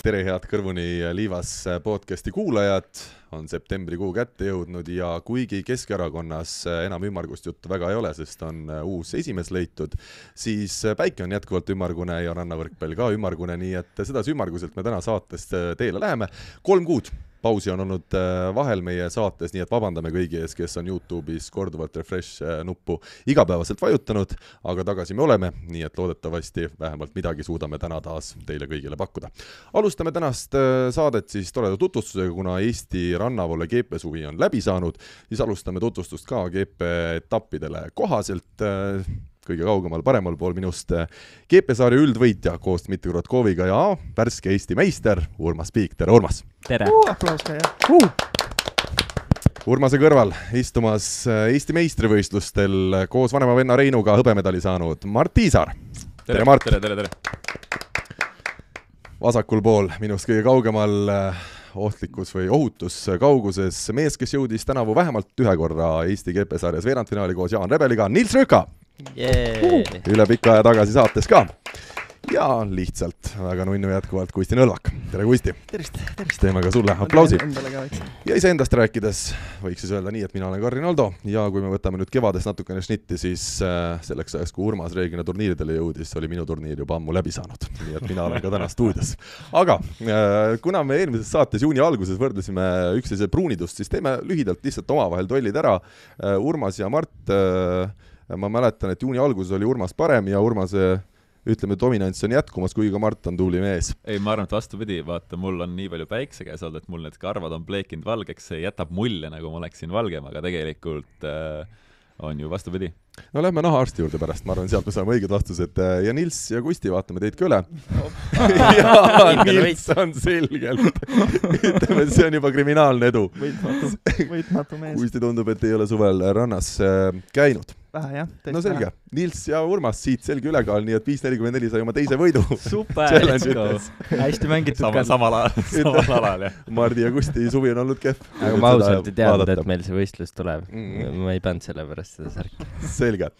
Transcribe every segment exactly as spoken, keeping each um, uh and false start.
tere head kõrvuni Liivas podcasti kuulajad, on septembrikuu kätte jõudnud ja kuigi Keskerakonnas enam ümmargust juttu väga ei ole, sest on uus esimees leitud, siis päike on jätkuvalt ümmargune ja rannavõrkpall ka ümmargune, nii et sedasi ümmarguselt me täna saatest teele läheme. Kolm kuud pausi on olnud vahel meie saates, nii et vabandame kõigi ees, kes on YouTube'is korduvalt refresh nuppu igapäevaselt vajutanud, aga tagasi me oleme, nii et loodetavasti vähemalt midagi suudame täna taas teile kõigile pakkuda. Alustame tänast saadet siis toreda tutvustusega, kuna Eesti rannavoole G P suvi on läbi saanud, siis alustame tutvustust ka G P etappidele kohaselt. Kõige kaugemal paremal pool minust G P-saari üldvõitja koos Dmitri Rotkoviga ja värske Eesti meister Urmas Piik. Tere, Urmas! Tere! Uh, aplaus ka, jah! Uh. Urmase kõrval istumas Eesti meistrivõistlustel koos vanema venna Reinuga hõbemedali saanud Mart Tiisaar. Tere, tere, Mart! Tere, tere, tere! Vasakul pool minust kõige kaugemal ohtlikus või ohutus kauguses mees, kes jõudis tänavu vähemalt ühe korra Eesti G P-saarjas veerandfinaali koos Jaan Rebeliga, Nils Rõka! Yeah. Üle pika aja tagasi saates ka. Ja lihtsalt väga nunnu jätkuvalt Kusti Nõlvak. Tere, Kusti! Tervist, tervist! Teeme ka sulle aplausi. Ja ise endast rääkides võiks siis öelda nii, et mina olen Karin Aldo ja kui me võtame nüüd kevades natukene šnitti, siis selleks ajaks, kui Urmas reeglina turniiridele jõudis, oli minu turniir juba ammu läbi saanud. Nii et mina olen ka täna stuudios. Aga kuna me eelmises saates juuni alguses võrdlesime üksteise pruunidust, siis teeme lühidalt lihtsalt omavahel tollid ära. Urmas ja Mart, ma mäletan, et juuni alguses oli Urmas parem ja Urmase ütleme, dominants on jätkumas, kui ka Mart on tubli mees. Ei, ma arvan, et vastupidi, vaata, mul on nii palju päikse käes olnud, et mul need karvad on pleekinud valgeks, see jätab mulje, nagu ma oleksin valgem, aga tegelikult äh, on ju vastupidi. No lähme nahaarsti juurde pärast, ma arvan, sealt me saame õiged vastused. Ja Nils ja Kusti, vaatame teid ka üle. Ja Nils on selgelt. Ütleme, see on juba kriminaalne edu. Võitmatu, võitmatu mees. Kusti tundub, et ei ole suvel rannas käinud. Vähe, jah. No selge. Vähe. Nils ja Urmas siit selge ülekaal, nii et viis nelikümmend neli sai oma teise võidu. Super, let's go. Hästi mängitud Sama, samal alal, samal alal, jah. Mardi ja Kusti suvi on olnud kehv. Aga ma ausalt ei teadnud, et meil see võistlus tuleb. Mm. Ma ei pannud selle pärast seda särki. Selge.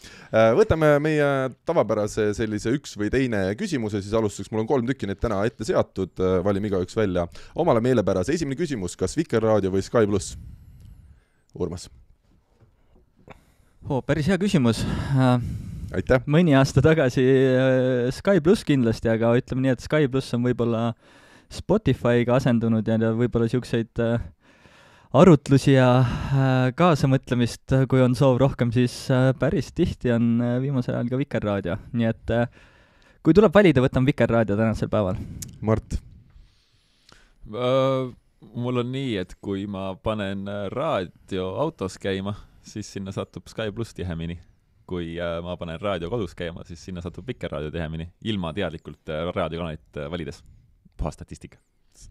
Võtame meie tavapärase sellise üks või teine küsimuse, siis alustuseks mul on kolm tükki neid täna ette seatud, valime igaüks välja. Omale meelepärase esimene küsimus, kas Vikerraadio või Sky pluss? Urmas. Oh, päris hea küsimus. Aitäh. Mõni aasta tagasi Sky pluss kindlasti, aga ütleme nii, et Sky pluss on võib-olla Spotify'ga asendunud ja võib-olla siukseid arutlusi ja kaasamõtlemist, kui on soov rohkem, siis päris tihti on viimasel ajal ka Vikerraadio. Nii et kui tuleb valida, võtan Vikerraadio tänasel päeval. Mart? Uh, mul on nii, et kui ma panen raadio autos käima, siis sinna satub Sky pluss tihemini. Kui uh, ma panen raadio kodus käima, siis sinna satub Vikerraadio tihemini, ilma teadlikult uh, raadiokanalit uh, valides. Puha statistika.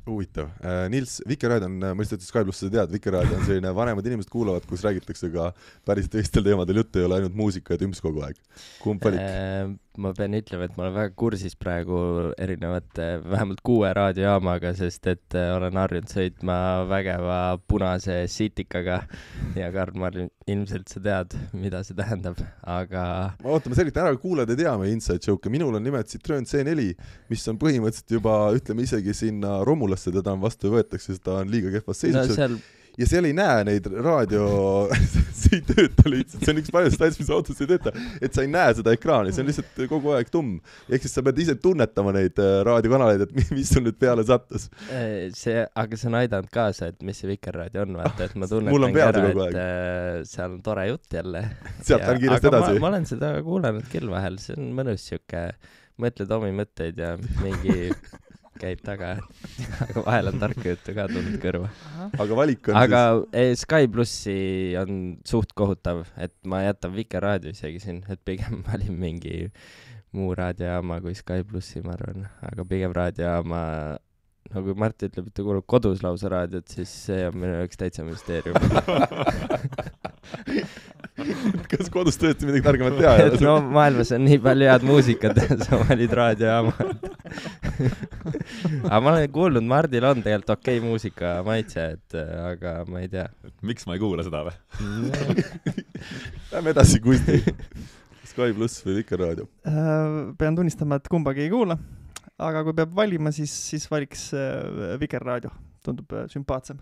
Huvitav. Nils, Vikerraadio on, ma lihtsalt Sky pluss seda tead, Vikerraadio on selline vanemad inimesed kuulavad, kus räägitakse ka päris teistel teemadel juttu, ei ole ainult muusika ja tümps kogu aeg. Kumb valik? Äh, ma pean ütlema, et ma olen väga kursis praegu erinevate, vähemalt kuue raadiojaamaga, sest et olen harjunud sõitma vägeva punase sitikaga ja Karl, ma ilmselt sa tead, mida see tähendab, aga... Ma ootame selgelt ära, kuulad ja teame inside joke. Minul on nimelt Citroen C neli, mis on põhimõtteliselt juba, ütleme isegi sinna Romulasse teda on vastu võetakse, sest ta on liiga kehvas seisuks. No, seal... Ja seal ei näe neid raadio, see ei tööta lihtsalt, see on üks paljust asjad, mis autos ei tööta, et sa ei näe seda ekraani, see on lihtsalt kogu aeg tumm. Ehk siis sa pead ise tunnetama neid raadiokanaleid, et mis sul nüüd peale sattus. See, aga see on aidanud kaasa, et mis see Vikerraadio on, vaata, et ma tunnetan ära, et seal on tore jutt jälle. Sealt on kiiresti edasi. Ma, ma olen seda kuulanud küll vahel, see on mõnus siuke, mõtled omi mõtteid ja mingi... käib taga, aga vahel on tarka juttu ka tulnud kõrva. Aga valik on aga siis... Sky plussi on suht kohutav, et ma jätan Vikerraadio isegi siin, et pigem valin mingi muu raadiojaama kui Sky plussi, ma arvan. Aga pigem raadiojaama, no kui Mart ütleb, et ta kuulub kodus lausa raadiot, siis see on minu üks täitsa müsteerium. Kas kodus tõesti midagi targemat teha? Et no maailmas on nii palju head muusikat, sa valid raadiojaama. Aga ma olen kuulnud, Mardil on tegelikult okei muusika maitse, et, aga ma ei tea. Miks ma ei kuula seda või? Lähme edasi, Kusti. Sky pluss või Vikerraadio? Pean tunnistama, et kumbagi ei kuula. aga kui peab valima, siis, siis valiks Vikerraadio, tundub sümpaatsem.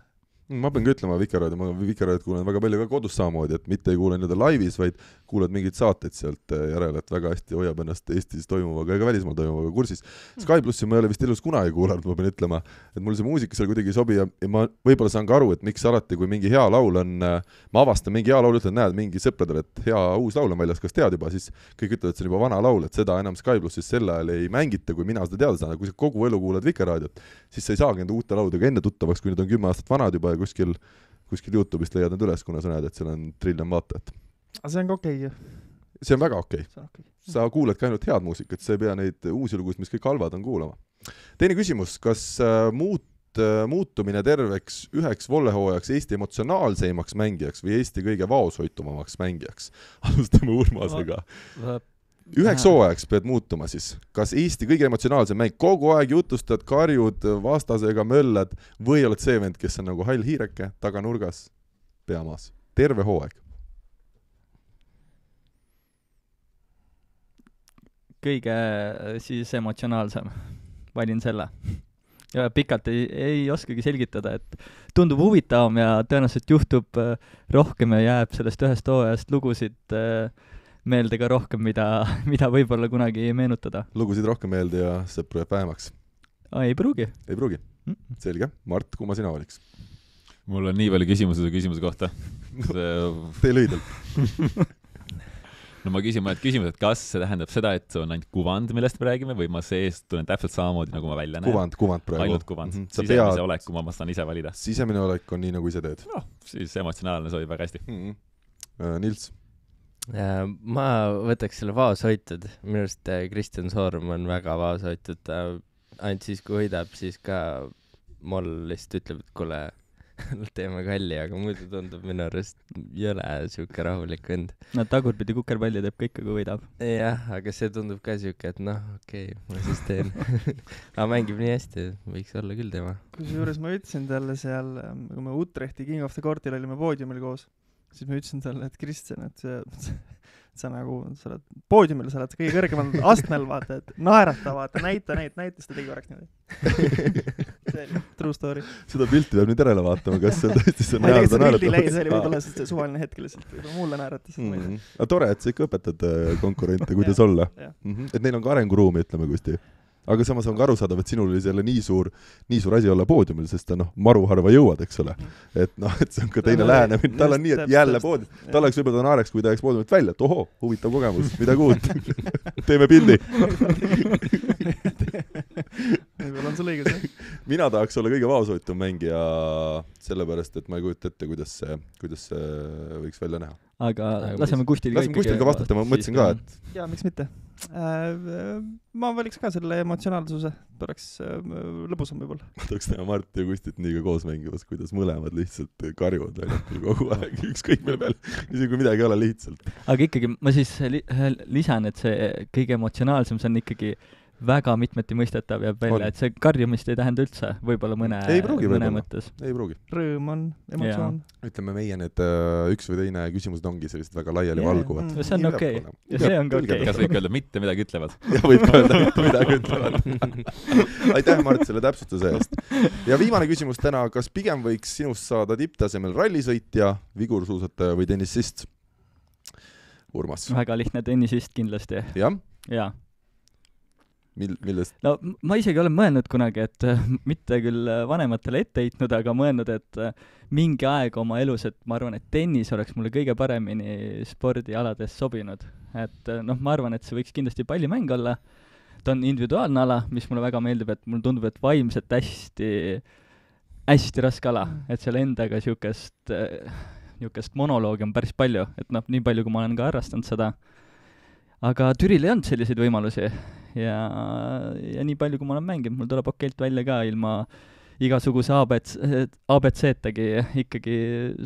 Ma pean ka ütlema Vikerraadio, ma Vikerraadiot kuulen väga palju ka kodus samamoodi, et mitte ei kuule nii-öelda laivis, vaid kuuled mingeid saateid sealt järele, et väga hästi hoiab ennast Eestis toimuvaga ja ka välismaal toimuvaga kursis. Sky plussi ma ei ole vist elus kunagi kuulanud, ma pean ütlema, et mul see muusika seal kuidagi ei sobi ja ma võib-olla saan ka aru, et miks alati, kui mingi hea laul on, ma avastan mingi hea laul, ütlen, näed mingi sõpradel, et hea uus laul on väljas, kas tead juba, siis kõik ütlevad, et see on juba vana laul, et seda enam Sky plussis sel ajal ei mängita, kui mina seda teada saan, kui sa kogu elu kuulad Vikerraadiot, siis sa ei saagi nende uute laudega enne tuttavaks, kui need on kümme aastat vanad juba ja kuskil, kuskil YouTube'ist leiad need üles, kuna sa näed, et seal on triljon vaatajat. Aga see on ka okei okay. See on väga okei okay. okay. Sa kuuled ka ainult head muusikat, sa ei pea neid uusi lugusid, mis kõik halvad on kuulama. Teine küsimus, kas muut, muutumine terveks üheks vollehooajaks Eesti emotsionaalseimaks mängijaks või Eesti kõige vaoshoitumamaks mängijaks? Alustame Urmasega. Üheks hooajaks pead muutuma siis. Kas Eesti kõige emotsionaalsem mäng, kogu aeg jutustad, karjud, vastasega möllad või oled see vend, kes on nagu hall hiireke, taga nurgas, peamaas? Terve hooaeg. Kõige siis emotsionaalsem. Valin selle. Ja pikalt ei, ei oskagi selgitada, et tundub huvitavam ja tõenäoliselt juhtub rohkem ja jääb sellest ühest hooajast lugusid meelde ka rohkem, mida, mida võib-olla kunagi ei meenutada. Lugusid rohkem meelde ja sõpru jääb vähemaks? Ei pruugi. Ei pruugi? Selge. Mart, kumma sina valiks? Mul on nii palju küsimusi su küsimuse kohta. See... Tee lühidalt. No ma küsin mõned küsimused, et kas see tähendab seda, et see on ainult kuvand, millest me räägime, või ma seest tulen täpselt samamoodi, nagu ma välja näen? Kuvand, kuvand praegu. Ainult kuvand. Mm-hmm. Sisemise pead... olek, kui ma saan ise valida. Sisemine olek on nii, nagu ise teed. No, siis emotsionaalne sobib väga hästi. Mm-hmm. Nils? Ma võtaks selle vaoshoitud. Minu arust Kristjan Soorm on väga vaoshoitud. Ainult siis, kui hoidab, siis ka moll lihtsalt ütleb, et kuule, teeme kalli, aga muidu tundub minu arust jõle siuke rahulik vend. No tagurpidi kukerpalli teeb kõik, kui võidab. Jah, aga see tundub ka siuke, et noh, okei, okay, ma siis teen. Aga mängib nii hästi, võiks olla küll tema. Kusjuures ma ütlesin talle seal, kui me Utrechti King of the Courtil olime poodiumil koos, siis ma ütlesin talle, et Kristjan, et see, sa nagu, sa oled poodiumil, sa oled kõige kõrgemal astmel, vaata, et naerata, vaata, näita, näita, näita, siis ta tegi korraks niimoodi. See oli true story. Seda pilti peab nüüd järele vaatama, kas see tõesti see ma ei tea, see pildi leid, see oli võib-olla see suvaline hetk lihtsalt, mulle naeratas. Mm. Aga tore, et sa ikka õpetad konkurente, kuidas olla. Mm-hmm. Et neil on ka arenguruumi, ütleme kusti. Aga samas on ka aru saadav, et sinul oli selle nii suur, nii suur asi olla poodiumil, sest ta noh, maru harva jõuad, eks ole. Et noh, et see on ka teine lähenemine. Tal on nii, et jälle poodium. Tal oleks võib-olla naareks, kui ta jääks poodiumilt välja, et ohoo, huvitav kogemus, midagi uut. Teeme pildi. Võib-olla on sul õigus, jah? Mina tahaks olla kõige vaoshoitum mängija sellepärast, et ma ei kujuta ette, kuidas see, kuidas see võiks välja näha. Aga laseme Kustil ka ikkagi... Laseme Kustil ka vastata, ma mõtlesin ka, et... Jaa, miks mitte? Ma valiks ka selle emotsionaalsuse, oleks lõbusam võib-olla. Ma tahaks teha Mart ja Kustit nii ka koos mängimas, kuidas mõlemad lihtsalt karjuvad väljakul kogu aeg, ükskõik mille peal, isegi kui midagi ei ole lihtsalt. Aga ikkagi ma siis li- lisan, et see kõige emotsionaalsem, see on ikkagi väga mitmeti mõistetav jääb välja, on. Et see karjumist ei tähenda üldse, võib-olla mõne, ei pruugi, mõne mõttes. Ei pruugi. Rõõm on, emotsioon. Ja. Ütleme, meie need uh, üks või teine küsimused ongi sellised väga laiali yeah. valguvad. Mm. See on okei. Okay. Ja see on ka okei. Okay. Kas võib öelda mitte midagi ütlevad? Ja võib ka öelda mitte midagi ütlevad. Aitäh, Mart, selle täpsustuse eest. Ja viimane küsimus täna, kas pigem võiks sinust saada tipptasemel rallisõitja, vigursuusataja või tennisist? Urmas. Väga lihtne tennisist kindlasti. Jah? Jaa. Mil, millest? No ma isegi olen mõelnud kunagi, et mitte küll vanematele ette heitnud, aga mõelnud, et mingi aeg oma elus, et ma arvan, et tennis oleks mulle kõige paremini spordialades sobinud. Et noh, ma arvan, et see võiks kindlasti pallimäng olla. Ta on individuaalne ala, mis mulle väga meeldib, et mulle tundub, et vaimselt hästi, hästi raske ala, et seal endaga siukest, niukest monoloogi on päris palju, et noh, nii palju, kui ma olen ka harrastanud seda. Aga Türil ei olnud selliseid võimalusi ja, ja nii palju, kui ma olen mänginud, mul tuleb okeilt välja ka ilma igasuguse A B C-tagi ikkagi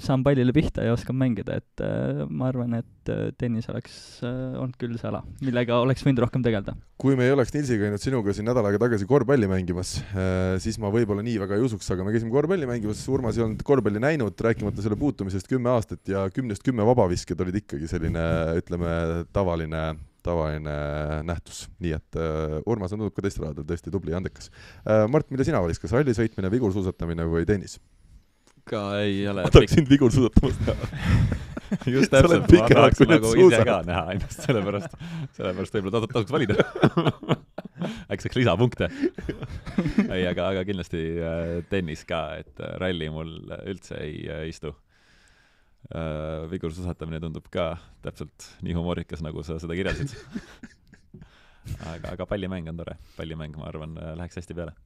saan pallile pihta ja oskan mängida, et äh, ma arvan, et tennis oleks äh, olnud küll see ala, millega oleks võinud rohkem tegelda. Kui me ei oleks Nilsi käinud sinuga siin nädal aega tagasi korvpalli mängimas, äh, siis ma võib-olla nii väga ei usuks, aga me käisime korvpalli mängimas, Urmas ei olnud korvpalli näinud, rääkimata selle puutumisest kümme aastat ja kümnest kümme vabavisked olid ikkagi selline, ütleme, tavaline tavaline nähtus. Nii et uh, Urmas on tundub ka teist raadel tõesti tubli ja andekas. Uh, Mart, mida sina valis, kas ralli sõitmine, vigursuusatamine või tennis? Ka ei ole... Ma tahaks sind vigursuusatamast näha. Just täpselt, ma tahaks nagu ise ka näha ennast, sellepärast, sellepärast võib-olla tasuks valida. Äkki saaks lisapunkte. ei, aga, aga kindlasti tennis ka, et ralli mul üldse ei istu. Vigursuusatamine tundub ka täpselt nii humoorikas, nagu sa seda kirjeldasid. aga, aga pallimäng on tore. Pallimäng, ma arvan, läheks hästi peale.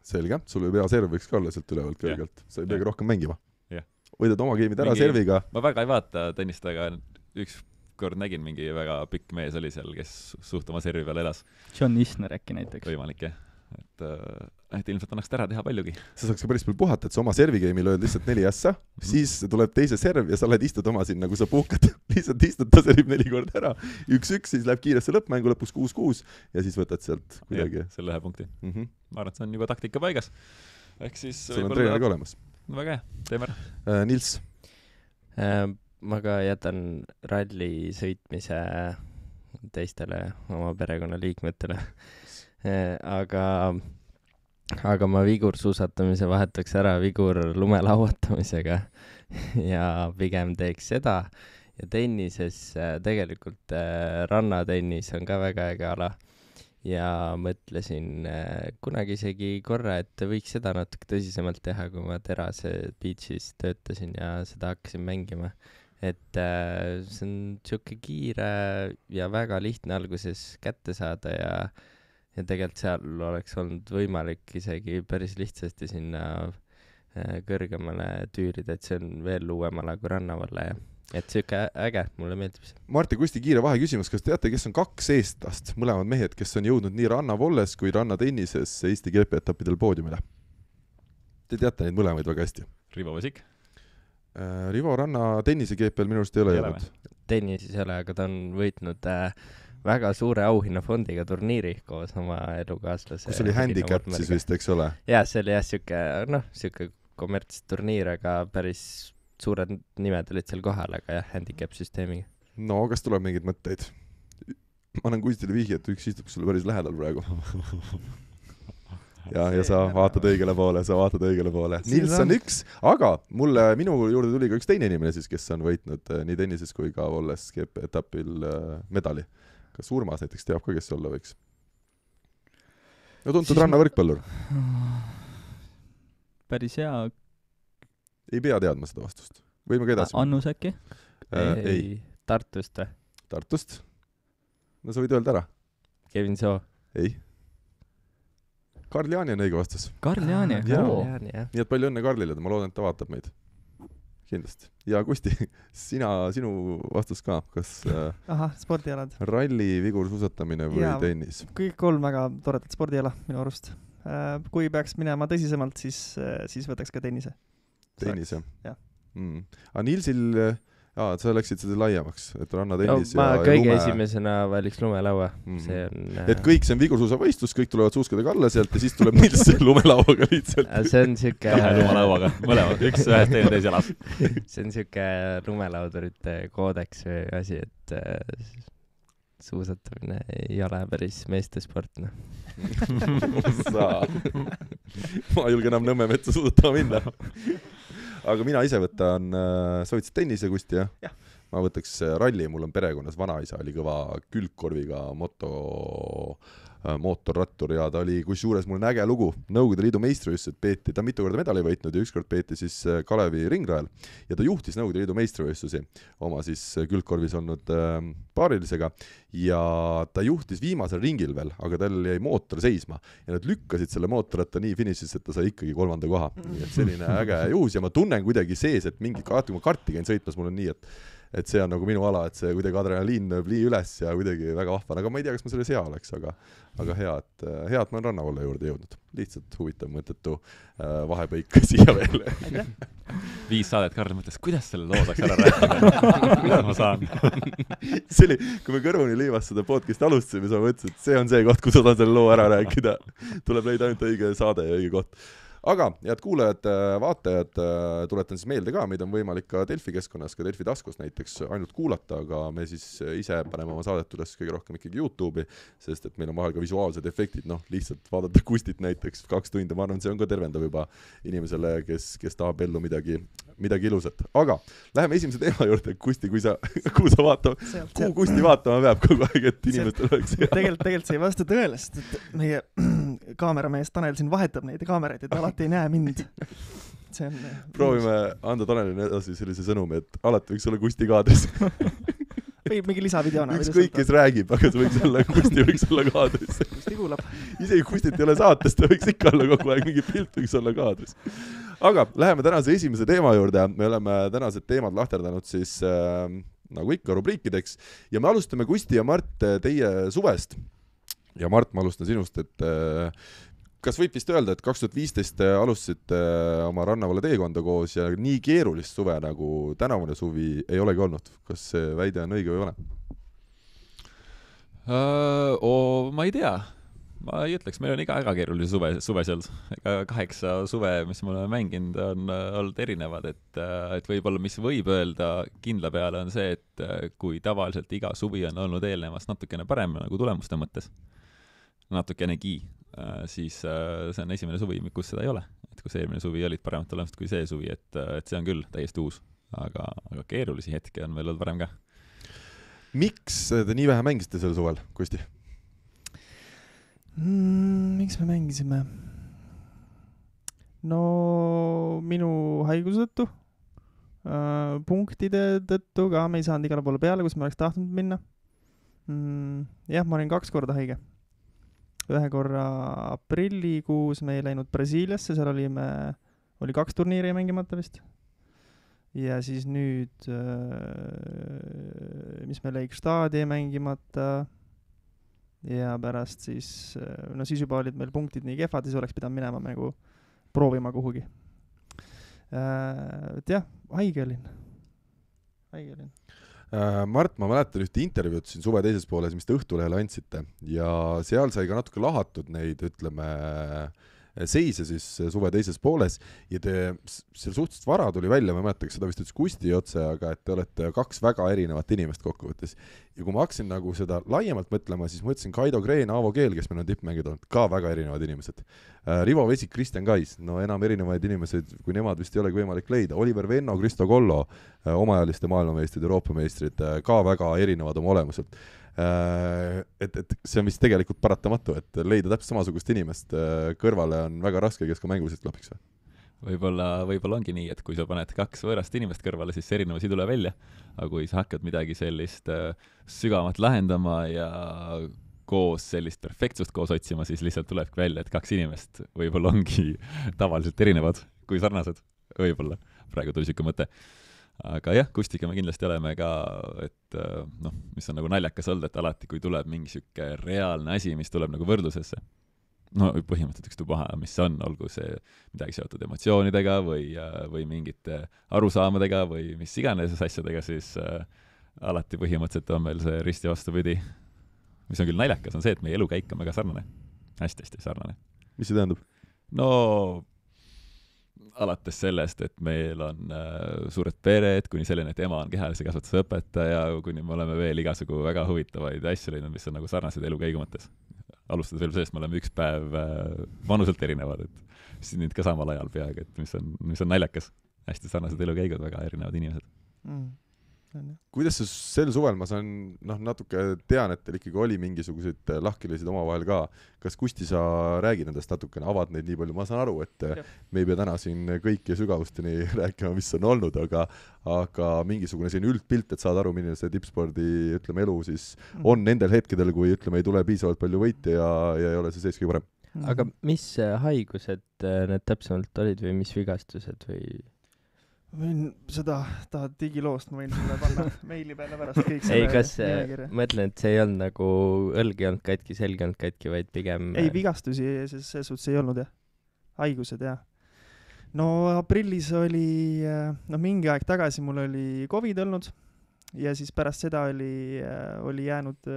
Selge, sul võib hea serv võiks ka olla sealt ülevalt kõrgelt. Sa ei peagi rohkem mängima. Jah. Võidad oma geimid ära mingi, serviga. Ma väga ei vaata tennist, aga üks kord nägin mingi väga pikk mees oli seal, kes suht oma servi peal elas. John Isner äkki näiteks. Võimalik, jah. Et, et ilmselt annaks ära teha paljugi. Sa saaks ka päris palju puhata, et sa oma servigeimi lööd lihtsalt neli ässa, mm-hmm. siis tuleb teise serv ja sa lähed istud oma siin, nagu sa puhkad. Lihtsalt istud, ta servib neli korda ära. Üks-üks, siis läheb kiiresse lõppmängu, lõpus kuus-kuus ja siis võtad sealt kuidagi. Ja, selle ühe punkti. Mm-hmm. Ma arvan, et see on juba taktika paigas. Ehk siis sul on treener ka olemas. Väga hea, teeme ära. Äh, Nils? Äh, ma ka jätan ralli sõitmise teistele oma perekonnaliikmetele. äh, aga, aga ma vigursuusatamise vahetaks ära vigur lumelauatamisega ja pigem teeks seda. Ja tennises äh, tegelikult äh, rannatennis on ka väga äge ala. Ja mõtlesin äh, kunagi isegi korra, et võiks seda natuke tõsisemalt teha, kui ma Terase Beachis töötasin ja seda hakkasin mängima. Et äh, see on siuke kiire ja väga lihtne alguses kätte saada ja, ja tegelikult seal oleks olnud võimalik isegi päris lihtsasti sinna äh, kõrgemale tüürida, et see on veel uuem ala kui rannavalla ja et siuke äge, mulle meeldib see. Marti Kusti kiire vahe küsimus, kas teate, kes on kaks eestlast, mõlemad mehed, kes on jõudnud nii rannavolles kui rannatennises Eesti G P etappidel poodiumile? Te teate neid mõlemaid väga hästi. Rivo Vesik? Äh, Rivo ranna tennise G P-l minu arust ei ole jõudnud. Tennises ei ole, aga ta on võitnud äh, väga suure auhinnafondiga turniiri koos oma elukaaslase. Kus oli handicap siis vist, eks ole? Jaa, see oli jah siuke, noh, siuke kommertsturniir, aga päris suured nimed olid seal kohal, aga jah, handicap-süsteemiga. No, kas tuleb mingeid mõtteid? Ma annan Kustile vihje, et üks istub sulle päris lähedal praegu. ja, ja sa vaatad õigele poole, sa vaatad õigele poole. Nils on üks, aga mulle, minu juurde tuli ka üks teine inimene siis, kes on võitnud nii tennises kui ka olles G P etapil medali. Kas Urmas näiteks teab ka, kes see olla võiks? No tuntud siis... rannavõrkpallur. Päris hea. Ei pea teadma seda vastust. Võime ka edasi. Annus äkki? Äh, ei, ei. Tartust või? Tartust? No sa võid öelda ära. Kevin Soo? Ei. Karl Jaani on õige vastus. Karl Jaani? Nii et palju õnne Karlile, ma loodan, et ta vaatab meid. Kindlasti. Ja Kusti, sina, sinu vastus ka. Kas äh, Aha, spordialad. Ralli, vigursuusatamine või ja, tennis? Kõik kolm väga toredad spordiala minu arust. Äh, kui peaks minema tõsisemalt, siis, äh, siis võtaks ka tennise. Tennis, jah? jah. Mm. Aga Nilsil, jaa, sa läksid seda laiemaks, et rannatennis no, ma ja, ja kõige lume... esimesena valiks lumelaua. Mm. See on... Et kõik see on vigursuusavõistlus, kõik tulevad suuskadega alla sealt ja siis tuleb Nils lumelauaga lihtsalt. See on siuke... lumelauaga, mõlemad, üks ühes teine teis jalas. See on siuke lumelaudurite koodeks või asi, et äh, suusatamine ei ole päris meestesport, noh. Sa... ma ei julge enam Nõmme metsa suusatama minna. Aga mina ise võtan, sa võtsid tennise, Kusti, jah? jah. Ma võtaks ralli, mul on perekonnas vanaisa, oli kõva külgkorviga moto, mootorrattur ja ta oli kusjuures mul näge lugu. Nõukogude Liidu meistrivõistlused peeti, ta mitu korda medali võitnud ja ükskord peeti siis Kalevi ringrajal ja ta juhtis Nõukogude Liidu meistrivõistlusi oma siis külgkorvis olnud äh, paarilisega ja ta juhtis viimasel ringil veel, aga tal jäi mootor seisma ja nad lükkasid selle mootorratta nii finišis, et ta sai ikkagi kolmanda koha. Nii et selline äge juhus ja ma tunnen kuidagi sees, et mingi kaart, kui ma karti käin sõitmas, mul on nii, et et see on nagu minu ala, et see kuidagi adrenaliin lööb lii üles ja kuidagi väga vahvan, aga ma ei tea, kas ma selles hea oleks, aga, aga hea, et, hea, et ma olen rannavalle juurde jõudnud. Lihtsalt huvitav mõttetu äh, vahepõik siia veel. Viis saadet Karl mõtles, kuidas selle loo saaks ära rääkida? Kuidas ma saan? See oli, kui me kõrvuni liivas seda podcasti alustasime, siis ma mõtlesin, et see on see koht, kus ma saan selle loo ära rääkida. Tuleb leida ainult õige saade ja õige koht. aga head kuulajad, vaatajad, tuletan siis meelde ka, meid on võimalik ka Delfi keskkonnas, ka Delfi taskus näiteks ainult kuulata, aga me siis ise paneme oma saadet üles kõige rohkem ikkagi YouTube'i, sest et meil on vahel ka visuaalsed efektid, noh, lihtsalt vaadata Kustit näiteks kaks tundi, ma arvan, see on ka tervendav juba inimesele, kes, kes tahab ellu midagi, midagi ilusat. Aga läheme esimese teema juurde, Kusti, kui sa, kuhu sa vaatama, sealt, kuhu sealt. Kusti vaatama peab kogu aeg, et inimestel oleks hea. Tegelikult, tegelikult see ei vasta tõele, sest et meie kaameramees Tanel siin vahetab neid kaameraid, et alati ei näe mind. See on... Proovime anda Tanelile edasi sellise sõnumi, et alati võiks olla Kusti kaadris. Või mingi lisavideona. Üks kõik, kes räägib, aga see võiks olla, Kusti võiks olla kaadris. Kusti kuulab. Isegi Kustit ei ole saates, ta võiks ikka olla kogu aeg, mingi pilt võiks olla kaadris. Aga läheme tänase esimese teema juurde. Me oleme tänased teemad lahterdanud siis äh, nagu ikka rubriikideks ja me alustame Kusti ja Mart teie suvest. Ja Mart, ma alustan sinust, et äh, kas võib vist öelda, et kaks tuhat viisteist alustasid äh, oma rannavale teekonda koos ja nii keerulist suve nagu tänavune suvi ei olegi olnud? Kas see väide on õige või vale? Uh, oh, ma ei tea. Ma ei ütleks, meil on iga väga keerulise suve, suve seal. Kaheksa suve, mis me oleme mänginud, on olnud erinevad, et, et võib-olla mis võib öelda kindla peale on see, et kui tavaliselt iga suvi on olnud eelnevast natukene parem nagu tulemuste mõttes, natukenegi, siis see on esimene suvi, kus seda ei ole. Et kus eelmine suvi olid paremad tulemused kui see suvi, et, et see on küll täiesti uus, aga, aga keerulisi hetki on meil olnud varem ka. Miks te nii vähe mängisite sel suvel, Kusti? Mm, miks me mängisime? No minu haiguse tõttu, äh, punktide tõttu ka me ei saanud igale poole peale, kus me oleks tahtnud minna. Mm, jah, ma olin kaks korda haige. Ühe korra aprillikuus me ei läinud Brasiiliasse, seal olime, oli kaks turniiri mängimata vist. Ja siis nüüd, äh, mis me läik staadi mängimata ja pärast siis, no siis juba olid meil punktid nii kehvad, siis oleks pidanud minema nagu proovima kuhugi. Äh, et jah, haige olin. Haige olin. Äh, Mart, ma mäletan ühte intervjuud siin suve teises pooles, mis te Õhtulehele andsite ja seal sai ka natuke lahatud neid, ütleme, seise siis suve teises pooles ja te seal suhteliselt vara tuli välja, ma mäletan, seda vist ütles Kusti otse, aga et te olete kaks väga erinevat inimest kokkuvõttes. Ja kui ma hakkasin nagu seda laiemalt mõtlema, siis mõtlesin Kaido Kreen, Aavo Keel, kes meil on tippmängid olnud, ka väga erinevad inimesed. Rivo Vesik, Kristjan Kais, no enam erinevaid inimesed, kui nemad vist ei olegi võimalik leida. Oliver Venno, Kristo Kollo, omajaliste maailmameistrid, Euroopa meistrid, ka väga erinevad oma olemuselt. Et, et see on vist tegelikult paratamatu, et leida täpselt samasugust inimest kõrvale on väga raske, kes ka mänguliselt klapiks või? Võib-olla, võib-olla ongi nii, et kui sa paned kaks võõrast inimest kõrvale, siis erinevusi ei tule välja, aga kui sa hakkad midagi sellist sügavat lahendama ja koos sellist perfektsust koos otsima, siis lihtsalt tulebki välja, et kaks inimest võib-olla ongi tavaliselt erinevad kui sarnased, võib-olla. Praegu tuli siuke mõte. Aga jah, Kustiga me kindlasti oleme ka, et noh, mis on nagu naljakas olnud, et alati, kui tuleb mingi siuke reaalne asi, mis tuleb nagu võrdlusesse, no põhimõtteliselt ükstupaha, mis on, olgu see midagi seotud emotsioonidega või, või mingite arusaamadega või mis iganes asjadega, siis äh, alati põhimõtteliselt on meil see risti vastupidi. Mis on küll naljakas, on see, et meie elukäik on väga sarnane. Hästi-hästi sarnane. Mis see tähendab? No alates sellest, et meil on äh, suured pered, kuni selline, et ema on kehalise kasvatuse õpetaja, kuni me oleme veel igasugu väga huvitavaid asju leidnud, mis on nagu sarnased elukäigu mõttes. Alustades veel sellest, me oleme üks päev äh, vanuselt erinevad, et siis nüüd ka samal ajal peaaegu, et mis on, mis on naljakas. Hästi sarnased elukäigud, väga erinevad inimesed. Mm. Kuidas see sel suvel, ma saan noh, natuke tean, et teil ikkagi oli mingisuguseid lahkilisid omavahel ka. Kas Kusti sa räägid nendest natukene, avad neid nii palju? Ma saan aru, et ja. Me ei pea täna siin kõiki sügavusteni rääkima, mis on olnud, aga, aga mingisugune selline üldpilt, et saad aru, milline see tippspordi ütleme, elu siis on nendel hetkedel, kui ütleme, ei tule piisavalt palju võite ja, ja ei ole see sees kõige parem. Aga mis haigused need täpsemalt olid või mis vigastused või... Võin seda, tahad digiloost, ma võin sulle panna meili peale pärast kõik selle ei, kas mõtlen, et see ei olnud nagu õlg ei olnud katki, selg ei olnud katki, vaid pigem... Ei, vigastusi selles suhtes ei olnud, jah. Haigused, jah. No aprillis oli, no mingi aeg tagasi mul oli COVID olnud ja siis pärast seda oli, oli jäänud,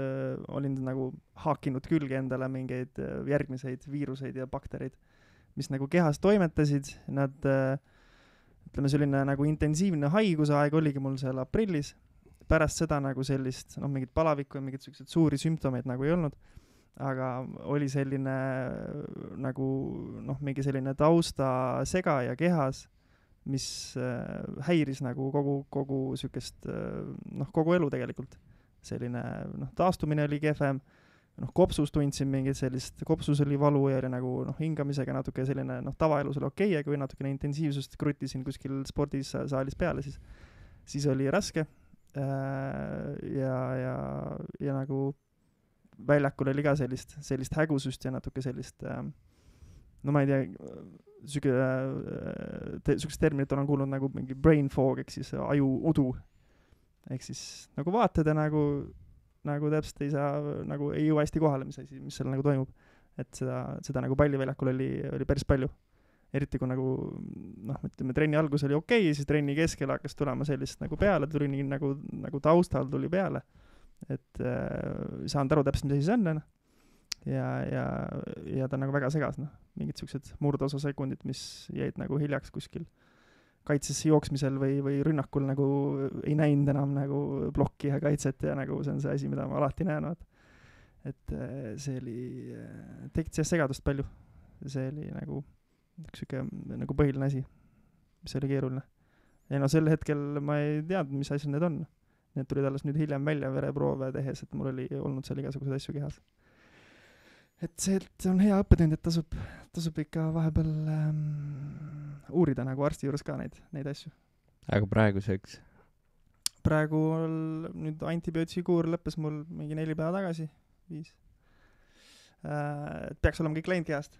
olin nagu haakinud külge endale mingeid järgmiseid viiruseid ja baktereid. mis nagu kehas toimetasid, nad äh, ütleme, selline nagu intensiivne haigusaeg oligi mul seal aprillis, pärast seda nagu sellist, noh, mingit palavikku ja mingit sellised suuri sümptomeid nagu ei olnud, aga oli selline nagu, noh, mingi selline tausta sega ja kehas, mis äh, häiris nagu kogu, kogu sükest, äh, noh, kogu elu tegelikult. Selline, noh, taastumine oli kehvem, noh, kopsus tundsin mingit sellist, kopsus oli valu ja oli nagu, noh, hingamisega natuke selline, noh, tavaelus oli okei, aga kui natukene intensiivsust krutisin kuskil spordis saalis peale, siis, siis oli raske ja, ja, ja nagu väljakul oli ka sellist, sellist hägusust ja natuke sellist, no ma ei tea, süge, te, sükest terminit olen kuulnud nagu mingi brain fog, ehk siis aju udu, ehk siis nagu vaatad ja nagu nagu täpselt ei saa, nagu ei jõua hästi kohale, mis asi, mis seal nagu toimub. Et seda, seda nagu palliväljakul oli, oli päris palju. Eriti kui nagu, noh, ütleme, trenni algus oli okei, siis trenni keskel hakkas tulema sellist nagu peale, tuli nii nagu, nagu taustal tuli peale. Et äh, saan aru täpselt, mis asi see on, ja, ja, ja ta nagu väga segas, noh. Mingid sellised murdosa sekundid, mis jäid nagu hiljaks kuskil kaitsesse jooksmisel või, või rünnakul nagu ei näinud enam nagu plokki ja kaitset ja nagu see on see asi, mida ma alati näen. Et see oli, tekkis jah segadust palju. See oli nagu üks süke nagu põhiline asi, mis oli keeruline. Ja no sel hetkel ma ei teadnud, mis asjad need on. Need tulid alles nüüd hiljem välja vereproove tehes, et mul oli olnud seal igasugused asju kehas. Et see et on hea õppetund, et tasub, tasub ikka vahepeal ähm, uurida nagu arsti juures ka neid, neid asju. Aga praeguseks? Praegu nüüd antibiootikuur lõppes mul mingi neli päeva tagasi, viis. Äh, et peaks olema kõik läinud kehast.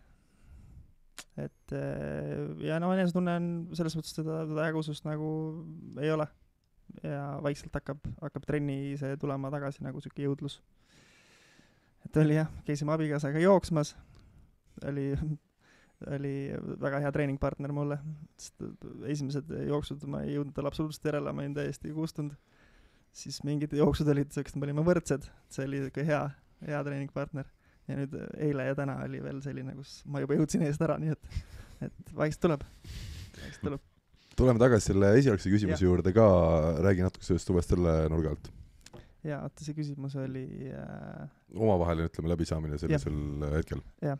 Et äh, ja no enes tunne on selles mõttes seda, seda hägusust nagu ei ole. Ja vaikselt hakkab, hakkab trenni see tulema tagasi nagu süke jõudlus. Et oli jah, käisime abikaasaga jooksmas, oli, oli väga hea treeningpartner mulle, esimesed jooksud ma ei jõudnud tal absoluutselt järele, ma olin täiesti kustunud, siis mingid jooksud olid, me olime võrdsed, see oli hea, hea treeningpartner ja nüüd eile ja täna oli veel selline, kus ma juba jõudsin eest ära, nii et, et vaikselt tuleb, vaikselt tuleb. Tuleme tagasi selle esialgse küsimuse ja. Juurde ka, räägi natuke sellest uuest selle nurga alt. Jaa, oota, see küsimus oli äh... omavaheline, ütleme, läbisaamine sellisel ja. Hetkel. Jah.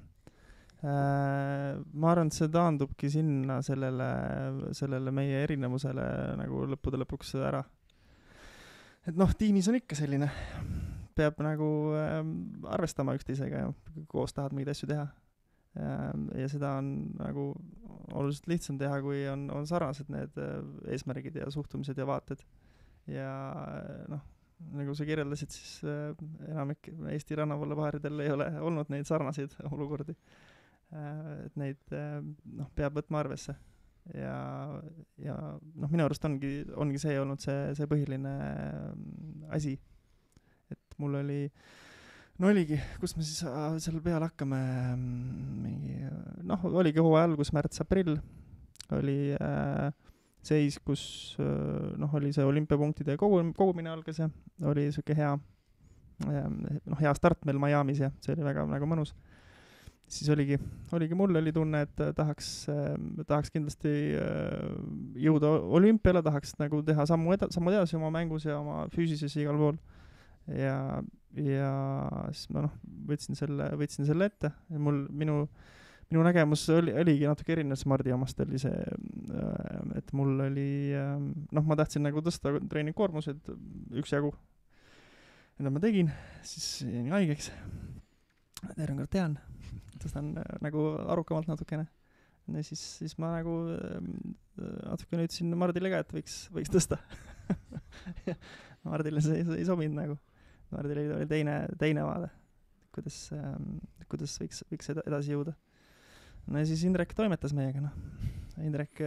Äh, ma arvan, et see taandubki sinna sellele, sellele meie erinevusele nagu lõppude lõpuks ära. Et noh, tiimis on ikka selline, peab nagu äh, arvestama üksteisega ja koos tahad mingeid asju teha. Äh, ja seda on nagu oluliselt lihtsam teha, kui on, on sarnased need eesmärgid ja suhtumised ja vaated. Ja noh, nagu sa kirjeldasid, siis äh, enamik Eesti rannavallapaaridel ei ole olnud neid sarnaseid olukordi. Äh, et neid äh, noh, peab võtma arvesse. Ja, ja noh, minu arust ongi, ongi see olnud see, see põhiline asi. Et mul oli, no oligi, kus me siis äh, seal peal hakkame, mingi, noh, oligi hooaja algus, märts, aprill, oli äh, seis, kus noh, oli see olümpiapunktide kogu, kogumine algas ja oli selline hea, noh, hea start meil Miamis ja see oli väga nagu mõnus. Siis oligi, oligi mul oli tunne, et tahaks, tahaks kindlasti jõuda olümpiale, tahaks nagu teha sammu, eda, sammu edasi oma mängus ja oma füüsises igal pool. Ja, ja siis ma noh, võtsin selle, võtsin selle ette ja mul, minu Minu nägemus oli, oligi natuke erinev Mardi omast, oli see, et mul oli, noh, ma tahtsin nagu tõsta treeningkoormused üksjagu. Ja ma tegin, siis jäin haigeks. Terve kord tean, tõstan nagu arukamalt natukene. Ja siis, siis ma nagu natukene ütlesin Mardile ka, et võiks, võiks tõsta. Mardile see ei sobinud nagu. Mardile oli teine, teine vaade, kuidas, kuidas võiks, võiks edasi jõuda. No ja siis Indrek toimetas meiega, noh. Indrek,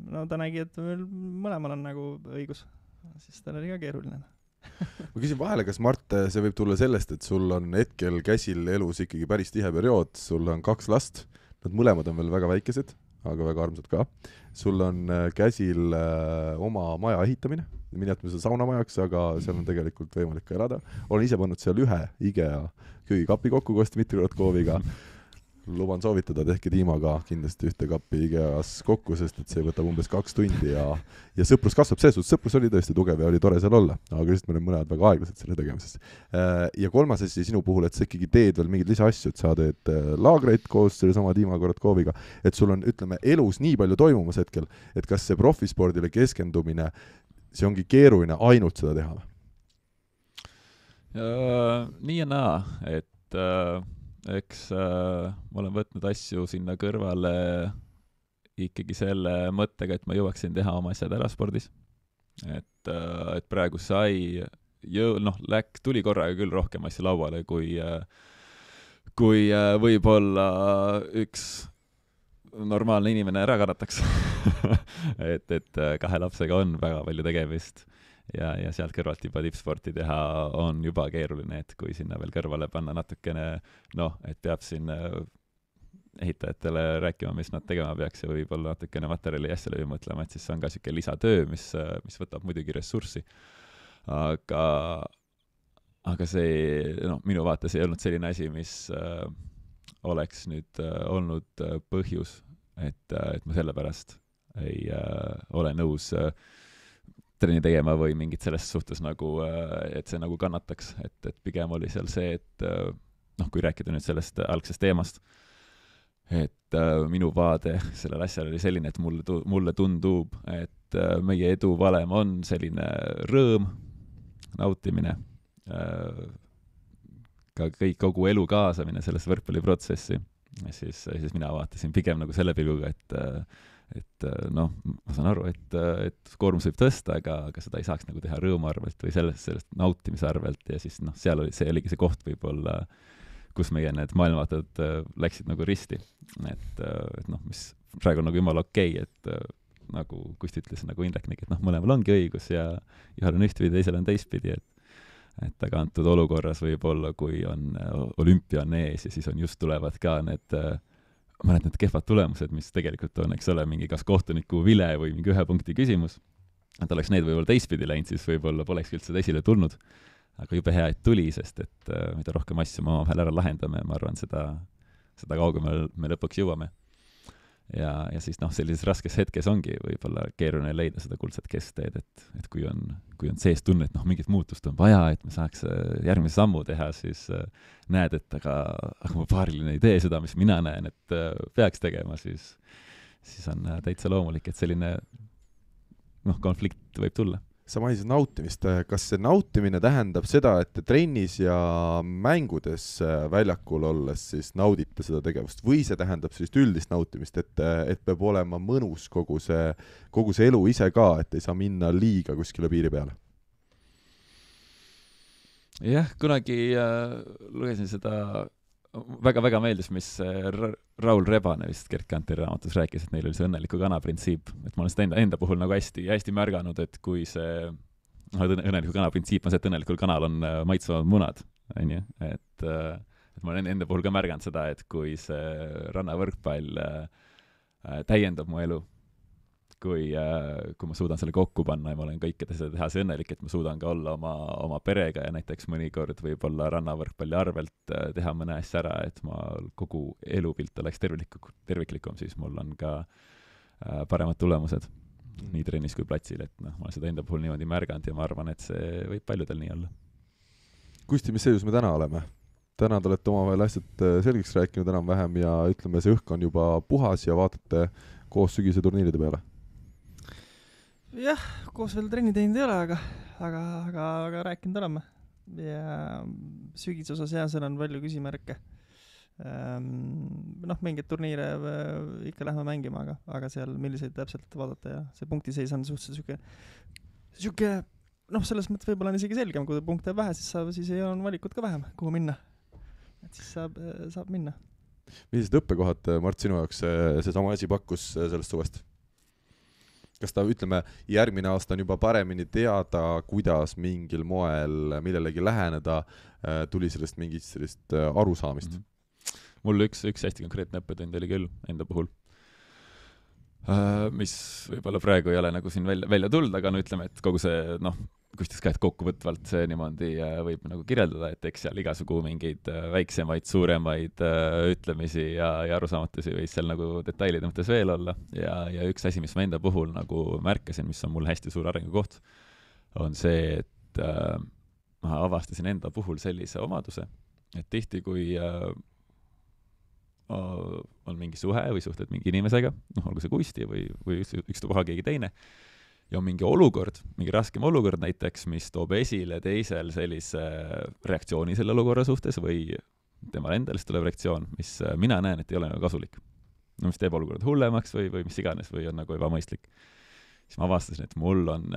no ta nägi, et meil mõlemal on nagu õigus. Siis tal oli ka keeruline. Ma küsin vahele, kas Mart, see võib tulla sellest, et sul on hetkel käsil elus ikkagi päris tihe periood, sul on kaks last, nad mõlemad on veel väga väikesed, aga väga armsad ka. Sul on käsil oma maja ehitamine, minetame seda saunamajaks, aga seal on tegelikult võimalik ka elada. Olen ise pannud seal ühe IKEA köögikapi kokku koos Dmitri Rotkooviga. luban soovitada, tehke Tiimaga kindlasti ühte kappi IKEA-s kokku, sest et see võtab umbes kaks tundi ja, ja sõprus kasvab, selles suhtes sõprus oli tõesti tugev ja oli tore seal olla, aga lihtsalt meil on mõned väga aeglased selle tegemises. Ja kolmas asi sinu puhul, et sa ikkagi teed veel mingeid lisaasju, et sa teed laagreid koos selle sama Tiima Korotkoviga, et sul on, ütleme, elus nii palju toimumas hetkel, et kas see profispordile keskendumine, see ongi keeruline ainult seda teha? Uh, nii ja naa, et uh, eks uh, ma olen võtnud asju sinna kõrvale ikkagi selle mõttega, et ma jõuaksin teha oma asjad ära spordis. Et, uh, et praegu sai, jõu, noh, läk, tuli korraga küll rohkem asju lauale, kui, uh, kui uh, võib-olla üks normaalne inimene ära kannataks. et, et kahe lapsega on väga palju tegemist. Ja, ja sealt kõrvalt juba tippsporti teha on juba keeruline, et kui sinna veel kõrvale panna natukene, noh, et peab siin ehitajatele rääkima, mis nad tegema peaks ja võib-olla natukene materjali asja läbi mõtlema, et siis see on ka siuke lisatöö, mis, mis võtab muidugi ressurssi. Aga, aga see, noh, minu vaates ei olnud selline asi, mis äh, oleks nüüd äh, olnud äh, põhjus, et, äh, et ma sellepärast ei äh, ole nõus äh, trenni tegema või mingit selles suhtes nagu, et see nagu kannataks, et, et pigem oli seal see, et noh, kui rääkida nüüd sellest algsest teemast, et minu vaade sellel asjal oli selline, et mulle, mulle tundub, et meie edu valem on selline rõõm, nautimine, ka kõik, kogu elu kaasamine selles võrkpalliprotsessi, ja siis, siis mina vaatasin pigem nagu selle pilguga, et et noh, ma saan aru, et, et koormus võib tõsta, aga, aga seda ei saaks nagu teha rõõmu arvelt või sellest, sellest nautimise arvelt ja siis noh, seal oli, see oligi see koht võib-olla, kus meie need maailmavaated läksid nagu risti. Et, et noh, mis praegu on nagu jumala okei, et nagu Kusti ütles, nagu Indrek nägi, et noh, mõlemal ongi õigus ja ühel on ühtpidi, teisel on teistpidi, et, et aga antud olukorras võib-olla, kui on olümpia on ees ja siis on just tulevad ka need mõned need kehvad tulemused, mis tegelikult on, eks ole, mingi kas kohtuniku vile või mingi ühe punkti küsimus. Et oleks need võib-olla teistpidi läinud, siis võib-olla poleks üldse esile tulnud. Aga jube hea, et tuli, sest et uh, mida rohkem asju me omavahel ära lahendame, ma arvan, seda, seda kaugemale me lõpuks jõuame. Ja, ja siis noh, sellises raskes hetkes ongi võib-olla keeruline leida seda kuldset keskteed, et, et kui on, kui on sees tunne, et noh, mingit muutust on vaja, et me saaks järgmise sammu teha, siis äh, näed, et aga, aga mu paariline ei tee seda, mis mina näen, et äh, peaks tegema, siis, siis on äh, täitsa loomulik, et selline noh, konflikt võib tulla. Sa mainisid nautimist, kas see nautimine tähendab seda, et trennis ja mängudes väljakul olles siis naudite seda tegevust või see tähendab sellist üldist nautimist, et, et peab olema mõnus kogu see, kogu see elu ise ka, et ei saa minna liiga kuskile piiri peale? Jah, kunagi äh, lugesin seda, väga-väga meeldis, mis Ra- Raul Rebane vist Gert Kanteri raamatus rääkis, et neil oli see õnneliku kana printsiip, et ma olen seda enda, enda puhul nagu hästi, hästi märganud, et kui see noh, õnneliku kana printsiip on see, et õnnelikul kanal on maitsvad munad, on ju, et, et ma olen enda puhul ka märganud seda, et kui see rannavõrkpall täiendab mu elu, kui, kui ma suudan selle kokku panna ja ma olen kõike seda teha see õnnelik, et ma suudan ka olla oma, oma perega ja näiteks mõnikord võib-olla rannavõrkpalli arvelt teha mõne asja ära, et ma kogu elupilt oleks terviklikum, terviklikum, siis mul on ka paremad tulemused nii trennis kui platsil, et noh, ma olen seda enda puhul niimoodi märganud ja ma arvan, et see võib paljudel nii olla. Kusti, mis seisus me täna oleme? Täna te olete omavahel asjad selgeks rääkinud enam-vähem ja ütleme, see õhk on juba puhas ja vaatate koos sügise turniiride peale? Jah, koos veel trenni teinud ei ole, aga, aga, aga, aga rääkinud oleme. Ja sügise osas jah, seal on palju küsimärke. Noh, mingid turniire ikka lähme mängima, aga, aga seal milliseid täpselt vaadata ja see punktiseis on suhteliselt süke, süke, noh, selles mõttes võib-olla on isegi selgem, kui punkte vähe, siis, saab, siis ei on valikut ka vähem, kuhu minna. Et siis saab, saab minna. Millised õppekohad, Mart, sinu jaoks see, see sama asi pakkus sellest suvest? Kas ta, ütleme, järgmine aasta on juba paremini teada, kuidas mingil moel millelegi läheneda, tuli sellest mingit sellist arusaamist? Mm-hmm. Mul üks, üks hästi konkreetne õppetund oli küll enda puhul, mis võib-olla praegu ei ole nagu siin välja, välja tulnud, aga no ütleme, et kogu see, noh, kusjuures ka, et kokkuvõtvalt see niimoodi võib nagu kirjeldada, et eks seal igasugu mingeid väiksemaid, suuremaid ütlemisi ja, ja arusaamatusi võis seal nagu detailide mõttes veel olla ja, ja üks asi, mis ma enda puhul nagu märkasin, mis on mul hästi suur arengukoht, on see, et äh, ma avastasin enda puhul sellise omaduse, et tihti, kui äh, on mingi suhe või suhted mingi inimesega, noh, olgu see Kusti või, või üks, ükstapuha keegi teine, ja on mingi olukord, mingi raskem olukord näiteks, mis toob esile teisel sellise reaktsiooni selle olukorra suhtes või temal endalist tuleb reaktsioon, mis mina näen, et ei ole nagu kasulik. No mis teeb olukorda hullemaks või, või mis iganes või on nagu ebamõistlik. Siis ma avastasin, et mul on,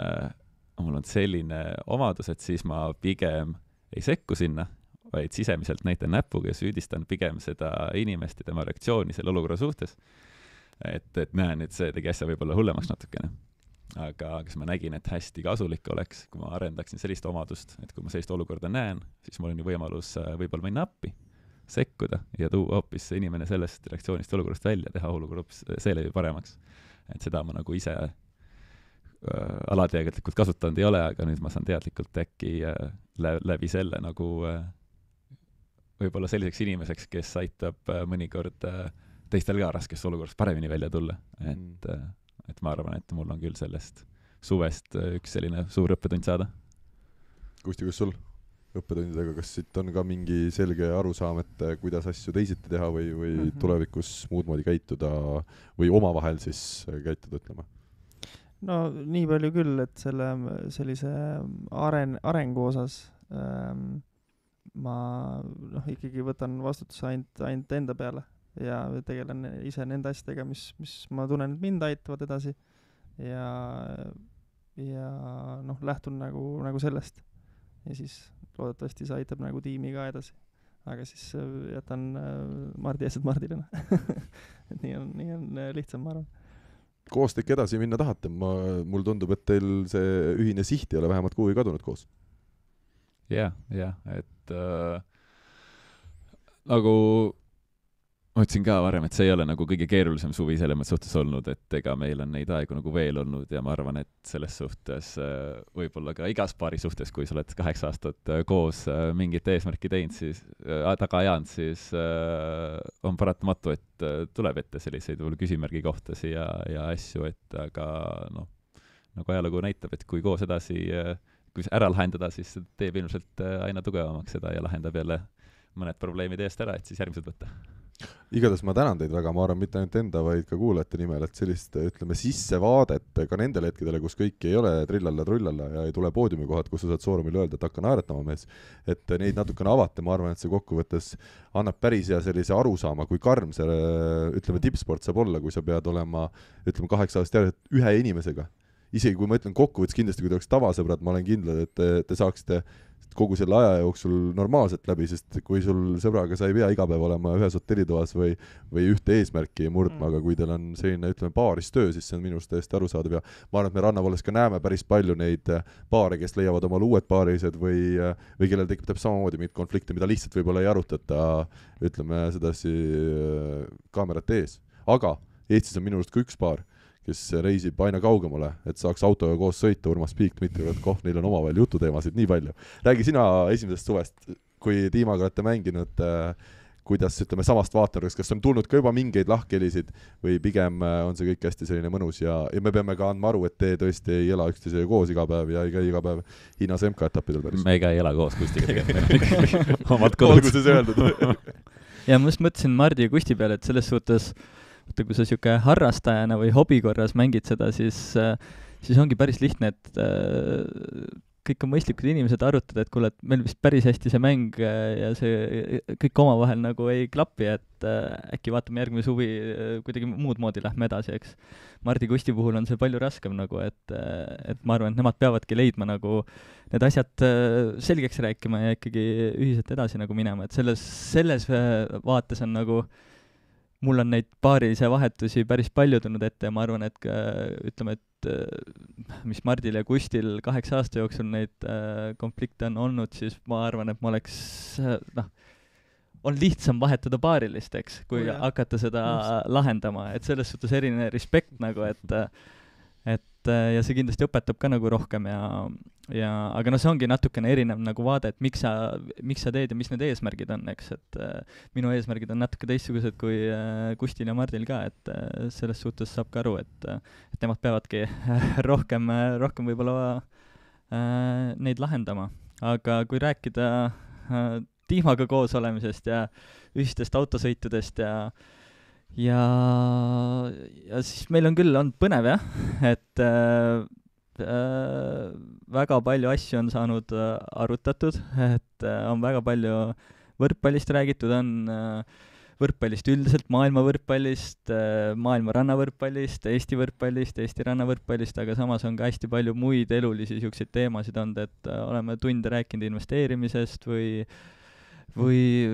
mul on selline omadus, et siis ma pigem ei sekku sinna, vaid sisemiselt näitan näpuga ja süüdistan pigem seda inimest ja tema reaktsiooni selle olukorra suhtes. Et, et näen, et see tegi asja võib-olla hullemaks natukene. Aga kas ma nägin, et hästi kasulik oleks, kui ma arendaksin sellist omadust, et kui ma sellist olukorda näen, siis mul on ju võimalus võib-olla minna appi, sekkuda ja tuua hoopis see inimene sellest reaktsioonist olukorrast välja, teha olukord hoopis seeläbi paremaks. Et seda ma nagu ise äh, alateadlikult kasutanud ei ole, aga nüüd ma saan teadlikult äkki äh, läbi selle nagu äh, võib-olla selliseks inimeseks, kes aitab äh, mõnikord äh, teistel ka raskest olukorrast paremini välja tulla. Et äh, et ma arvan, et mul on küll sellest suvest üks selline suur õppetund saada. Kusti, kus sul õppetundidega, kas siit on ka mingi selge arusaam, et kuidas asju teisiti teha või, või mm -hmm. tulevikus muud moodi käituda või omavahel siis käituda, ütlema? No nii palju küll, et selle sellise aren, arengu osas ähm, ma noh, ikkagi võtan vastutuse ainult, ainult enda peale ja tegelen ise nende asjadega, mis, mis ma tunnen, et mind aitavad edasi ja, ja noh, lähtun nagu, nagu sellest ja siis loodetavasti see aitab nagu tiimi ka edasi, aga siis jätan Mardi eesed Mardile et nii on, nii on lihtsam, ma arvan. Koos te ikka edasi minna tahate, ma, mul tundub, et teil see ühine siht ei ole vähemalt kuhugi kadunud koos. jah, jah, et äh, nagu ma ütlesin ka varem, et see ei ole nagu kõige keerulisem suvi selles suhtes olnud, et ega meil on neid aegu nagu veel olnud ja ma arvan, et selles suhtes võib-olla ka igas paari suhtes, kui sa oled kaheksa aastat koos mingit eesmärki teinud, siis taga ajanud, siis on paratamatu, et tuleb ette selliseid võib-olla küsimärgi kohtasi ja, ja asju, et aga noh, nagu ajalugu näitab, et kui koos edasi, kui ära lahendada, siis teeb ilmselt aina tugevamaks seda ja lahendab jälle mõned probleemid eest ära, et siis järgmised võtta. Igatahes ma tänan teid väga, ma arvan, mitte ainult enda, vaid ka kuulajate nimel, et sellist, ütleme, sissevaadet ka nendele hetkedele, kus kõik ei ole trillalla trullalla ja ei tule poodiumi kohad, kus sa saad soorumil öelda, et hakka naeratama mees, et neid natukene avate, ma arvan, et see kokkuvõttes annab päris hea sellise arusaama, kui karm see, ütleme, tippsport saab olla, kui sa pead olema, ütleme, kaheksa aastast järjest ühe inimesega. Isegi kui ma ütlen kokkuvõttes kindlasti, kui te oleks tavasõbrad, ma olen kindlad, et te, te saaksite kogu selle aja jooksul normaalselt läbi, sest kui sul sõbraga sa ei pea iga päev olema ühes hotellitoas või, või ühte eesmärki murdma, aga kui teil on selline, ütleme, paaristöö, siis see on minust täiesti arusaadav ja ma arvan, et me Rannavalles ka näeme päris palju neid paare, kes leiavad omale uued paarised või, või kellel tekib täpselt samamoodi mingit konflikte, mida lihtsalt võib-olla ei arutata, ütleme, sedasi kaamerate ees. Aga Eestis on minu arust ka üks paar, kes reisib aina kaugemale, et saaks autoga koos sõita, Urmas Piik, Dmitri Koh, neil on omavahel jututeemasid nii palju. Räägi sina esimesest suvest, kui tiimaga olete mänginud, kuidas, ütleme, samast vaatenurgast, kas on tulnud ka juba mingeid lahkhelisid või pigem on see kõik hästi selline mõnus ja, ja me peame ka andma aru, et te tõesti ei ela üksteisega koos iga päev ja ei käi iga päev Hiinas M K-etappidel päris. Me ei käi ela koos Kustiga tegelikult. Omad kodud. Olgu see öeldud. ja ma just mõtlesin Mardi ja Kusti peale, et selles suhtes kui sa siuke harrastajana või hobi korras mängid seda, siis, siis ongi päris lihtne, et kõik on mõistlikud inimesed arutada, et kuule, et meil vist päris hästi see mäng ja see kõik omavahel nagu ei klapi, et äkki vaatame järgmine suvi kuidagi muud moodi lähme edasi, eks. Mardi Kusti puhul on see palju raskem nagu, et, et ma arvan, et nemad peavadki leidma nagu need asjad selgeks rääkima ja ikkagi ühiselt edasi nagu minema, et selles, selles vaates on nagu mul on neid paarilise vahetusi päris palju tulnud ette ja ma arvan, et ütleme, et mis Mardil ja Kustil kaheksa aasta jooksul neid konflikte on olnud, siis ma arvan, et ma oleks, noh, on lihtsam vahetada paarilist, eks, kui oh, hakata seda Just. lahendama, et selles suhtes eriline respekt nagu, et et et ja see kindlasti õpetab ka nagu rohkem ja, ja aga noh, see ongi natukene erinev nagu vaade, et miks sa, miks sa teed ja mis need eesmärgid on, eks, et minu eesmärgid on natuke teistsugused kui Kustil ja Mardil ka, et selles suhtes saab ka aru, et, et nemad peavadki rohkem, rohkem võib-olla neid lahendama. Aga kui rääkida tiimaga koos olemisest ja ühistest autosõitudest ja ja, ja siis meil on küll olnud põnev jah, et äh, äh, väga palju asju on saanud äh, arutatud, et äh, on väga palju võrkpallist räägitud, on äh, võrkpallist üldiselt, maailma võrkpallist, äh, maailma rannavõrkpallist, Eesti võrkpallist, Eesti rannavõrkpallist, aga samas on ka hästi palju muid elulisi siukseid teemasid olnud, et äh, oleme tunde rääkinud investeerimisest või või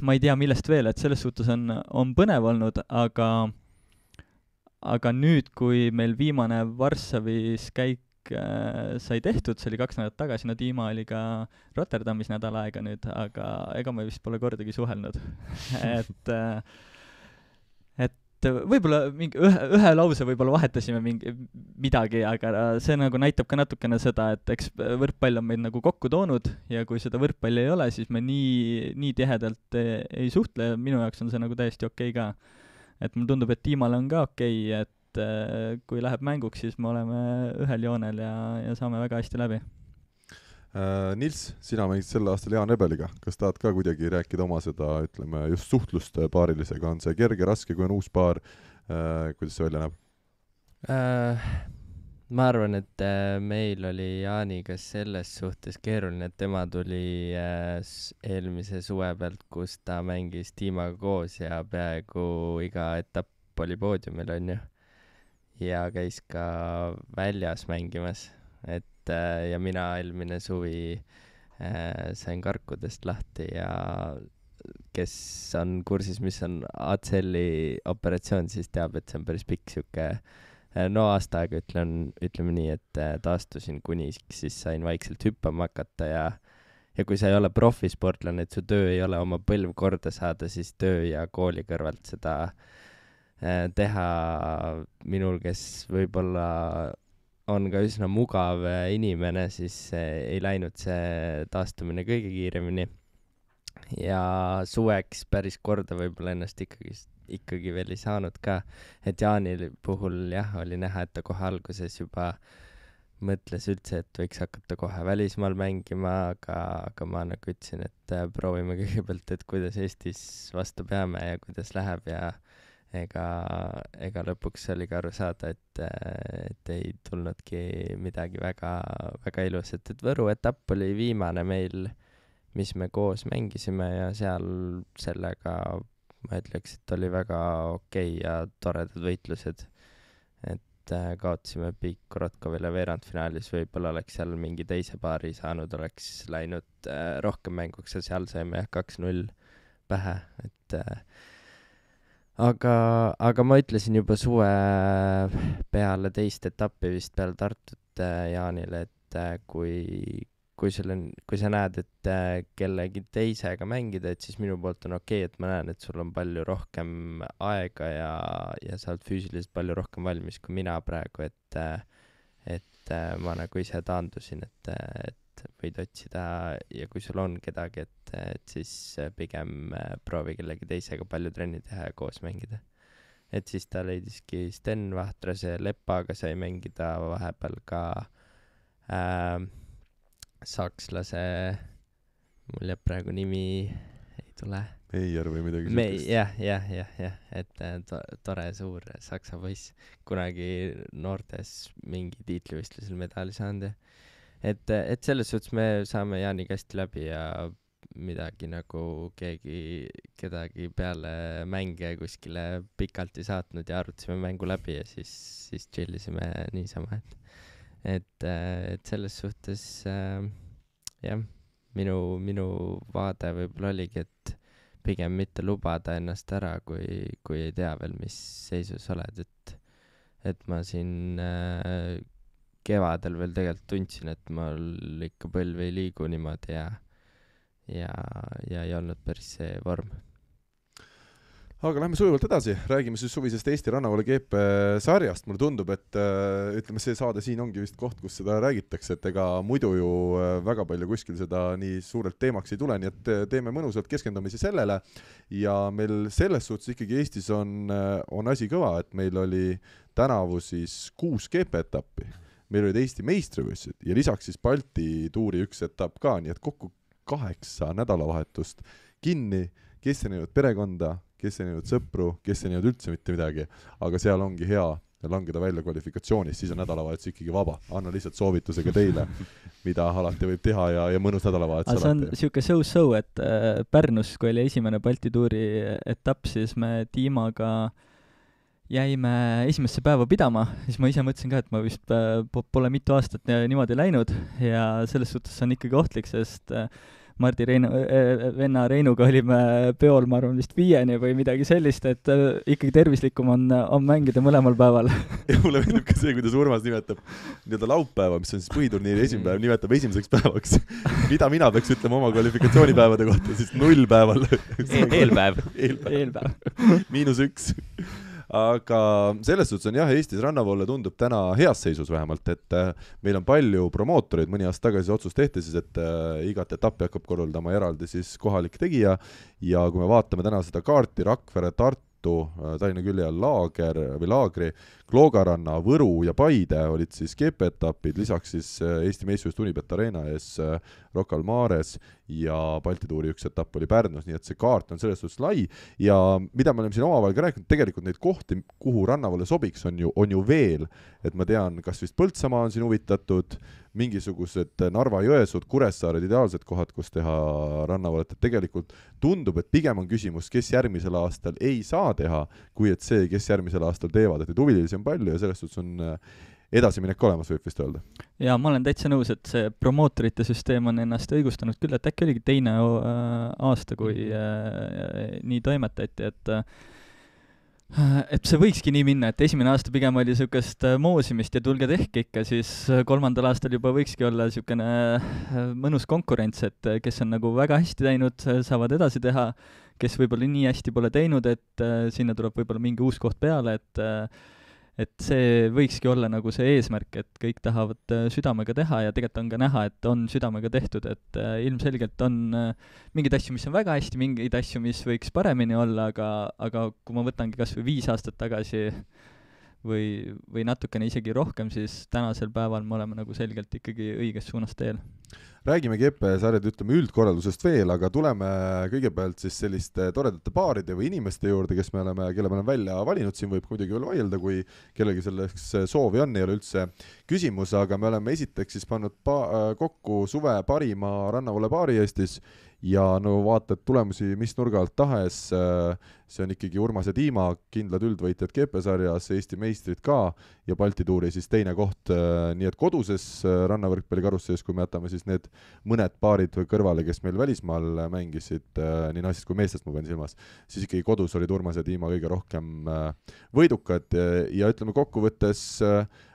ma ei tea, millest veel, et selles suhtes on, on põnev olnud, aga aga nüüd, kui meil viimane Varssavis käik äh, sai tehtud, see oli kaks nädalat tagasi, no Dima oli ka Rotterdamis nädal aega nüüd, aga ega me vist pole kordagi suhelnud et äh, et võib-olla mingi ühe, ühe lause võib-olla vahetasime mingi midagi, aga see nagu näitab ka natukene seda, et eks võrkpall on meid nagu kokku toonud ja kui seda võrkpalli ei ole, siis me nii, nii tihedalt ei, ei suhtle, minu jaoks on see nagu täiesti okei ka. Et mulle tundub, et tiimale on ka okei, et kui läheb mänguks, siis me oleme ühel joonel ja, ja saame väga hästi läbi. Nils, sina mängid sel aastal Jaan Ebeliga. Kas tahad ka kuidagi rääkida oma seda, ütleme, just suhtlust paarilisega? On see kerge, raske, kui on uus paar? Kuidas see välja näeb? Äh, ma arvan, et meil oli Jaaniga selles suhtes keeruline, et tema tuli eelmise suve pealt, kus ta mängis tiimaga koos ja peaaegu iga etapp oli poodiumil, on ju. Ja käis ka väljas mängimas, et ja mina eelmine suvi äh, sain karkudest lahti ja kes on kursis, mis on A C L-i operatsioon, siis teab, et see on päris pikk siuke no aasta aega ütlen, ütleme nii, et taastusin kuni siis sain vaikselt hüppama hakata ja ja kui sa ei ole profisportlane, et su töö ei ole oma põlv korda saada, siis töö ja kooli kõrvalt seda äh, teha minul, kes võib-olla on ka üsna mugav inimene, siis ei läinud see taastumine kõige kiiremini. Ja suveks päris korda võib-olla ennast ikkagi, ikkagi veel ei saanud ka. Et Jaani puhul jah, oli näha, et ta kohe alguses juba mõtles üldse, et võiks hakata kohe välismaal mängima, aga, aga ma nagu ütlesin, et proovime kõigepealt, et kuidas Eestis vastu peame ja kuidas läheb ja ega, ega lõpuks oli ka aru saada, et, et ei tulnudki midagi väga, väga ilusat. Et Võru etapp oli viimane meil, mis me koos mängisime ja seal sellega ma ütleks, et oli väga okei ja toredad võitlused. Et kaotasime Piik Korotkovile veerandfinaalis, võib-olla oleks seal mingi teise paari saanud, oleks läinud rohkem mänguks ja seal saime jah kaks null pähe, et Aga, aga ma ütlesin juba suve peale teist etappi vist peale Tartut Jaanile, et kui, kui, sul on, kui sa näed, et kellegi teisega mängida, et siis minu poolt on okei, et ma näen, et sul on palju rohkem aega ja, ja sa oled füüsiliselt palju rohkem valmis kui mina praegu, et, et ma nagu ise taandusin, et, et võid otsida ja kui sul on kedagi, et, et siis pigem proovi kellegi teisega palju trenni teha ja koos mängida. Et siis ta leidiski Sten Vahtrase Leppaga sai mängida vahepeal ka äh, sakslase, mul jääb praegu nimi ei tule. Meier või midagi Me, jah, jah, jah, jah, et to, tore suur saksa poiss, kunagi noortes mingi tiitlivõistlusel medali saanud ja Et, et selles suhtes me saame Jaaniga hästi läbi ja midagi nagu keegi, kedagi peale mänge kuskile pikalt ei saatnud ja arutasime mängu läbi ja siis, siis chillisime niisama, et, et, et selles suhtes äh, jah, minu, minu vaade võib-olla oligi, et pigem mitte lubada ennast ära, kui, kui ei tea veel, mis seisus oled, et, et ma siin äh, kevadel veel tegelikult tundsin, et mul ikka põlv ei liigu niimoodi ja, ja, ja ei olnud päris see vorm. aga lähme sujuvalt edasi, räägime siis suvisest Eesti rannavoole G P sarjast. Mulle tundub, et ütleme, see saade siin ongi vist koht, kus seda räägitakse, et ega muidu ju väga palju kuskil seda nii suurelt teemaks ei tule, nii et teeme mõnusalt keskendumisi sellele. Ja meil selles suhtes ikkagi Eestis on, on asi kõva, et meil oli tänavu siis kuus G P etappi. Meil olid Eesti meistrivõistlused ja lisaks siis Balti tuuri üks etapp ka, nii et kokku kaheksa nädalavahetust kinni, kes ei näinud perekonda, kes ei näinud sõpru, kes ei näinud üldse mitte midagi, aga seal ongi hea langeda välja kvalifikatsioonis, siis on nädalavahetus ikkagi vaba. Anna lihtsalt soovitusega teile, mida alati võib teha ja, ja mõnus nädalavahetus alati. See on siuke so-so, et äh, Pärnus, kui oli esimene Balti tuuri etapp, siis me Tiimaga jäime esimesse päeva pidama, siis ma ise mõtlesin ka, et ma vist äh, pole mitu aastat niimoodi läinud ja selles suhtes on ikkagi ohtlik, sest äh, Mardi Reinu, venna Reinuga olime peol, ma arvan, vist viieni või midagi sellist, et ikkagi tervislikum on, on mängida mõlemal päeval. Ja mulle meeldib ka see, kuidas Urmas nimetab nii-öelda laupäeva, mis on siis põhiturniiri esimene päev, nimetab esimeseks päevaks. Mida mina peaks ütlema oma kvalifikatsioonipäevade kohta, siis null päeval. Eelpäev. Eelpäev. Eelpäev. Miinus üks. Aga selles suhtes on jah, Eestis rannavoole tundub täna heas seisus vähemalt, et meil on palju promootoreid, mõni aasta tagasi otsus tehti siis, et igat etappi hakkab korraldama eraldi siis kohalik tegija ja kui me vaatame täna seda kaarti Rakvere, Tartu, Tallinna külje all Laager või Laagri, Kloogaranna, Võru ja Paide olid siis G P etapid, lisaks siis Eesti meistrivõistlus Unibet Arena ees Rocca al Mares ja Balti tuuri üks etapp oli Pärnus, nii et see kaart on selles suhtes lai ja mida me oleme siin omavahel ka rääkinud, tegelikult neid kohti, kuhu rannavoole sobiks, on ju, on ju veel, et ma tean, kas vist Põltsamaa on siin huvitatud, mingisugused Narva-Jõesuud, Kuressaared, ideaalsed kohad, kus teha rannavoolet, et tegelikult tundub, et pigem on küsimus, kes järgmisel aastal ei saa teha, kui et see, kes järgmisel aastal teevad, et huvilisi on palju ja selles suhtes on edasiminek olemas, võib vist öelda. Ja ma olen täitsa nõus, et see promootorite süsteem on ennast õigustanud küll, et äkki oligi teine aasta, kui äh, nii toimetati, et äh, et see võikski nii minna, et esimene aasta pigem oli niisugust moosimist ja tulge tehke ikka, siis kolmandal aastal juba võikski olla niisugune mõnus konkurents, et kes on nagu väga hästi teinud, saavad edasi teha, kes võib-olla nii hästi pole teinud, et sinna tuleb võib-olla mingi uus koht peale, et et see võikski olla nagu see eesmärk, et kõik tahavad südamega teha ja tegelikult on ka näha, et on südamega tehtud, et ilmselgelt on mingeid asju, mis on väga hästi, mingeid asju, mis võiks paremini olla, aga, aga kui ma võtangi kas või viis aastat tagasi või, või natukene isegi rohkem, siis tänasel päeval me oleme nagu selgelt ikkagi õiges suunas teel. Räägime G P sarjad, ütleme üldkorraldusest veel, aga tuleme kõigepealt siis selliste toredate paaride või inimeste juurde, kes me oleme, kelle me oleme välja valinud, siin võib muidugi veel vaielda, kui kellegi selleks soovi on, ei ole üldse küsimus, aga me oleme esiteks siis pannud pa- kokku suve parima rannavoole paari Eestis ja no vaatad tulemusi mis nurga alt tahes, see on ikkagi Urmas ja Tiima, kindlad üldvõitjad G P sarjas, Eesti meistrid ka ja Balti tuuri siis teine koht, nii et koduses rannavõrkpallikarussees, kui me jätame siis need mõned paarid kõrvale, kes meil välismaal mängisid, nii naisest kui meestest ma pean silmas, siis ikkagi kodus olid Urmas ja Tiima kõige rohkem võidukad ja ütleme kokkuvõttes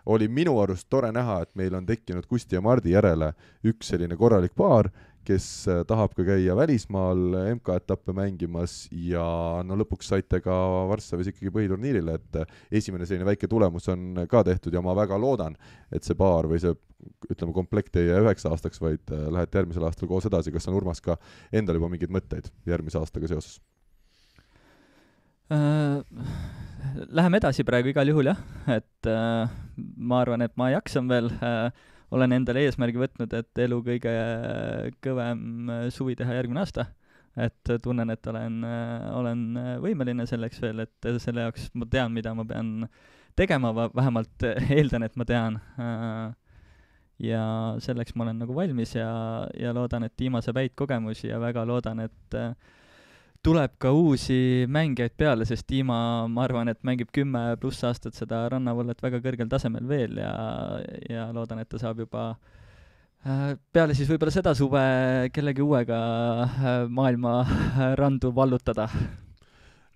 oli minu arust tore näha, et meil on tekkinud Kusti ja Mardi järele üks selline korralik paar, kes tahab ka käia välismaal M K etappe mängimas ja no lõpuks saite ka Varssavis ikkagi põhiturniirile, et esimene selline väike tulemus on ka tehtud ja ma väga loodan, et see paar või see ütleme komplekt ei jää üheks aastaks, vaid lähete järgmisel aastal koos edasi. Kas on Urmas ka endal juba mingeid mõtteid järgmise aastaga seoses? Äh, läheme edasi praegu igal juhul jah, et äh, ma arvan, et ma jaksan veel äh, olen endale eesmärgi võtnud, et elu kõige kõvem suvi teha järgmine aasta, et tunnen, et olen, olen võimeline selleks veel, et selle jaoks ma tean, mida ma pean tegema, vähemalt eeldan, et ma tean. Ja selleks ma olen nagu valmis ja, ja loodan, et Tiima saab häid kogemusi ja väga loodan, et tuleb ka uusi mängijaid peale, sest Tiima, ma arvan, et mängib kümme pluss aastat seda rannavoolet väga kõrgel tasemel veel ja, ja loodan, et ta saab juba peale siis võib-olla seda suve kellegi uuega maailma randu vallutada.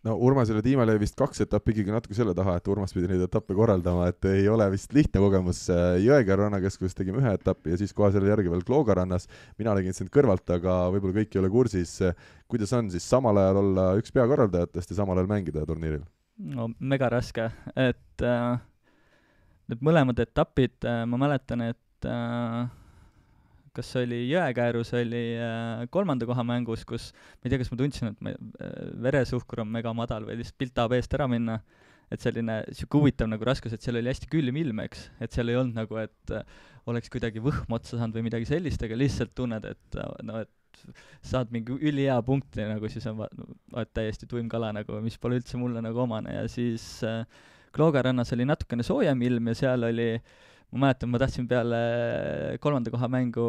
no Urmasel ja Tiimal jäi vist kaks etappi ikkagi natuke selle taha, et Urmas pidi neid etappe korraldama, et ei ole vist lihtne kogemus. Jõekäru rannakeskuses tegime ühe etappi ja siis kohe selle järgi veel Klooga rannas. Mina nägin sind kõrvalt, aga võib-olla kõik ei ole kursis. Kuidas on siis samal ajal olla üks peakorraldajatest ja samal ajal mängida turniiril? No mega raske, et äh, need mõlemad etapid, äh, ma mäletan, et äh, kas oli Jõekäärus, oli äh, kolmanda koha mängus, kus ma ei tea, kas ma tundsin, et ma, äh, veresuhkur on mega madal või lihtsalt pilt tahab eest ära minna, et selline siuke huvitav nagu raskus, et seal oli hästi külm ilm, eks, et seal ei olnud nagu, et äh, oleks kuidagi võhm otsa saanud või midagi sellist, aga lihtsalt tunned, et no, et saad mingi ülihea punkti, nagu siis on va- vaat täiesti tuim kala, nagu, mis pole üldse mulle nagu omane ja siis äh, Klooga rannas oli natukene soojem ilm ja seal oli ma mäletan, ma tahtsin peale kolmanda koha mängu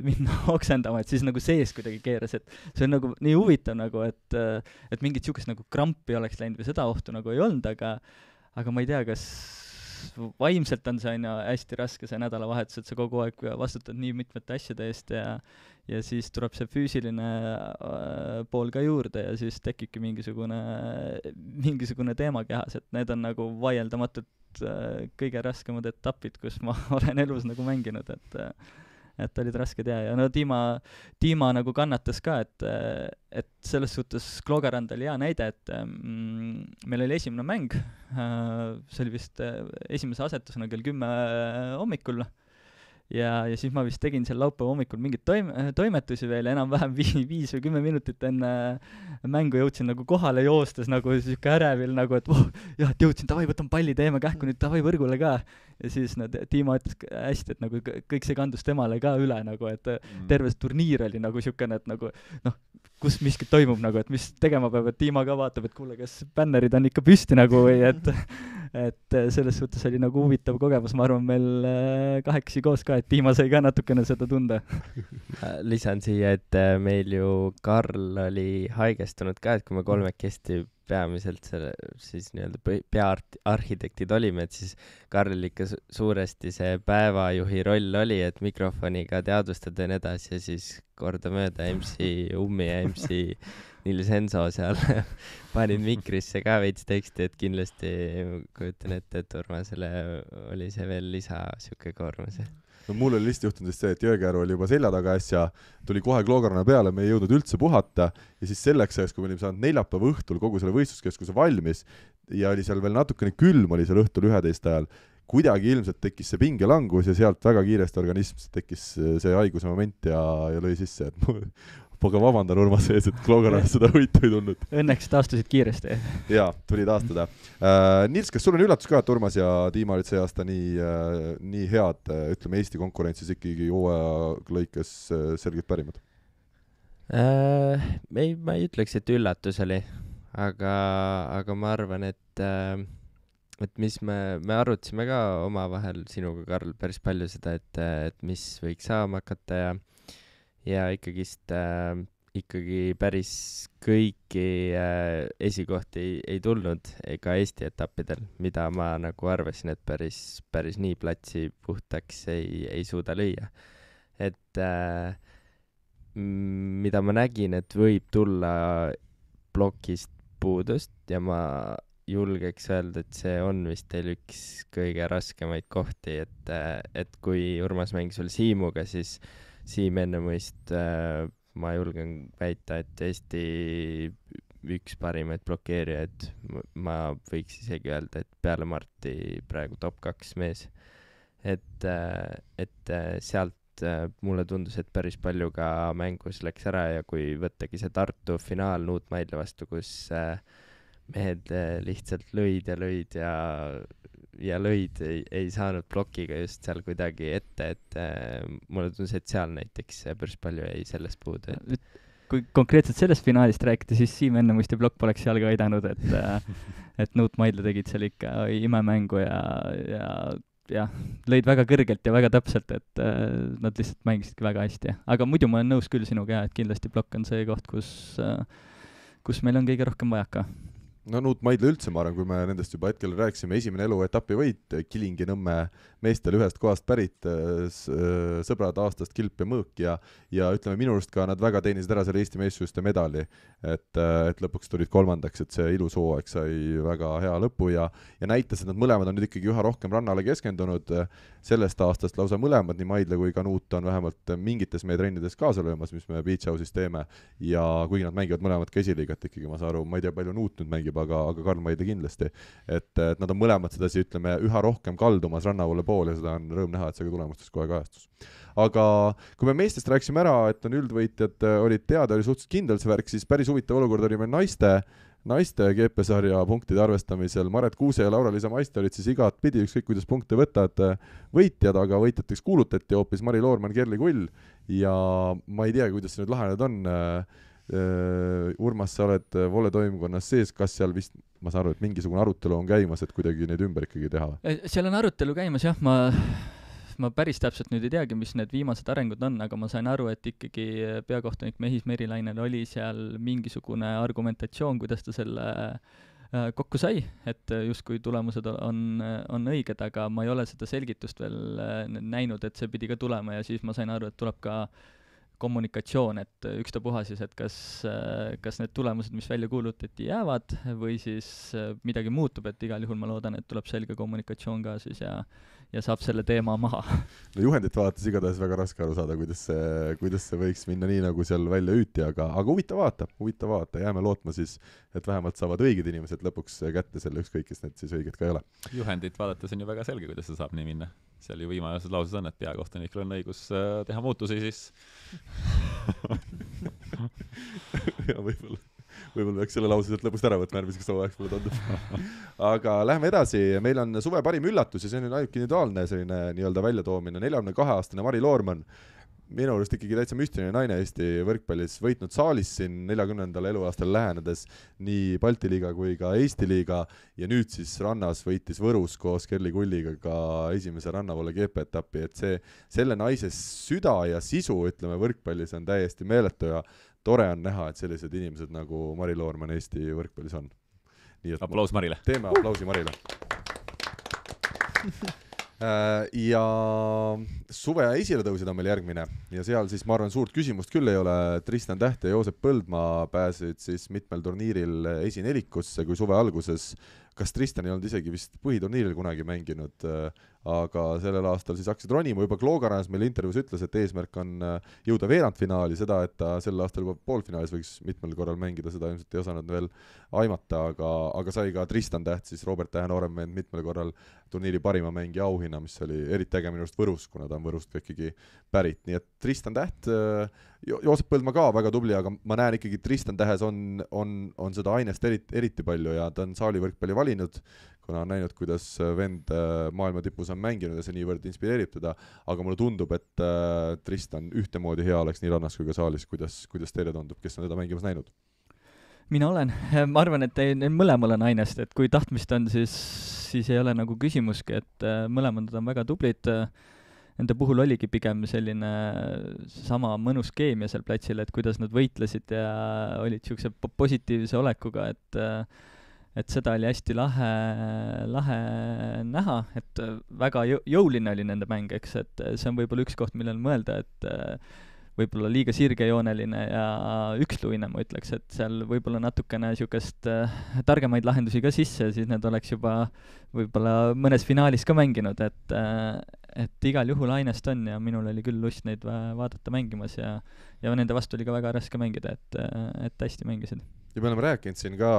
minna oksendama, et siis nagu sees kuidagi keeras, et see on nagu nii huvitav nagu, et, et mingit siukest nagu krampi oleks läinud või seda ohtu nagu ei olnud, aga aga ma ei tea, kas vaimselt on see aina hästi raske see nädalavahetus, et sa kogu aeg vastutad nii mitmete asjade eest ja ja siis tuleb see füüsiline äh, pool ka juurde ja siis tekibki mingisugune mingisugune teema kehas, et need on nagu vaieldamatult äh, kõige raskemad etapid, kus ma olen elus nagu mänginud, et äh, et olid rasked ja, ja no Tiima, Tiima nagu kannatas ka, et, et selles suhtes Kloogarand oli hea näide, et mm, meil oli esimene mäng, see oli vist esimese asetusena kell kümme hommikul ja, ja siis ma vist tegin seal laupäeva hommikul mingeid toim- toimetusi veel, enam-vähem vi- viis või kümme minutit enne mängu jõudsin nagu kohale joostes nagu siuke ärevil nagu, et oh, jah, et jõudsin, davai, võtan palli, teeme kähku nüüd, davai võrgule ka. Ja siis no, Tiima ütles hästi, et nagu kõik see kandus temale ka üle nagu, et mm. terve see turniir oli nagu siukene, et nagu noh, kus miskit toimub nagu, et mis tegema peab, et Tiima ka vaatab, et kuule, kas bännerid on ikka püsti nagu või et et selles suhtes oli nagu huvitav kogemus, ma arvan, meil kahekesi koos ka, et Tiima sai ka natukene seda tunda. Lisan siia, et meil ju Karl oli haigestunud ka, et kui me kolmekesti peamiselt selle siis nii-öelda peaarhitektid olime, et siis Karlil ikka su- suuresti see päevajuhi roll oli, et mikrofoniga teadvustada ja nii edasi ja siis kordamööda M C Ummi ja M C Nils Enso seal panid mikrisse ka veits teksti, et kindlasti kujutan ette, et Urmasele oli see veel lisa siuke koormus. No mul oli lihtsalt juhtunud see, et Jõekäru oli juba selja taga äsja, tuli kohe Kloogarana peale, me ei jõudnud üldse puhata ja siis selleks ajaks, kui me olime saanud neljapäeva õhtul kogu selle võistluskeskuse valmis ja oli seal veel natukene külm, oli seal õhtul üheteist ajal, kuidagi ilmselt tekkis see pingelangus ja sealt väga kiiresti organism tekkis see haiguse moment ja, ja lõi sisse, et mul aga vabandan Urmas ees, et Kloogarana seda võitu ei tulnud. Õnneks taastusid kiiresti. Jaa, tuli taastada. Uh, Nils, kas sul on üllatus ka, et Urmas ja Tiima olid see aasta nii, uh, nii head, uh, ütleme Eesti konkurentsis ikkagi hooaja lõikes uh, selgelt pärimad? Uh, ei, ma ei ütleks, et üllatus oli, aga, aga ma arvan, et, uh, et mis me, me arutasime ka omavahel sinuga, Karl, päris palju seda, et, et mis võiks saama hakata ja ja ikkagist äh, ikkagi päris kõiki äh, esikohti ei, ei tulnud ega Eesti etappidel, mida ma nagu arvasin, et päris, päris nii platsi puhtaks ei, ei suuda lüüa. Et äh, mida ma nägin, et võib tulla plokist puudust ja ma julgeks öelda, et see on vist teil üks kõige raskemaid kohti, et, et kui Urmas mängis veel Siimuga, siis Siim Ennemõist äh, ma julgen väita, et Eesti üks parimaid blokeerijaid, ma võiks isegi öelda, et peale Marti praegu top kaks mees. Et, äh, et äh, sealt äh, mulle tundus, et päris palju ka mängus läks ära ja kui võttagi see Tartu finaal Nuut Maidla vastu, kus äh, mehed äh, lihtsalt lõid ja lõid ja ja lõid ei, ei saanud plokiga just seal kuidagi ette, et äh, mulle tundus, et seal näiteks päris palju jäi sellest puudu. Et... Kui konkreetselt sellest finaalist rääkida, siis Siim Ennemuist ja plokk poleks seal ka aidanud, et, äh, et Nuut Maidla tegid seal ikka imemängu ja, ja, ja lõid väga kõrgelt ja väga täpselt, et äh, nad lihtsalt mängisidki väga hästi. Aga muidu ma olen nõus küll sinuga, et kindlasti plokk on see koht, kus, äh, kus meil on kõige rohkem vajaka. no Nuut Maidla üldse, ma arvan, kui me nendest juba hetkel rääkisime, esimene eluetapi võit, Kilingi-Nõmme meestel ühest kohast pärit, sõbrad aastast Kilp ja Mõõk ja, ja ütleme minu arust ka nad väga teenisid ära selle Eesti meessuste medali, et, et lõpuks tulid kolmandaks, et see ilus hooaeg sai väga hea lõpu ja, ja näitas, et nad mõlemad on nüüd ikkagi üha rohkem rannale keskendunud, sellest aastast lausa mõlemad, nii Maidla kui ka Nuut on vähemalt mingites meie trennides kaasa löömas, mis me Beach House'is teeme ja kuigi nad mängivad mõlemad ka esiliigat ikkagi, ma saan aru, ma ei tea, palju Nuut nüüd mängib, aga, aga Karl Maidla kindlasti, et, et nad on mõlemad sedasi, ütleme, üha rohkem kaldumas rannavoole pool ja seda on rõõm näha, et see ka tulemustes kohe kajastus. Aga kui me meestest rääkisime ära, et on üldvõitjad olid teada, oli suhteliselt kindel see värk, siis päris huvitav olukord oli meil naiste, naiste G P-sarja punktide arvestamisel. Maret Kuuse ja Laura-Liisa Maiste olid siis igat pidi, ükskõik kuidas punkte võtad, võitjad, aga võitjateks kuulutati hoopis Mari Loorman, Kerli Kull ja ma ei tea, kuidas see nüüd lahenenud on. Urmas, sa oled voole toimkonnas sees, kas seal vist, ma saan aru, et mingisugune arutelu on käimas, et kuidagi neid ümber ikkagi teha? Seal on arutelu käimas, jah, ma, ma päris täpselt nüüd ei teagi, mis need viimased arengud on, aga ma sain aru, et ikkagi peakohtunik Mehis Merilainel oli seal mingisugune argumentatsioon, kuidas ta selle kokku sai, et justkui tulemused on, on õiged, aga ma ei ole seda selgitust veel näinud, et see pidi ka tulema ja siis ma sain aru, et tuleb ka kommunikatsioon, et ükstapuha siis, et kas, kas need tulemused, mis välja kuulutati, jäävad või siis midagi muutub, et igal juhul ma loodan, et tuleb selge kommunikatsioon ka siis ja, ja saab selle teema maha. No juhendit vaadates igatahes väga raske aru saada, kuidas see, kuidas see võiks minna nii, nagu seal välja hüüti, aga, aga huvitav vaata, huvitav vaata, jääme lootma siis, et vähemalt saavad õiged inimesed lõpuks kätte selle ükskõik, kes need siis õiged ka ei ole. Juhendit vaadates on ju väga selge, kuidas see saab nii minna. Seal ju viimases lauses on, et peakohtunikul on õigus teha muutusi, siis ja võib-olla, võib-olla peaks selle lause sealt lõpust ära võtma järgmiseks hooajaks, mulle tundub. Aga lähme edasi, meil on suve parim üllatus ja see on ainult individuaalne selline nii-öelda väljatoomine, neljakümne kahe aastane Mari Loorman, minu arust ikkagi täitsa müstiline naine Eesti võrkpallis, võitnud saalis siin neljakümnendal eluaastal lähenedes nii Balti liiga kui ka Eesti liiga ja nüüd siis rannas võitis Võrus koos Kerli Kulliga ka esimese rannavoole G P-etappi, et see, selle naise süda ja sisu, ütleme, võrkpallis on täiesti meeletu ja tore on näha, et sellised inimesed nagu Mari Loorman Eesti võrkpallis on. Nii et aplaus Marile. Teeme aplausi Marile. Ja suve esiletõusid on meil järgmine ja seal siis ma arvan suurt küsimust küll ei ole, Tristan Täht ja Joosep Põldmaa pääsesid siis mitmel turniiril esinelikusse kui suve alguses, kas Tristan ei olnud isegi vist põhiturniiril kunagi mänginud, aga sellel aastal siis hakkasid ronima, juba Kloogarannas meil intervjuus ütles, et eesmärk on jõuda veerandfinaali, seda, et ta sel aastal juba poolfinaalis võiks mitmel korral mängida, seda ilmselt ei osanud veel aimata, aga, aga sai ka Tristan Täht, siis Robert Tähe noorem mehed mitmel korral turniiri parima mängija auhinna, mis oli eriti äge minu arust Võrus, kuna ta on Võrust ka ikkagi pärit, nii et Tristan Täht, jo- Joosep Põldmaa ka väga tubli, aga ma näen ikkagi, Tristan Tähes on, on, on seda ainest eriti, eriti palju ja ta on saalivõrkpalli valinud, kuna on näinud, kuidas vend maailma tipus on mänginud ja see niivõrd inspireerib teda, aga mulle tundub, et Tristan ühtemoodi hea oleks nii rannas kui ka saalis, kuidas, kuidas teile tundub, kes on teda mängimas näinud? Mina olen, ma arvan, et neil mõlemal on ainest, et kui tahtmist on, siis, siis ei ole nagu küsimuski, et mõlemad on väga tublid. Nende puhul oligi pigem selline sama mõnus keemia seal platsil, et kuidas nad võitlesid ja olid niisuguse positiivse olekuga, et et seda oli hästi lahe, lahe näha, et väga jõuline oli nende mäng, eks, et see on võib-olla üks koht, millel mõelda, et võib-olla liiga sirgejooneline ja üksluine, ma ütleks, et seal võib-olla natukene niisugust targemaid lahendusi ka sisse, siis need oleks juba võib-olla mõnes finaalis ka mänginud, et et igal juhul ainest on ja minul oli küll lust neid vaadata mängimas ja, ja nende vastu oli ka väga raske mängida, et, et hästi mängisid. Ja me oleme rääkinud siin ka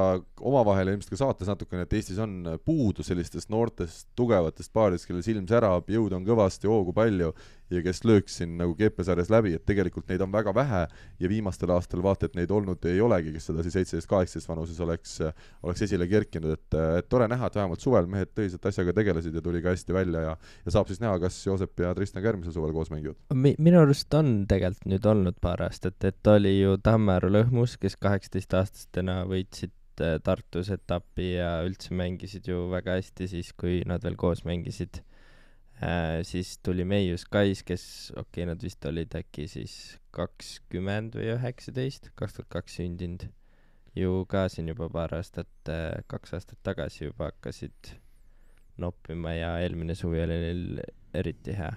omavahel ja ilmselt ka saates natukene, et Eestis on puudu sellistest noortest tugevatest paaridest, kellel silm särab, jõud on kõvasti, hoogu palju ja kes lööks siin nagu G P-sarjas läbi, et tegelikult neid on väga vähe ja viimastel aastal vaata, et neid olnud ei olegi, kes seda siis seitseteist kaheksateist vanuses oleks, oleks esile kerkinud, et, et tore näha, et vähemalt suvel mehed tõsiselt asjaga tegelesid ja tuli ka hästi välja ja, ja saab siis näha, kas Joosep ja Tristan ka järgmisel suvel koos mängivad. Mi, minu arust on tegelikult nüüd olnud paar aastat, et oli ju Tammearu Lõhmus, kes kaheksateist aastastena võitsid Tartus etapi ja üldse mängisid ju väga hästi siis, kui nad veel koos mängisid. Äh, siis tuli Meius Kais, kes, okei okay,, nad vist olid äkki siis kakskümmend või üheksateist, kaks tuhat kaks sündinud. ju ka siin juba paar aastat, kaks aastat tagasi juba hakkasid noppima ja eelmine suvi oli neil eriti hea.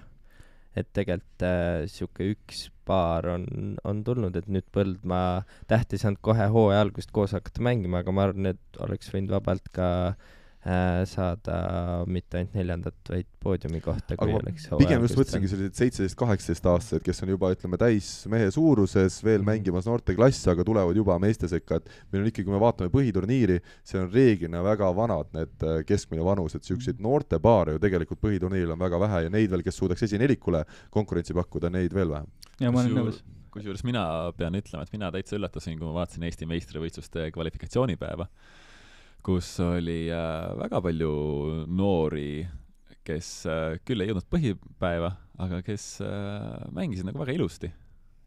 Et tegelikult äh, siuke üks paar on, on tulnud, et nüüd Põldmaa Tähtis on kohe hooaja algust koos hakata mängima, aga ma arvan, et oleks võinud vabalt ka äh, saada mitte ainult neljandat, vaid poodiumi kohta, kui aga oleks hooaja pigem just võtsingi sellised seitseteist kaheksateist aastased, kes on juba, ütleme, täis mehe suuruses, veel mm. mängimas noorteklassi, aga tulevad juba meeste sekka, et meil on ikkagi, kui me vaatame põhiturniiri, see on reeglina väga vanad need keskmine vanus, et siukseid noortepaare ju tegelikult põhiturniiril on väga vähe ja neid veel, kes suudaks esinelikule konkurentsi pakkuda, neid veel vähem. Ja ma olen nõus. Kusjuures mina pean ütlema, et mina täitsa üllatasin, kui ma vaatasin Eesti meistrivõistluste kvalifikatsioonipäeva, kus oli äh, väga palju noori, kes äh, küll ei jõudnud põhipäeva, aga kes äh, mängisid nagu väga ilusti.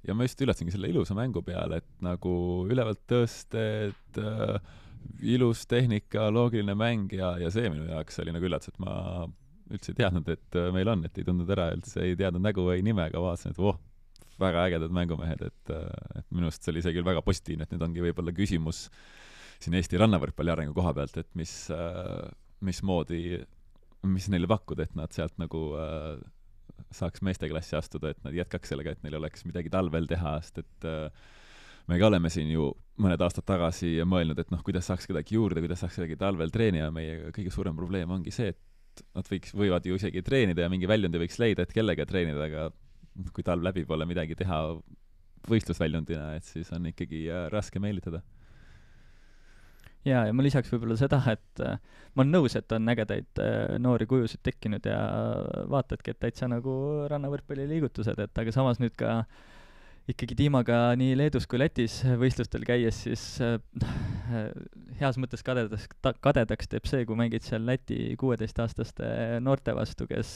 Ja ma just üllatasingi selle ilusa mängu peale, et nagu ülevalt tõsted, äh, ilus tehnika, loogiline mäng ja, ja see minu jaoks oli nagu üllatus, et ma üldse ei teadnud, et meil on, et ei tundnud ära, üldse ei teadnud nägu või nime, aga vaatasin, et voh, väga ägedad mängumehed, et, et minust see oli see küll väga positiivne, et nüüd ongi võib-olla küsimus siin Eesti rannavõrkpalli arengu koha pealt, et mis, mis moodi, mis neile pakkuda, et nad sealt nagu äh, saaks meesteklassi astuda, et nad jätkaks sellega, et neil oleks midagi talvel teha, sest et äh, me ka oleme siin ju mõned aastad tagasi mõelnud, et noh, kuidas saaks kedagi juurde, kuidas saaks kedagi talvel treenida, meie kõige suurem probleem ongi see, et nad võiks, võivad ju isegi treenida ja mingi väljundi võiks leida, et kellega treenida, aga kui talv läbi pole midagi teha võistlusväljundina, et siis on ikkagi äh, raske meelitada. Jaa, ja ma lisaks võib-olla seda, et äh, ma olen nõus, et on ägedaid äh, noori kujusid tekkinud ja vaatadki, et täitsa nagu rannavõrkpalli liigutused, et aga samas nüüd ka ikkagi tiimaga nii Leedus kui Lätis võistlustel käies, siis äh, heas mõttes kadedaks, ta, kadedaks teeb see, kui mängid seal Läti kuueteistaastaste noorte vastu, kes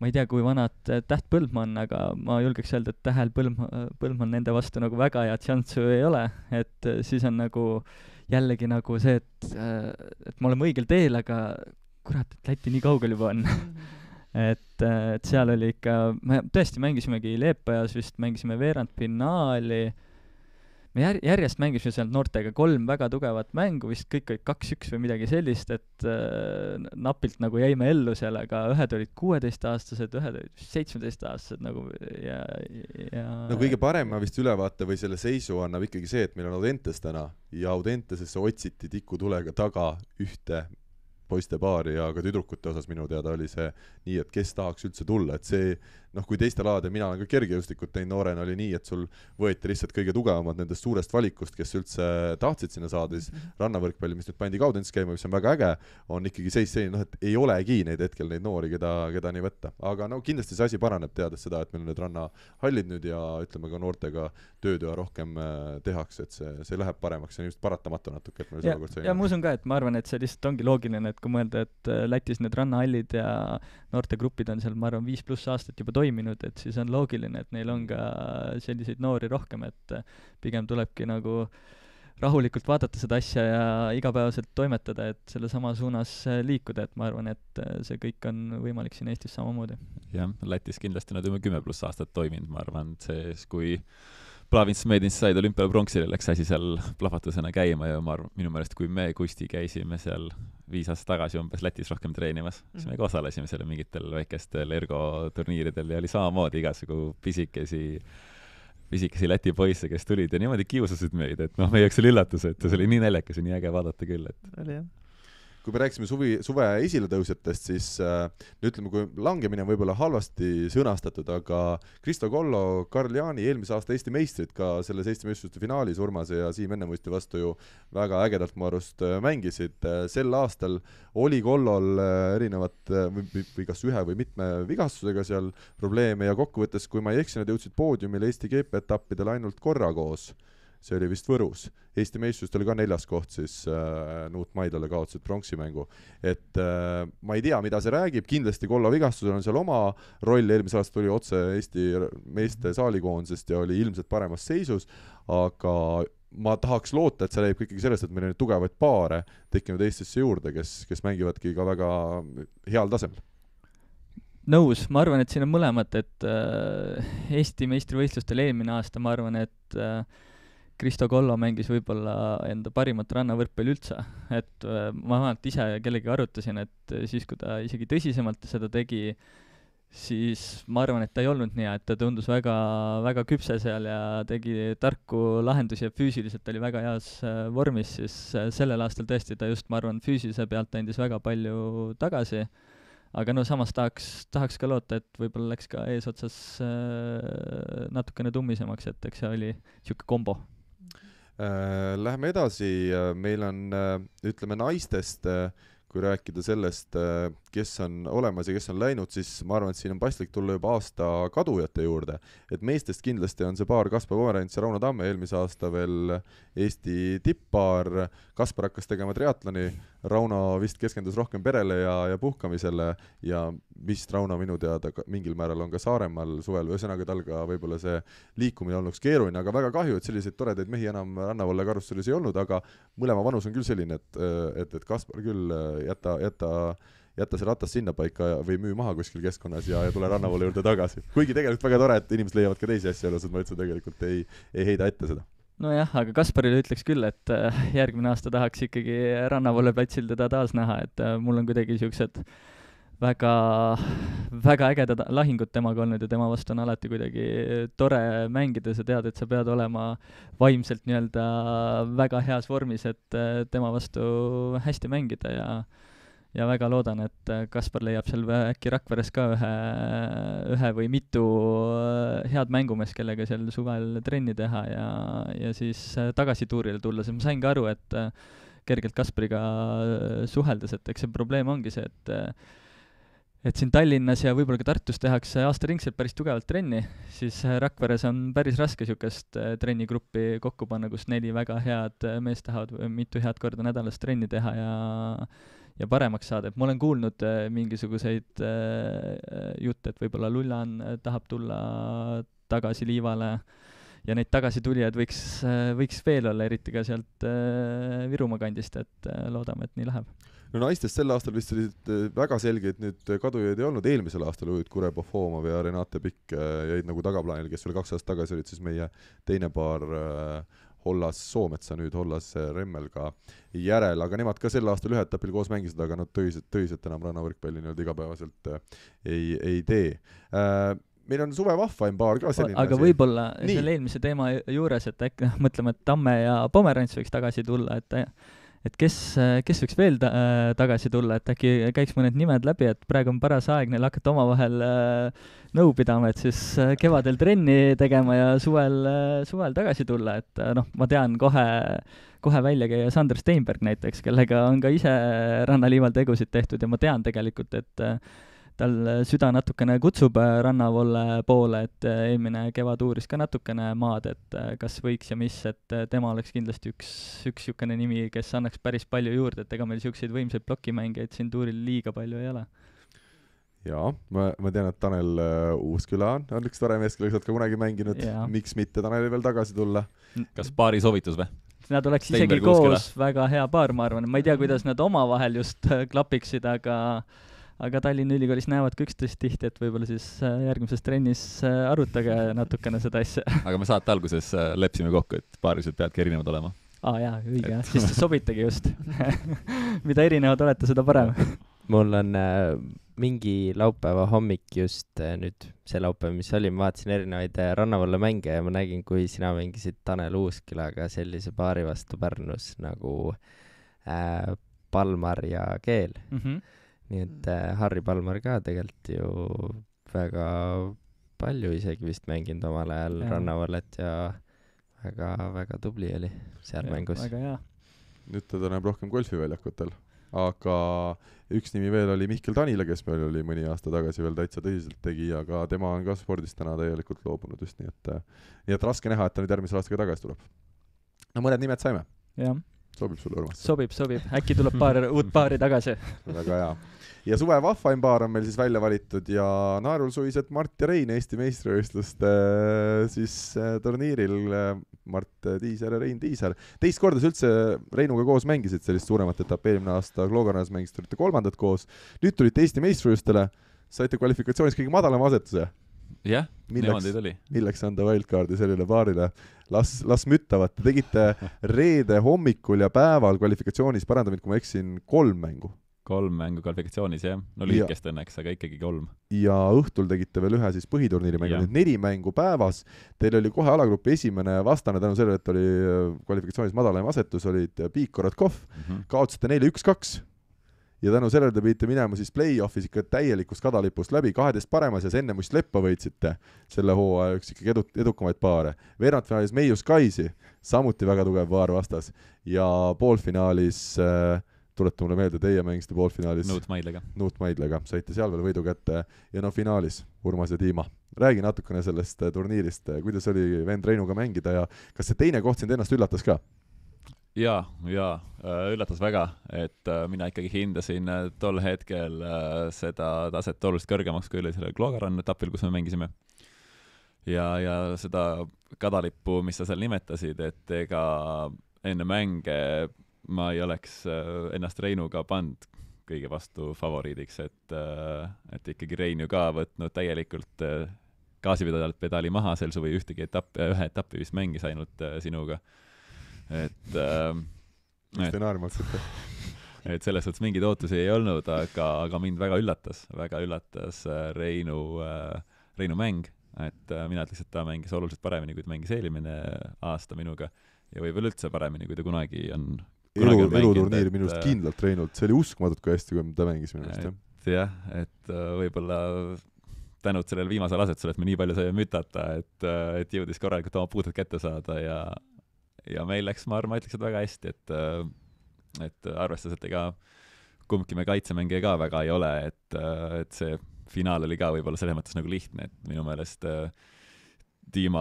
ma ei tea, kui vanad Täht Põldmaa on, aga ma julgeks öelda, et Tähel Põldmaa, Põldmaa nende vastu nagu väga head šanssu ei ole, et siis on nagu jällegi nagu see, et, et me oleme õigel teel, aga kurat, et Läti nii kaugel juba on. et, et seal oli ikka, me tõesti mängisimegi Leepajas vist, mängisime veerandfinaali, me jär, järjest mängisime seal noortega kolm väga tugevat mängu, vist kõik olid kaks-üks või midagi sellist, et äh, napilt nagu jäime ellu seal, aga ühed olid kuueteistaastased, ühed olid seitsmeteistaastased nagu ja, ja no kõige parema vist ülevaate või selle seisu annab ikkagi see, et meil on Audentes täna ja Audentesesse otsiti tikutulega taga ühte poiste paari ja ka tüdrukute osas minu teada oli see nii, et kes tahaks üldse tulla, et see noh, kui teiste laade, mina olen ka kergejõustikut teinud noorena, oli nii, et sul võeti lihtsalt kõige tugevamad nendest suurest valikust, kes üldse tahtsid sinna saada, siis rannavõrkpalli, mis nüüd pandi Kaudensis käima, mis on väga äge, on ikkagi seis selline, noh, et ei olegi neid hetkel neid noori, keda, keda nii võtta. Aga no kindlasti see asi paraneb, teades seda, et meil on need rannahallid nüüd ja ütleme ka noortega tööd ja rohkem tehakse, et see, see läheb paremaks, see on just paratamatu natuke, et meil ja, ja ma usun ka, et ma arvan, et see lihtsalt ongi loogiline, et kui mõelda, et Lätis need rannahallid ja noortegrupid on seal, ma arvan, viis pluss aastat juba toiminud, et siis on loogiline, et neil on ka selliseid noori rohkem, et pigem tulebki nagu rahulikult vaadata seda asja ja igapäevaselt toimetada, et selle sama suunas liikuda, et ma arvan, et see kõik on võimalik siin Eestis samamoodi. Jah, Lätis kindlasti nad juba kümme pluss aastat toiminud, ma arvan, et see, kui Plavins Medins said olümpial pronksile, läks asi seal plahvatusena käima ja ma arvan, minu meelest, kui me Kusti käisime seal viis aastat tagasi umbes Lätis rohkem treenimas, siis me ka osalesime seal mingitel väikestel ergoturniiridel ja oli samamoodi igasugu pisikesi, pisikesi Läti poisse, kes tulid ja niimoodi kiusasid meid, et noh, meie jaoks oli üllatus, et see oli nii naljakas ja nii äge vaadata küll, et oli jah. Kui me rääkisime suvi, suve esiletõusjatest, siis äh, ütleme, kui langemine on võib-olla halvasti sõnastatud, aga Kristo Kollo, Karl Jaani eelmise aasta Eesti meistrid ka selles Eesti meistrite finaalis Urmase ja Siim Ennemuisti vastu ju väga ägedalt mu arust mängisid. Sel aastal oli Kollol erinevat või, või kas ühe või mitme vigastusega seal probleeme ja kokkuvõttes, kui ma ei eksi, nad jõudsid poodiumile Eesti G P etappidel ainult korra koos. See oli vist Võrus. Eesti meistrust oli ka neljas koht, siis äh, Nuut Maidlale kaotasid pronksimängu. Et äh, ma ei tea, mida see räägib, kindlasti Kollo vigastusel on seal oma roll, eelmise aasta tuli otse Eesti meeste saalikoondisest ja oli ilmselt paremas seisus, aga ma tahaks loota, et see läheb ikkagi sellest, et meil on tugevaid paare tekkinud Eestisse juurde, kes, kes mängivadki ka väga heal tasemel. Nõus, ma arvan, et siin on mõlemad, et äh, Eesti meistrivõistlustel eelmine aasta, ma arvan, et äh, Kristo Kollo mängis võib-olla enda parimat rannavõrkpalli üldse, et ma vähemalt ise kellegi arutasin, et siis, kui ta isegi tõsisemalt seda tegi, siis ma arvan, et ta ei olnud nii, et ta tundus väga, väga küpse seal ja tegi tarku lahendusi ja füüsiliselt oli väga heas vormis, siis sellel aastal tõesti ta just, ma arvan, füüsilise pealt andis väga palju tagasi. Aga no samas tahaks, tahaks ka loota, et võib-olla läks ka eesotsas äh, natukene tummisemaks, et eks see oli niisugune kombo. Äh, läheme edasi, meil on, ütleme, naistest, kui rääkida sellest, kes on olemas ja kes on läinud, siis ma arvan, et siin on paslik tulla juba aasta kadujate juurde. Et meestest kindlasti on see paar Kaspar Pomerants ja Rauno Tamme, eelmise aasta veel Eesti tipppaar. Kaspar hakkas tegema triatloni, Rauno vist keskendus rohkem perele ja, ja puhkamisele ja vist Rauno minu teada mingil määral on ka Saaremaal suvel, ühesõnaga tal ka võib-olla see liikumine olnuks keeruline, aga väga kahju, et selliseid toredaid mehi enam Rannavalle karussellis ei olnud, aga mõlema vanus on küll selline, et, et, et Kaspar küll jäta, jäta, jäta see ratas sinna paika või müü maha kuskil keskkonnas ja, ja tule Rannavalle juurde tagasi. Kuigi tegelikult väga tore, et inimesed leiavad ka teisi asju elus, et ma üldse tegelikult ei, ei heida ette seda. Nojah, aga Kasparile ütleks küll, et järgmine aasta tahaks ikkagi Rannavalle platsil teda taas näha, et mul on kuidagi siuksed väga, väga ägedad lahingud temaga olnud ja tema vastu on alati kuidagi tore mängida, sa tead, et sa pead olema vaimselt nii-öelda väga heas vormis, et tema vastu hästi mängida ja ja väga loodan, et Kaspar leiab seal äkki Rakveres ka ühe, ühe või mitu head mängumees, kellega seal suvel trenni teha ja, ja siis tagasi tuurile tulla, sest ma sain ka aru, et kergelt Kaspariga suheldes, et eks see probleem ongi see, et et siin Tallinnas ja võib-olla ka Tartus tehakse aastaringselt päris tugevalt trenni, siis Rakveres on päris raske niisugust trennigruppi kokku panna, kus neli väga head meest tahavad mitu head korda nädalas trenni teha ja ja paremaks saada, et ma olen kuulnud äh, mingisuguseid äh, jutte, et võib-olla Lullan äh, tahab tulla tagasi liivale ja neid tagasitulijaid võiks, äh, võiks veel olla, eriti ka sealt äh, Virumaa kandist, et äh, loodame, et nii läheb. No naistest sel aastal vist olid väga selgeid nüüd kadujaid ei olnud, eelmisel aastal olid Kure Pofomov ja Renate Pikk äh, jäid nagu tagaplaanil, kes veel kaks aastat tagasi olid siis meie teine paar äh, Hollas Soometsa, nüüd Hollas Remmelga järel, aga nemad ka sel aastal ühe etapil koos mängisid, aga nad tõiselt, tõiselt enam rannavõrkpalli nii-öelda igapäevaselt ei, ei tee. Meil on Suve Vahvaim paar ka selline aga asi. Võib-olla nii. Selle eelmise teema juures, et äkki mõtleme, et Tamme ja Pomerants võiks tagasi tulla, et et kes, kes võiks veel ta, äh, tagasi tulla, et äkki käiks mõned nimed läbi, et praegu on paras aeg neil hakata omavahel äh, nõu pidama, et siis äh, kevadel trenni tegema ja suvel, äh, suvel tagasi tulla, et äh, noh, ma tean kohe, kohe välja käia Sander Steinberg näiteks, kellega on ka ise rannaliival tegusid tehtud ja ma tean tegelikult, et äh, tal süda natukene kutsub Rannavolle poole, et eelmine kevad uuris ka natukene maad, et kas võiks ja mis, et tema oleks kindlasti üks, üks niisugune nimi, kes annaks päris palju juurde, et ega meil niisuguseid võimsaid plokimängijaid siin tuuril liiga palju ei ole. Jaa, ma, ma tean, et Tanel uh, Uusküla on, on üks tore mees, kellega sa oled ka kunagi mänginud, ja. Miks mitte Taneli veel tagasi tulla? Kas paari soovitus või? Nad oleks Steinberg isegi koos Uusküla. Väga hea paar, ma arvan, ma ei tea, kuidas nad omavahel just klapiksid, aga aga Tallinna Ülikoolis näevad ka üksteist tihti, et võib-olla siis järgmises trennis arutage natukene seda asja. Aga me saate alguses lepsime kokku, et paarised peadki erinevad olema. Aa jaa, õige jah, siis sobitegi just. Mida erinevad olete, seda parem. Mul on äh, mingi laupäeva hommik just äh, nüüd, see laupäev, mis oli, ma vaatasin erinevaid äh, Rannavalle mänge ja ma nägin, kui sina mängisid Tanel Uuskülaga sellise paari vastu Pärnus nagu äh, Palmar ja Keel. Mhm. Nii et äh, Harri Palmar ka tegelikult ju väga palju isegi vist mänginud omal ajal ja. Rannavallet ja väga, väga tubli oli seal ja, mängus. Väga hea. Nüüd teda näeb rohkem golfiväljakutel, aga üks nimi veel oli Mihkel Tanila, kes meil oli mõni aasta tagasi veel täitsa tõsiselt tegi, aga tema on ka spordist täna täielikult loobunud just nii, et, nii et raske näha, et ta nüüd järgmisel aastaga tagasi tuleb. No mõned nimed saime. Jah. Sobib sulle, Urmas? Sobib, sobib. Äkki tuleb paar uut paari tagasi. Väga hea. Ja Suve Vahvaim paar on meil siis välja valitud ja naerul suvised Mart ja Rein Eesti meistrivõistluste siis turniiril. Mart Tiisar ja Rein Tiisar. Teist korda üldse Reinuga koos mängisid sellist suuremat etappi. Eelmine aasta Kloogarnas mängist olite kolmandat koos. Nüüd tulite Eesti meistrivõistlustele. Saite kvalifikatsioonis kõige madalama asetuse. jah, niimoodi tuli. Milleks anda wildcardi sellele paarile? Las, las müttavad. Te tegite reede hommikul ja päeval kvalifikatsioonis, paranda mind, kui ma eksin, kolm mängu. Kolm mängu kvalifikatsioonis, jah. No lühikest õnneks, aga ikkagi kolm. Ja õhtul tegite veel ühe siis põhiturniiri mängu, nüüd neli mängu päevas. Teil oli kohe alagrupi esimene vastane tänu sellele, et oli kvalifikatsioonis madalaim asetus, olid Piik Korotkov, mm-hmm. kaotasite neile üks kaks. Ja tänu sellele te pidite minema siis play-offis ikka täielikust kadalipust läbi, kaheteist paremas ja enne muist Leppa võitsite selle hooaja üks ikkagi edu, edukamaid paare. Veerandfinaalis Meius Kaisi, samuti väga tugev paar vastas. Ja poolfinaalis äh, tulete mulle meelde, teie mängisite poolfinaalis Nuut Maidlega. Nuut Maidlega, saite seal veel võidu kätte ja no finaalis Urmas ja Tiima. Räägi natukene sellest turniirist, kuidas oli vend Reinuga mängida ja kas see teine koht sind ennast üllatas ka? Jaa, jaa, üllatas väga, et mina ikkagi hindasin tol hetkel seda taset oluliselt kõrgemaks, kui oli selle Kloogarann etapil, kus me mängisime. Ja, ja seda kadalippu, mis sa seal nimetasid, et ega enne mänge ma ei oleks ennast Reinuga pand kõige vastu favoriidiks, et, et ikkagi Rein ju ka võtnud täielikult gaasipedaali maha sel suvi ühtegi etapp, ühe etappi vist mängis ainult sinuga. Et, et, et selles suhtes mingeid ootusi ei olnud, aga, aga mind väga üllatas, väga üllatas Reinu, Reinu mäng, et mina ütleks, et ta mängis oluliselt paremini, kui ta mängis eelmine aasta minuga ja võib-olla üldse paremini, kui ta kunagi on elu, eluturniiri minust et, kindlalt Reinult, see oli uskmatult kui hästi, kui ta mängis minust. Et, jah, et võib-olla tänud sellele viimasele asetusele, et me nii palju saime mütata, et, et jõudis korralikult oma puutud kätte saada ja, ja meil läks, ma arvan, ma ütleks, et väga hästi, et, et arvestas, et ega kumbki me kaitsemängija ka väga ei ole, et, et see finaal oli ka võib-olla selles mõttes nagu lihtne, et minu meelest Tiima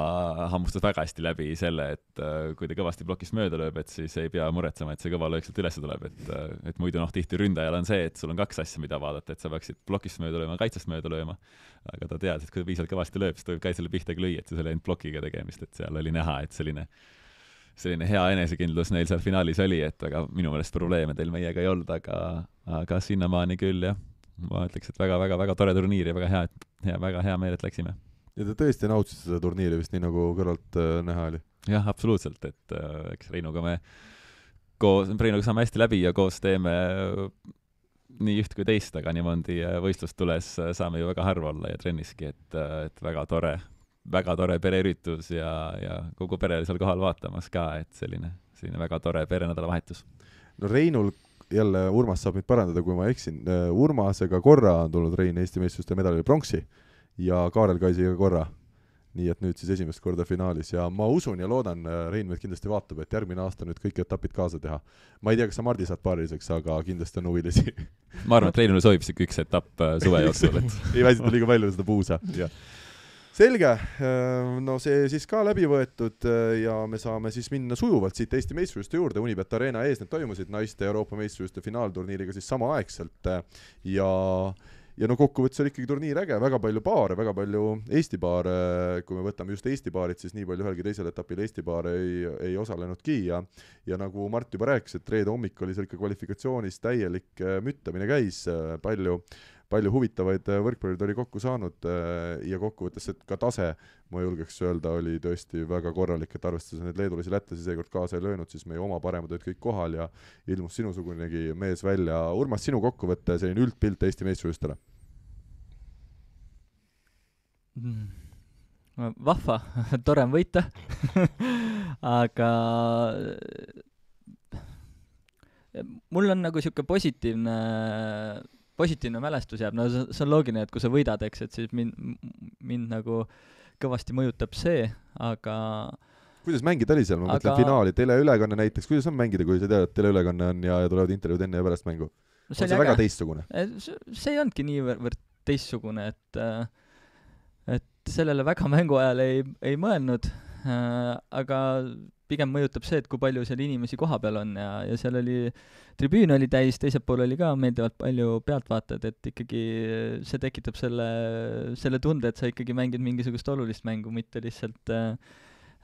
hammustas väga hästi läbi selle, et uh, kui ta kõvasti plokist mööda lööb, et siis ei pea muretsema, et see kõva löök sealt üles tuleb, et, uh, et muidu noh, tihti ründajal on see, et sul on kaks asja, mida vaadata, et sa peaksid plokist mööda lööma, kaitsest mööda lööma, aga ta teadis, et kui ta piisavalt kõvasti lööb, siis ta võib kaitsele pihta ka lüüa, et see oli ainult plokiga tegemist, et seal oli näha, et selline, selline hea enesekindlus neil seal finaalis oli, et aga minu meelest probleeme teil meiega ei olnud, aga, aga sinnamaani küll, jah, ma ütleks, et väga, väga, väga tore turniir ja väga hea, hea, väga hea meel, et läksime. Ja te tõesti nautsite seda turniiri vist nii nagu kõrvalt äh, näha oli? Jah, absoluutselt, et äh, eks Reinuga me koos, Reinuga saame hästi läbi ja koos teeme nii üht kui teist, aga niimoodi võistlust tules saame ju väga harva olla ja trenniski, et, et väga tore, väga tore pereüritus ja, ja kogu pere oli seal kohal vaatamas ka, et selline, selline väga tore perenädala vahetus. No Reinul jälle, Urmas saab mind parandada, kui ma eksin, Urmasega korra on tulnud Rein Eesti meistrivõistluste medalile pronksi ja Kaarel Kaisiga korra. Nii et nüüd siis esimest korda finaalis ja ma usun ja loodan, Rein meid kindlasti vaatab, et järgmine aasta nüüd kõik etapid kaasa teha. Ma ei tea, kas sa Mardi saad paariliseks, aga kindlasti on huvilisi. Ma arvan, et Reinule soovib siik üks etapp suve jooksul. Et... ei väsita liiga palju seda puusa. Selge, no see siis ka läbi võetud ja me saame siis minna sujuvalt siit Eesti meistrivõistluste juurde. Unibet Arena ees need toimusid naiste Euroopa meistrivõistluste finaalturniiriga siis samaaegselt ja Ja no kokkuvõttes oli ikkagi turniir äge, väga palju paare, väga palju Eesti paare, kui me võtame just Eesti paarid, siis nii palju ühelgi teisel etapil Eesti paare ei, ei osalenudki ja, ja nagu Mart juba rääkis, et reede hommik oli seal ikka kvalifikatsioonis täielik müttamine käis, palju, palju huvitavaid võrkpallurid oli kokku saanud ja kokkuvõttes, et ka tase, ma julgeks öelda, oli tõesti väga korralik, et arvestades need leedulisi lätlasi seekord kaasa ei löönud, siis meie oma paremad olid kõik kohal ja ilmus sinusugunegi mees välja. Urmas, sinu kokkuvõtte selline üldpilt Eesti meistrivõistlustele? Vahva, tore on võita aga mul on nagu siuke positiivne positiivne mälestus jääb, no see on loogiline, et kui sa võidad, eks, et siis mind, mind nagu kõvasti mõjutab see, aga kuidas mängida oli seal, ma aga... mõtlen finaali, teleülekanne näiteks, kuidas on mängida, kui sa tead, et teleülekanne on ja, ja tulevad intervjuud enne ja pärast mängu? No, see on see väga teistsugune? See ei olnudki niivõrd teistsugune, et, et sellele väga mängu ajal ei, ei mõelnud, aga pigem mõjutab see, et kui palju seal inimesi koha peal on ja, ja seal oli, tribüün oli täis, teisel pool oli ka meeldivalt palju pealtvaatajad, et ikkagi see tekitab selle, selle tunde, et sa ikkagi mängid mingisugust olulist mängu, mitte lihtsalt äh,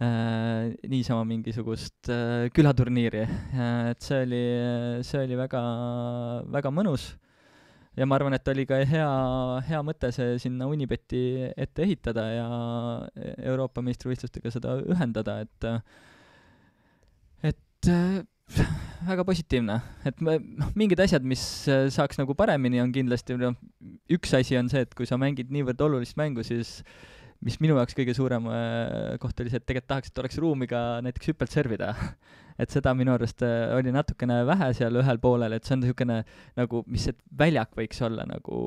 äh, niisama mingisugust äh, külaturniiri. Et see oli, see oli väga, väga mõnus. ja ma arvan, et oli ka hea, hea mõte see sinna Unibeti ette ehitada ja Euroopa meistrivõistlustega seda ühendada, et et väga positiivne, et me, noh, mingid asjad, mis saaks nagu paremini, on kindlasti, no, üks asi on see, et kui sa mängid niivõrd olulist mängu, siis mis minu jaoks kõige suurem koht oli see, et tegelikult tahaks, et oleks ruumi ka näiteks hüppelt servida. Et seda minu arust oli natukene vähe seal ühel poolel, et see on niisugune nagu, mis see väljak võiks olla nagu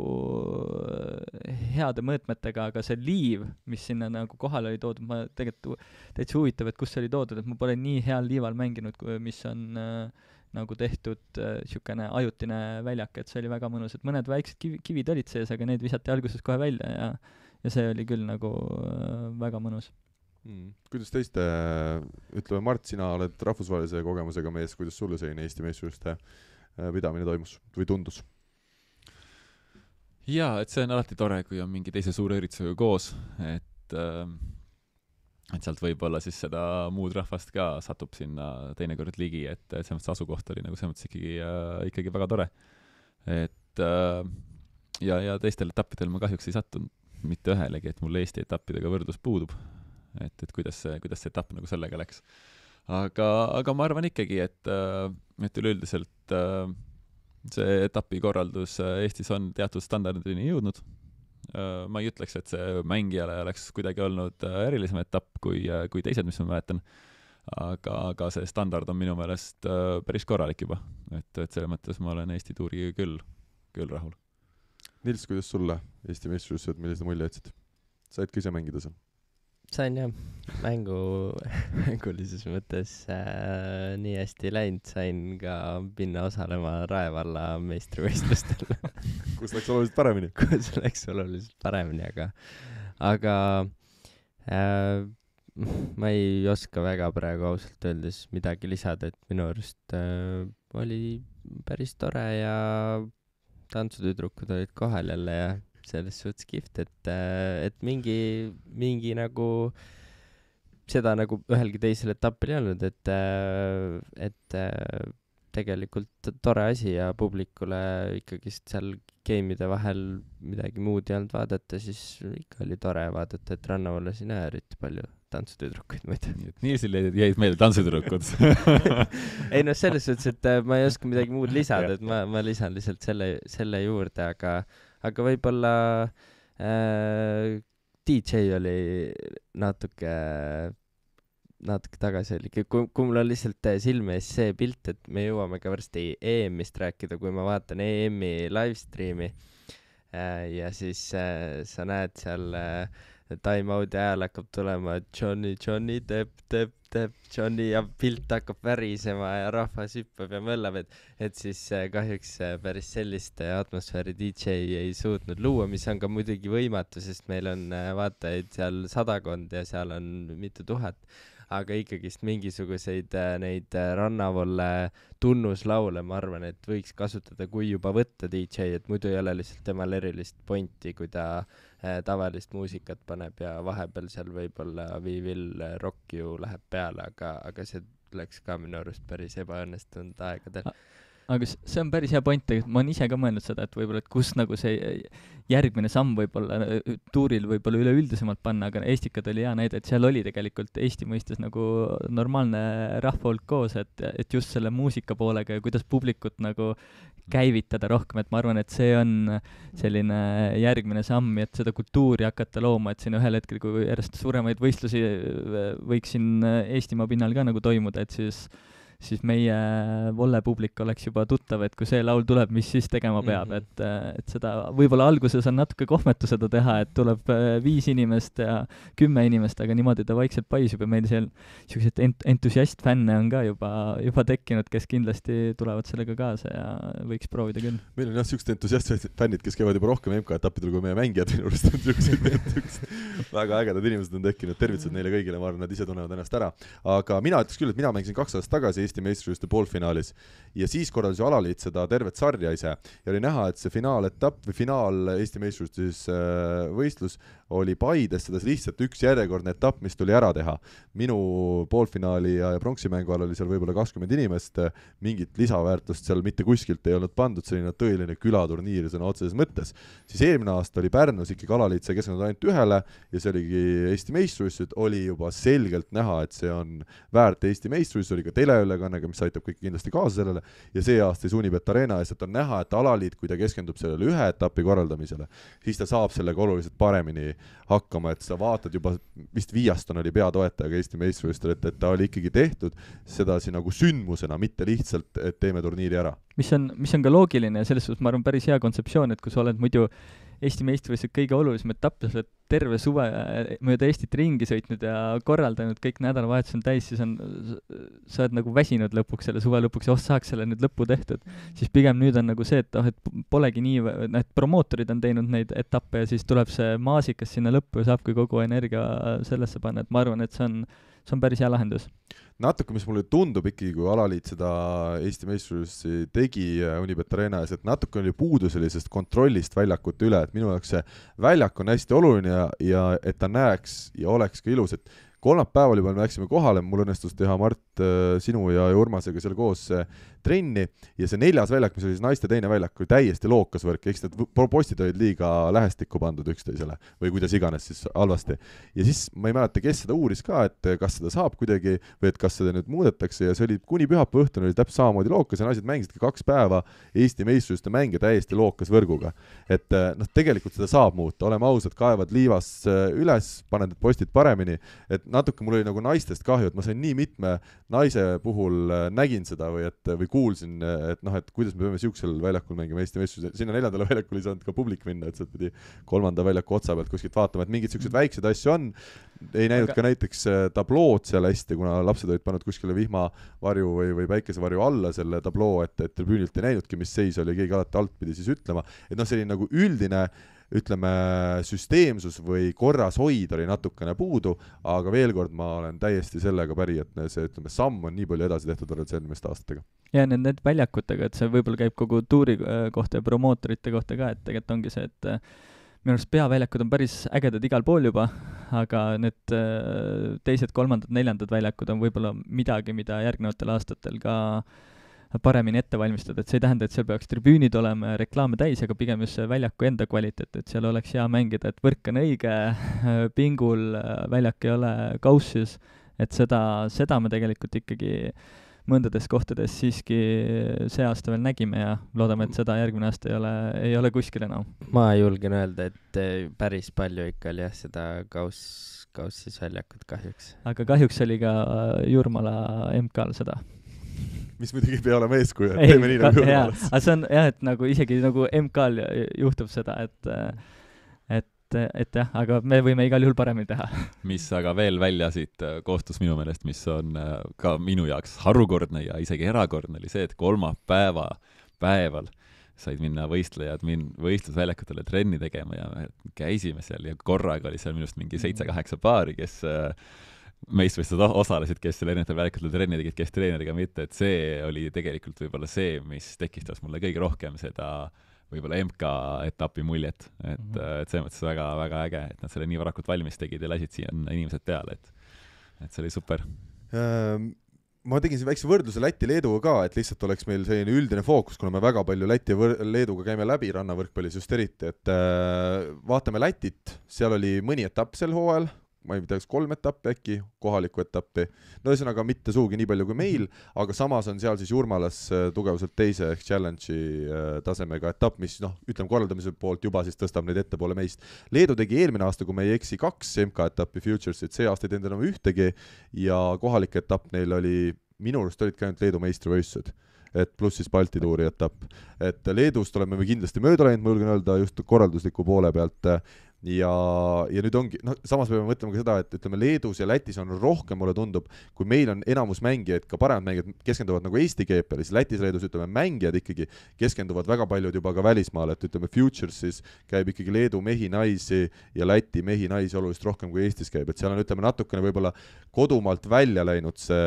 heade mõõtmetega, aga see liiv, mis sinna nagu kohal oli toodud, ma tegelikult täitsa huvitav, et kus see oli toodud, et ma pole nii heal liival mänginud, mis on äh, nagu tehtud niisugune äh, ajutine väljak, et see oli väga mõnus, et mõned väiksed kivi, kivid olid sees, aga need visati alguses kohe välja ja ja see oli küll nagu äh, väga mõnus. Mm. Kuidas teiste, ütleme Mart, sina oled rahvusvahelise kogemusega mees, kuidas sulle selline Eesti meistrivõistluste pidamine toimus või tundus? Jaa, et see on alati tore, kui on mingi teise suure üritusega koos, et, et sealt võib-olla siis seda muud rahvast ka satub sinna teinekord ligi, et, et see mõttes asukoht oli nagu see mõttes ikkagi, ikkagi väga tore. Et ja, ja teistel etappidel ma kahjuks ei sattunud mitte ühelegi, et mul Eesti etappidega võrdlus puudub. Et, et kuidas see, kuidas see etapp nagu sellega läks. Aga, aga ma arvan ikkagi, et, et üleüldiselt see etapikorraldus Eestis on teatud standardini jõudnud. Ma ei ütleks, et see mängijale oleks kuidagi olnud erilisem etapp kui, kui teised, mis ma mäletan. Aga, aga see standard on minu meelest päris korralik juba. Et, et selle mõttes ma olen Eesti tuuriga küll, küll rahul. Nils, kuidas sulle Eesti meistrivõistlused, millise mulje jätsid? Said ka ise mängida seal? Sain jah, mängu, mängulises mõttes äh, nii hästi läinud, sain ka minna osalema Raevalla meistrivõistlustel. Kus läks oluliselt paremini? Kus läks oluliselt paremini, aga, aga äh, ma ei oska väga praegu ausalt öeldes midagi lisada, et minu arust äh, oli päris tore ja tantsutüdrukud olid kohal jälle ja selles suhtes kihvt, et, et mingi, mingi nagu seda nagu ühelgi teisel etapil ei olnud, et, et tegelikult tore asi ja publikule ikkagist seal game'ide vahel midagi muud ei olnud vaadata, siis ikka oli tore vaadata, et Rannavalla sinna eriti palju tantsutüdrukuid muidu. Niisil jäid meelde tantsutüdrukud. Ei noh, selles suhtes, et ma ei oska midagi muud lisada, et ma, ma lisan lihtsalt selle, selle juurde, aga aga võib-olla äh, D J oli natuke natuke tagasi oli, kui, kui mul on lihtsalt silme ees see pilt, et me jõuame ka varsti E M-ist rääkida, kui ma vaatan E M-i livestreami äh, ja siis äh, sa näed seal äh, time-out'i ajal hakkab tulema Johnny, Johnny, tepp, tepp, tepp, Johnny ja pilt hakkab värisema ja rahvas hüppab ja möllab, et, et siis äh, kahjuks äh, päris sellist äh, atmosfääri D J ei suutnud luua, mis on ka muidugi võimatu, sest meil on äh, vaatajaid seal sadakond ja seal on mitu tuhat, aga ikkagist mingisuguseid äh, neid äh, Rannavolle tunnuslaule, ma arvan, et võiks kasutada, kui juba võtta D J, et muidu ei ole lihtsalt temal erilist pointi, kui ta äh, tavalist muusikat paneb ja vahepeal seal võib-olla viivil rock ju läheb peale, aga, aga see läks ka minu arust päris ebaõnnestunud aegadel. Aga see on päris hea point, ma olen ise ka mõelnud seda, et võib-olla, et kus nagu see järgmine samm võib-olla tuuril võib-olla üleüldisemalt panna, aga Estikad oli hea näide, et seal oli tegelikult Eesti mõistes nagu normaalne rahvahulk koos, et, et just selle muusika poolega ja kuidas publikut nagu käivitada rohkem, et ma arvan, et see on selline järgmine samm, et seda kultuuri hakata looma, et siin ühel hetkel, kui järjest suuremaid võistlusi võiks siin Eestimaa pinnal ka nagu toimuda, et siis siis meie vollepublik oleks juba tuttav, et kui see laul tuleb, mis siis tegema peab, mm-hmm. et, et seda võib-olla alguses on natuke kohmetu seda teha, et tuleb viis inimest ja kümme inimest, aga niimoodi ta vaikselt paisub ja meil seal sellised ent- entusiast-fänne on ka juba, juba tekkinud, kes kindlasti tulevad sellega kaasa ja võiks proovida küll. Meil on jah sellised entusiast-fännid, kes käivad juba rohkem M K-etappidel kui meie mängijad, minu arust on sellised väga ägedad inimesed on tekkinud, tervitused neile kõigile, ma arvan, nad ise tunnevad ennast ära. Aga mina ütleks küll, et mina mängisin kaks aastat tagasi Eesti meistrivõistluste poolfinaalis ja siis korraldas ju alaliit seda tervet sarja ise ja oli näha, et see finaaletapp või finaal Eesti meistrivõistluste võistlus oli Paides, seda lihtsalt üks järjekordne etapp, mis tuli ära teha. Minu poolfinaali ja, ja pronksimängu all oli seal võib-olla kakskümmend inimest, mingit lisaväärtust seal mitte kuskilt ei olnud pandud, selline tõeline külaturniir sõna otseses mõttes. Siis eelmine aasta oli Pärnus ikkagi alaliit sai keskendunud ainult ühele ja see oligi Eesti meistrivõistlused, oli juba selgelt näha, et see on väärt Eesti meistrivõistlus, oli ka teleülekannega, mis aitab kõik kindlasti kaasa sellele ja see aasta siis Unibet Arena eest, et on näha, et alaliit, kui ta keskendub sellele ühe etapi korraldamisele, siis ta saab sellega oluliselt paremini hakkama, et sa vaatad juba, vist Viaston oli peatoetajaga Eesti meistrivõistlustel, et, et ta oli ikkagi tehtud sedasi nagu sündmusena, mitte lihtsalt, et teeme turniiri ära. Mis on, mis on ka loogiline ja selles suhtes ma arvan päris hea kontseptsioon, et kui sa oled muidu Eesti meistrivõistlused kõige olulisem etapp, sa oled terve suve mööda Eestit ringi sõitnud ja korraldanud, kõik nädalavahetus on täis, siis on, sa oled nagu väsinud lõpuks selle suve lõpuks ja oh, saaks selle nüüd lõppu tehtud. Siis pigem nüüd on nagu see, et, oh, et polegi nii, need promootorid on teinud neid etappe ja siis tuleb see maasikas sinna lõppu ja saabki kogu energia sellesse panna, et ma arvan, et see on, see on päris hea lahendus. Natuke, mis mulle tundub ikkagi, kui alaliit seda Eesti meistrivõistlusi tegi Unibet Arena ees, et natuke oli puudu sellisest kontrollist väljakute üle, et minu jaoks see väljak on hästi oluline ja, ja et ta näeks ja oleks ka ilus, et kolmapäeval juba me läksime kohale, mul õnnestus teha Mart sinu ja Urmasega seal koos trenni ja see neljas väljak, mis oli siis naiste teine väljak, oli täiesti lookas võrk, eks need postid olid liiga lähestikku pandud üksteisele või kuidas iganes siis halvasti. Ja siis ma ei mäleta, kes seda uuris ka, et kas seda saab kuidagi või et kas seda nüüd muudetakse ja see oli kuni pühapäeva õhtuni oli täpselt samamoodi lookas ja naised mängisidki kaks päeva Eesti meistrivõistluste mänge täiesti lookas võrguga. Et noh, tegelikult seda saab muuta, oleme ausad, kaevad liivas üles, panen need postid paremini, et natuke mul oli nagu naistest kahju, et ma sain nii mitme naise puhul nägin seda või, et, või kuulsin, et noh, et kuidas me peame siuksel väljakul mängima Eesti meistrivõistlusi. Sinna neljandale väljakul ei saanud ka publik minna, et sealt pidi kolmanda väljaku otsa pealt kuskilt vaatama, et mingid siuksed väiksed asju on. Ei näinud Aga... ka näiteks tablood seal hästi, kuna lapsed olid pannud kuskile vihmavarju või, või päikesevarju alla selle tabloo, et, et tribüünilt ei näinudki, mis seis oli, keegi alati alt pidi siis ütlema. Et noh, selline nagu üldine ütleme, süsteemsus või korras hoid oli natukene puudu, aga veel kord ma olen täiesti sellega päri, et see ütleme, samm on nii palju edasi tehtud võrreldes eelmiste aastatega. Ja need, need väljakutega, et see võib-olla käib kogu tuuri kohta ja promootorite kohta ka, et tegelikult ongi see, et minu arust peaväljakud on päris ägedad igal pool juba, aga need teised, kolmandad, neljandad väljakud on võib-olla midagi, mida järgnevatel aastatel ka paremini ette valmistada, et see ei tähenda, et seal peaks tribüünid olema ja reklaame täis, aga pigem just see väljaku enda kvaliteet, et seal oleks hea mängida, et võrk on õige, pingul väljak ei ole kaussis, et seda, seda me tegelikult ikkagi mõndades kohtades siiski see aasta veel nägime ja loodame, et seda järgmine aasta ei ole, ei ole kuskil enam. Ma julgen öelda, et päris palju ikka oli jah seda kaus, kaussis väljakut kahjuks. Aga kahjuks oli ka Jurmala M K-l seda. Mis muidugi ei pea olema eeskuju, et teeme nii nagu Jurmalas. Aga see on jah, et nagu isegi nagu M K-l juhtub seda, et, et, et jah, aga me võime igal juhul paremini teha. Mis aga veel välja siit koostus minu meelest, mis on ka minu jaoks harukordne ja isegi erakordne, oli see, et kolmapäeva päeval said minna võistlejad min- võistlusväljakutele trenni tegema ja käisime seal ja korraga oli seal minust mingi seitse-kaheksa paari, kes meistrivõistlused osalesid, kes seal erinevatel väljakutel trenni tegid, kes treeneriga mitte, et see oli tegelikult võib-olla see, mis tekistas mulle kõige rohkem seda võib-olla M K etapi muljet, et, mm -hmm. et see mõttes väga, väga äge, et nad selle nii varakult valmis tegid ja lasid siia inimesed peale, et, et see oli super. Ähm, ma tegin siin väikse võrdluse Läti-Leeduga ka, et lihtsalt oleks meil selline üldine fookus, kuna me väga palju Läti ja võr- Leeduga käime läbi rannavõrkpallis just eriti, et äh, vaatame Lätit, seal oli mõni etapp sel hooajal, ma ei tea, kolm etappi äkki, kohalikku etappi. No ühesõnaga mitte suugi nii palju kui meil, aga samas on seal siis Jurmalas tugevuselt teise ehk challenge'i tasemega etapp, mis noh, ütleme korraldamise poolt juba siis tõstab neid ettepoole meist. Leedu tegi eelmine aasta, kui me ei eksi, kaks M K etappi Futuresit, see aasta ei teinud enam ühtegi ja kohalik etapp neil oli, minu arust olid ka ainult Leedu meistrivõistlused, et pluss siis Balti tuuri etapp. Et Leedust oleme me kindlasti mööda läinud, ma julgen öelda just korraldusliku poole pealt. ja, ja nüüd ongi, noh, samas me peame mõtlema ka seda, et ütleme, Leedus ja Lätis on rohkem, mulle tundub, kui meil on enamus mängijaid, ka paremad mängijad keskenduvad nagu Eesti G P L-is, Lätis, Leedus, ütleme, mängijad ikkagi keskenduvad väga paljud juba ka välismaale, et ütleme, Futuresis käib ikkagi Leedu mehi, naisi ja Läti mehi, naisi oluliselt rohkem kui Eestis käib, et seal on, ütleme, natukene võib-olla kodumaalt välja läinud see,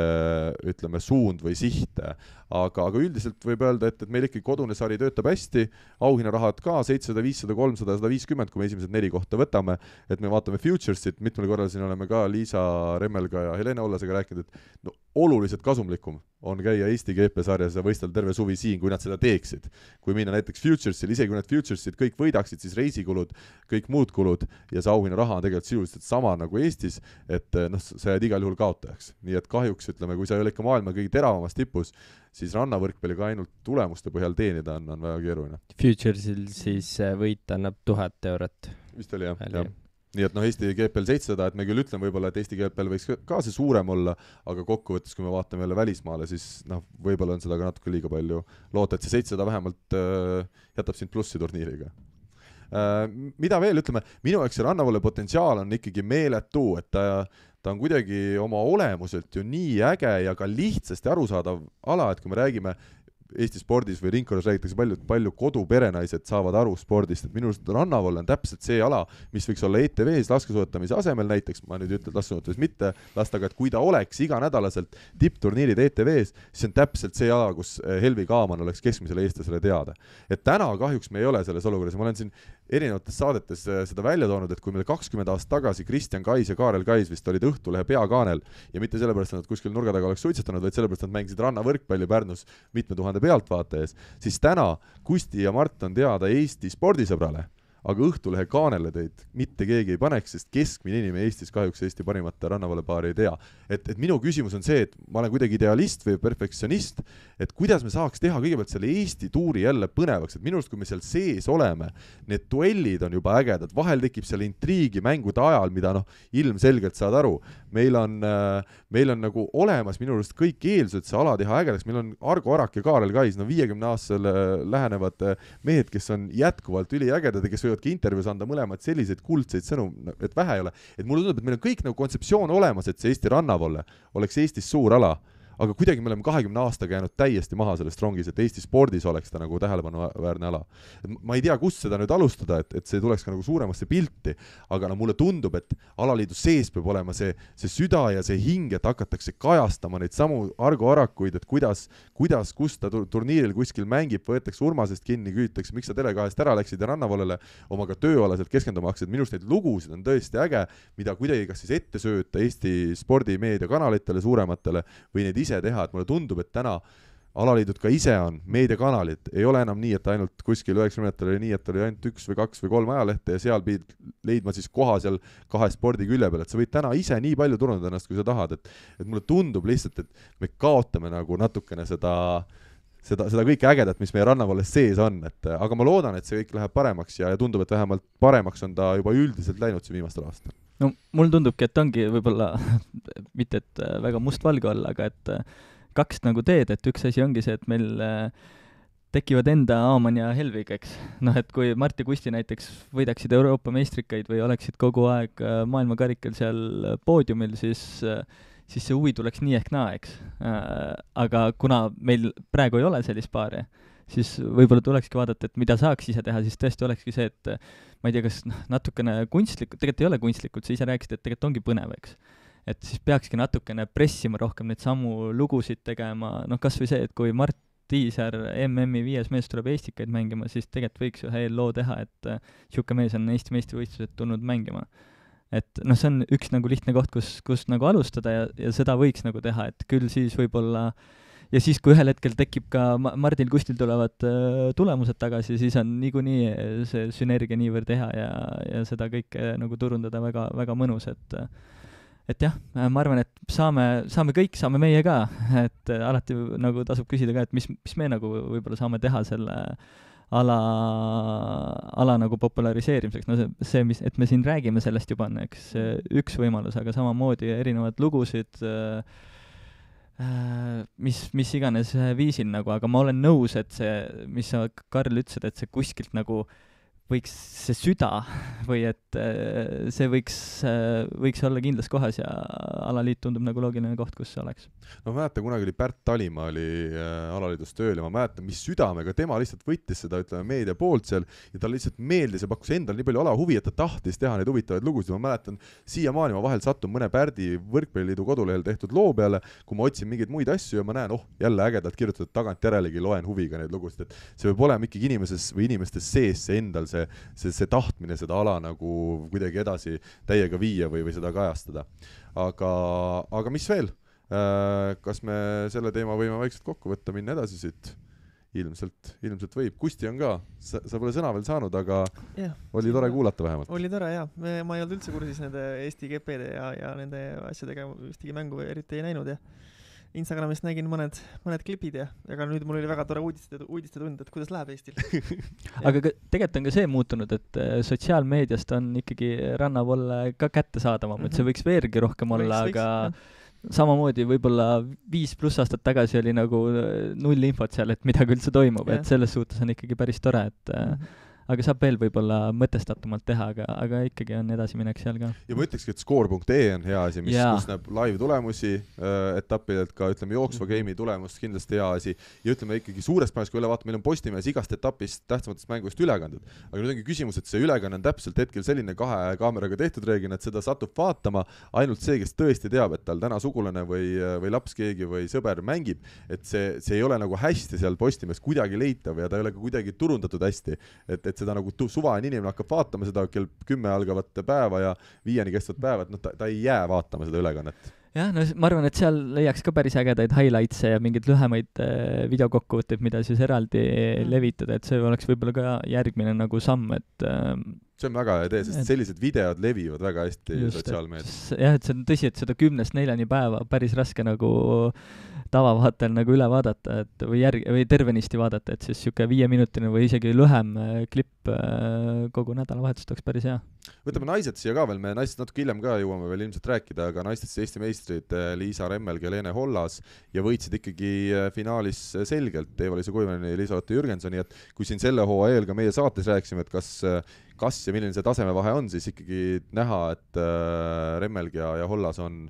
ütleme, suund või siht, aga, aga üldiselt võib öelda, et, et meil ikkagi kodune sari töötab hästi, auhinnarahad ka seitsesada, viissada, kolmsada, sada viiskümmend, kui me esimesed neli kohta võtame, et me vaatame Futuresit, mitmel korral siin oleme ka Liisa Remmelga ja Helene Ollasega rääkinud, et no oluliselt kasumlikum on käia Eesti G P sarjas ja võistelda terve suvi siin, kui nad seda teeksid. Kui minna näiteks Futuresil, isegi kui nad Futuresid kõik võidaksid, siis reisikulud, kõik muud kulud ja see auhinnaraha on tegelikult sisuliselt sama nagu Eestis, et noh, sa jääd igal juhul kaotajaks. Nii et kahjuks, ütleme, kui sa ei ole ikka maailma kõige teravamas tipus, siis rannavõrkpalliga ainult tulemuste põhjal teenida on, on väga keeruline. Futuresil siis võit annab tuhat eurot. Vist oli jah, jah. Nii et noh, Eesti G P L seitsesada, et me küll ütleme võib-olla, et Eesti G P L võiks ka see suurem olla, aga kokkuvõttes, kui me vaatame jälle välismaale, siis noh, võib-olla on seda ka natuke liiga palju loota, et see seitsesada vähemalt äh, jätab sind plussi turniiriga. Äh, mida veel, ütleme, minu jaoks see rannavolle potentsiaal on ikkagi meeletu, et ta, ta on kuidagi oma olemuselt ju nii äge ja ka lihtsasti arusaadav ala, et kui me räägime Eesti spordis või ringkonnas räägitakse palju, palju koduperenaised saavad aru spordist, et minu arust rannavolle on täpselt see ala, mis võiks olla E T V-s laskesuusatamise asemel näiteks, ma nüüd ütlen laskesuusatamise mitte lasta, aga et kui ta oleks iganädalaselt tippturniirid E T V-s, siis on täpselt see ala, kus Helvi Kaaman oleks keskmisele eestlasele teada. Et täna kahjuks me ei ole selles olukorras, ma olen siin erinevates saadetes seda välja toonud, et kui meil kakskümmend aastat tagasi Kristjan Kais ja Kaarel Kais vist olid Õhtulehe peakaanel ja mitte sellepärast, et nad kuskil nurga taga oleks suitsetanud, vaid sellepärast, et nad mängisid rannavõrkpalli Pärnus mitme tuhande pealtvaata ees, siis täna Kusti ja Mart on teada Eesti spordisõbrale, aga Õhtulehe kaanele teid mitte keegi ei paneks, sest keskmine inimene Eestis kahjuks Eesti parimate rannavõlepaari ei tea. Et, et minu küsimus on see, et ma olen kuidagi idealist või perfektsionist, et kuidas me saaks teha kõigepealt selle Eesti tuuri jälle põnevaks, et minu arust, kui me seal sees oleme, need duellid on juba ägedad, vahel tekib seal intriigi mängude ajal, mida noh, ilmselgelt saad aru. Meil on, meil on nagu olemas minu arust kõik eelsused see ala teha ägedaks, meil on Argo Arak ja Kaarel Kais, no viiekümne aastasele lähenevad mehed, kes on jätkuvalt üliägedad ja kes võivadki intervjuus anda mõlemad selliseid kuldseid sõnum, et vähe ei ole. Et mulle tundub, et meil on kõik nagu kontseptsioon olemas, et see Eesti rannavolle oleks Eestis suur ala, aga kuidagi me oleme kahekümne aastaga jäänud täiesti maha sellest rongis, et Eesti spordis oleks ta nagu tähelepanuväärne ala. Et ma ei tea, kust seda nüüd alustada, et, et see tuleks ka nagu suuremasse pilti, aga no mulle tundub, et alaliidu sees peab olema see, see süda ja see hing, et hakatakse kajastama neid samu Argo Arakuid, et kuidas, kuidas kus ta turniiril kuskil mängib, võetakse Urmasest kinni, küsitakse, miks sa Tele2-st ära läksid ja rannavollele omaga tööalaselt keskenduma hakkasid. Minust neid lugusid on tõesti äge, mida kuidagi kas siis ette sööta Eesti spordimeediakanalitele suurematele või neid ise teha, et mulle tundub, et täna alaliidud ka ise on meediakanalid, ei ole enam nii, et ainult kuskil üheksakümnendatel oli nii, et oli ainult üks või kaks või kolm ajalehte ja seal pidid leidma siis koha seal kahe spordi külje peal, et sa võid täna ise nii palju turundada ennast, kui sa tahad, et, et mulle tundub lihtsalt, et me kaotame nagu natukene seda seda, seda kõike ägedat, mis meie rannavalles sees on, et aga ma loodan, et see kõik läheb paremaks ja, ja tundub, et vähemalt paremaks on ta juba üldiselt läinud siin viimastel aastal. No mul tundubki, et ongi võib-olla mitte, et väga mustvalge olla, aga et kaks nagu teed, et üks asi ongi see, et meil tekivad enda Aaman ja Helvig, eks. Noh, et kui Mart ja Kusti näiteks võidaksid Euroopa meistrikaid või oleksid kogu aeg maailmakarikal seal poodiumil, siis, siis see huvi tuleks nii ehk naa, eks. Aga kuna meil praegu ei ole sellist paari, siis võib-olla tulekski vaadata, et mida saaks ise teha, siis tõesti olekski see, et ma ei tea, kas natukene kunstlikult, tegelikult ei ole kunstlikult, sa ise rääkisid, et tegelikult ongi põnev, eks. Et siis peakski natukene pressima rohkem neid samu lugusid tegema, noh kas või see, et kui Mart Tiisar M M-i viies mees tuleb Eestikaid mängima, siis tegelikult võiks ühe loo teha, et siuke mees on Eesti meistrivõistlused tulnud mängima. Et noh, see on üks nagu lihtne koht, kus, kus nagu alustada ja, ja seda võiks nagu teha, et küll siis võib-olla ja siis, kui ühel hetkel tekib ka Mardil Kustil tulevad uh, tulemused tagasi, siis on niikuinii see sünergia niivõrd teha ja, ja seda kõike nagu turundada väga, väga mõnus, et et jah, ma arvan, et saame, saame kõik, saame meie ka, et alati nagu tasub küsida ka, et mis, mis me nagu võib-olla saame teha selle ala, ala nagu populariseerimiseks, no see, see, mis, et me siin räägime sellest juba on, eks, üks võimalus, aga samamoodi erinevad lugusid uh, mis, mis iganes viisil nagu, aga ma olen nõus, et see, mis sa, Karl, ütlesid, et see kuskilt nagu võiks see süda või et äh, see võiks äh,, võiks olla kindlas kohas ja alaliit tundub nagu loogiline koht, kus see oleks. no ma mäletan, kunagi oli Pärt Talimaa oli äh, alaliidus tööl ja ma mäletan, mis südamega tema lihtsalt võttis seda, ütleme, meedia poolt seal ja tal lihtsalt meeldis ja pakkus endal nii palju alahuvi, et ta tahtis teha neid huvitavaid lugusid. Ma mäletan, siiamaani ma vahel satun mõne Pärdi võrkpalliliidu kodulehel tehtud loo peale, kui ma otsin mingeid muid asju ja ma näen, oh, jälle ägedalt kirjutatud tagantjärelegi, loen huviga neid lugusid, et see võib olema ikkagi inimeses või inimestes sees see endal see, see, see tahtmine seda ala nagu kuidagi edasi täiega viia või, või seda kajastada. Aga, aga mis veel? Kas me selle teema võime vaikselt kokku võtta, minna edasi siit? Ilmselt, ilmselt võib. Kusti on ka, sa, sa pole sõna veel saanud, aga ja, oli tore kuulata vähemalt. Oli tore, jah. Ma ei olnud üldse kursis nende Eesti G P-de ja, ja nende asjadega ühtegi mängu eriti ei näinud ja Instagramist nägin mõned, mõned klipid ja aga nüüd mul oli väga tore uudiste, uudiste tund, et kuidas läheb Eestil. aga ka, tegelikult on ka see muutunud, et sotsiaalmeediast on ikkagi rannavolle ka kättesaadavam, mm-hmm. et see võiks veergi rohkem olla, võiks, aga võiks, samamoodi võib-olla viis pluss aastat tagasi oli nagu null infot seal, et midagi üldse toimub, yeah. et selles suhtes on ikkagi päris tore, et mm-hmm. aga saab veel võib-olla mõtestatumalt teha, aga, aga ikkagi on edasiminek seal ka. Ja ma ütlekski, et score punkt ee on hea asi, mis yeah. kus näeb live tulemusi äh, etappidelt ka, ütleme, jooksva game'i tulemust kindlasti hea asi ja ütleme ikkagi suurest päevast, kui üle vaata, meil on Postimees igast etapist tähtsamatest mängust ülekandud. Aga nüüd ongi küsimus, et see ülekanne on täpselt hetkel selline kahe kaameraga tehtud reeglina, et seda satub vaatama ainult see, kes tõesti teab, et tal täna sugulane või, või laps keegi või sõber mängib, et see, see ei ole nagu hästi seal Postimees kuidagi leitav ja ta ei ole ka kuidagi turundatud hästi, et, et seda nagu suvaline inimene hakkab vaatama seda kell kümme algavat päeva ja viieni kestvat päeva, et noh, ta, ta ei jää vaatama seda ülekannet. jah, no ma arvan, et seal leiaks ka päris ägedaid highlights'e ja mingeid lühemaid äh, videokokkuvõtteid, mida siis eraldi mm. levitada, et see oleks võib-olla ka järgmine nagu samm, et äh, see on väga hea idee, sest et, sellised videod levivad väga hästi sotsiaalmeedias. jah, et see on tõsi, et seda kümnest neljani päeva päris raske nagu tavavaatel nagu üle vaadata, et või järg- või tervenisti vaadata, et siis siuke viieminutine või isegi lühem klipp kogu nädalavahetust oleks päris hea. Võtame naised siia ka veel, me naistest natuke hiljem ka jõuame veel ilmselt rääkida, aga naistest Eesti meistrid Liisa Remmelg ja Leene Hollas ja võitsid ikkagi finaalis selgelt Eva-Liisa Kuivanen ja Liisa-Lotte Jürgensoni, et kui siin selle hooaja eel ka meie saates rääkisime, et kas kas ja milline see tasemevahe on, siis ikkagi näha, et Remmelg ja, ja Hollas on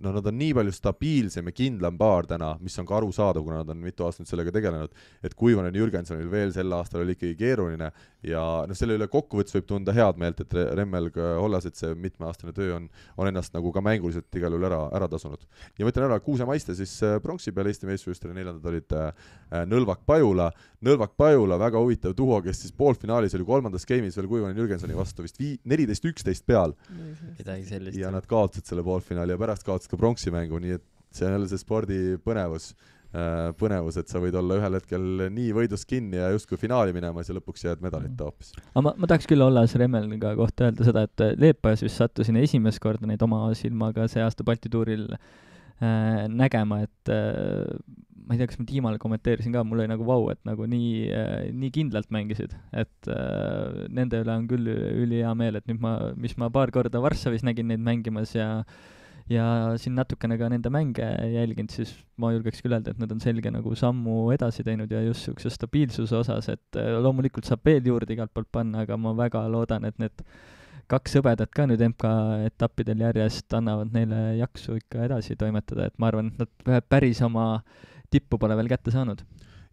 no nad on nii palju stabiilsem ja kindlam paar täna, mis on ka aru saada, kuna nad on mitu aastat sellega tegelenud, et Kuivanen Jürgensonil veel sel aastal oli ikkagi keeruline ja no selle üle kokkuvõttes võib tunda head meelt, et Remmelg Hollas, et see mitmeaastane töö on, on ennast nagu ka mänguliselt igal juhul ära, ära tasunud. Ja ma ütlen ära, Kuuse Maiste siis pronksi peal Eesti meestvõistlustel neljandad olid Nõlvak Pajula. Nõlvak Pajula, väga huvitav tuho, kes siis poolfinaalis oli kolmandas game'is veel Kuivanen Jürgensoni vastu vist neliteist üksteist peal. Ja nad kaotasid selle poolfinaali ja pärast kaotasid ka pronksimängu, nii et see on jälle see spordi põnevus, põnevus, et sa võid olla ühel hetkel nii võidust kinni ja justkui finaali minemas ja lõpuks jääd medalita hoopis. Ma, ma tahaks küll Hollas Remmelga kohta öelda seda, et Leepajas vist sattusin esimest korda neid oma silmaga see aasta Balti tuuril äh, nägema, et äh, ma ei tea, kas ma Tiimale kommenteerisin ka, mul oli nagu vau, et nagu nii, äh, nii kindlalt mängisid, et äh, nende üle on küll üli hea meel, et nüüd ma, mis ma paar korda Varssavis nägin neid mängimas ja ja siin natukene ka nende mänge jälginud, siis ma julgeks küll öelda, et nad on selge nagu sammu edasi teinud ja just niisuguse stabiilsuse osas, et loomulikult saab veel juurde igalt poolt panna, aga ma väga loodan, et need kaks sõbedat ka nüüd M K etappidel järjest annavad neile jaksu ikka edasi toimetada, et ma arvan, et nad päris oma tippu pole veel kätte saanud.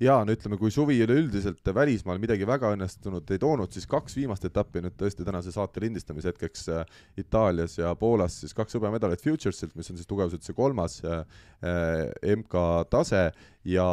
Jaa, no ütleme, kui suvi üleüldiselt välismaal midagi väga õnnestunud ei toonud, siis kaks viimast etappi nüüd tõesti tänase saate lindistamise hetkeks Itaalias ja Poolas siis kaks hõbemedalit Futuresilt, mis on siis tugevused see kolmas M K tase ja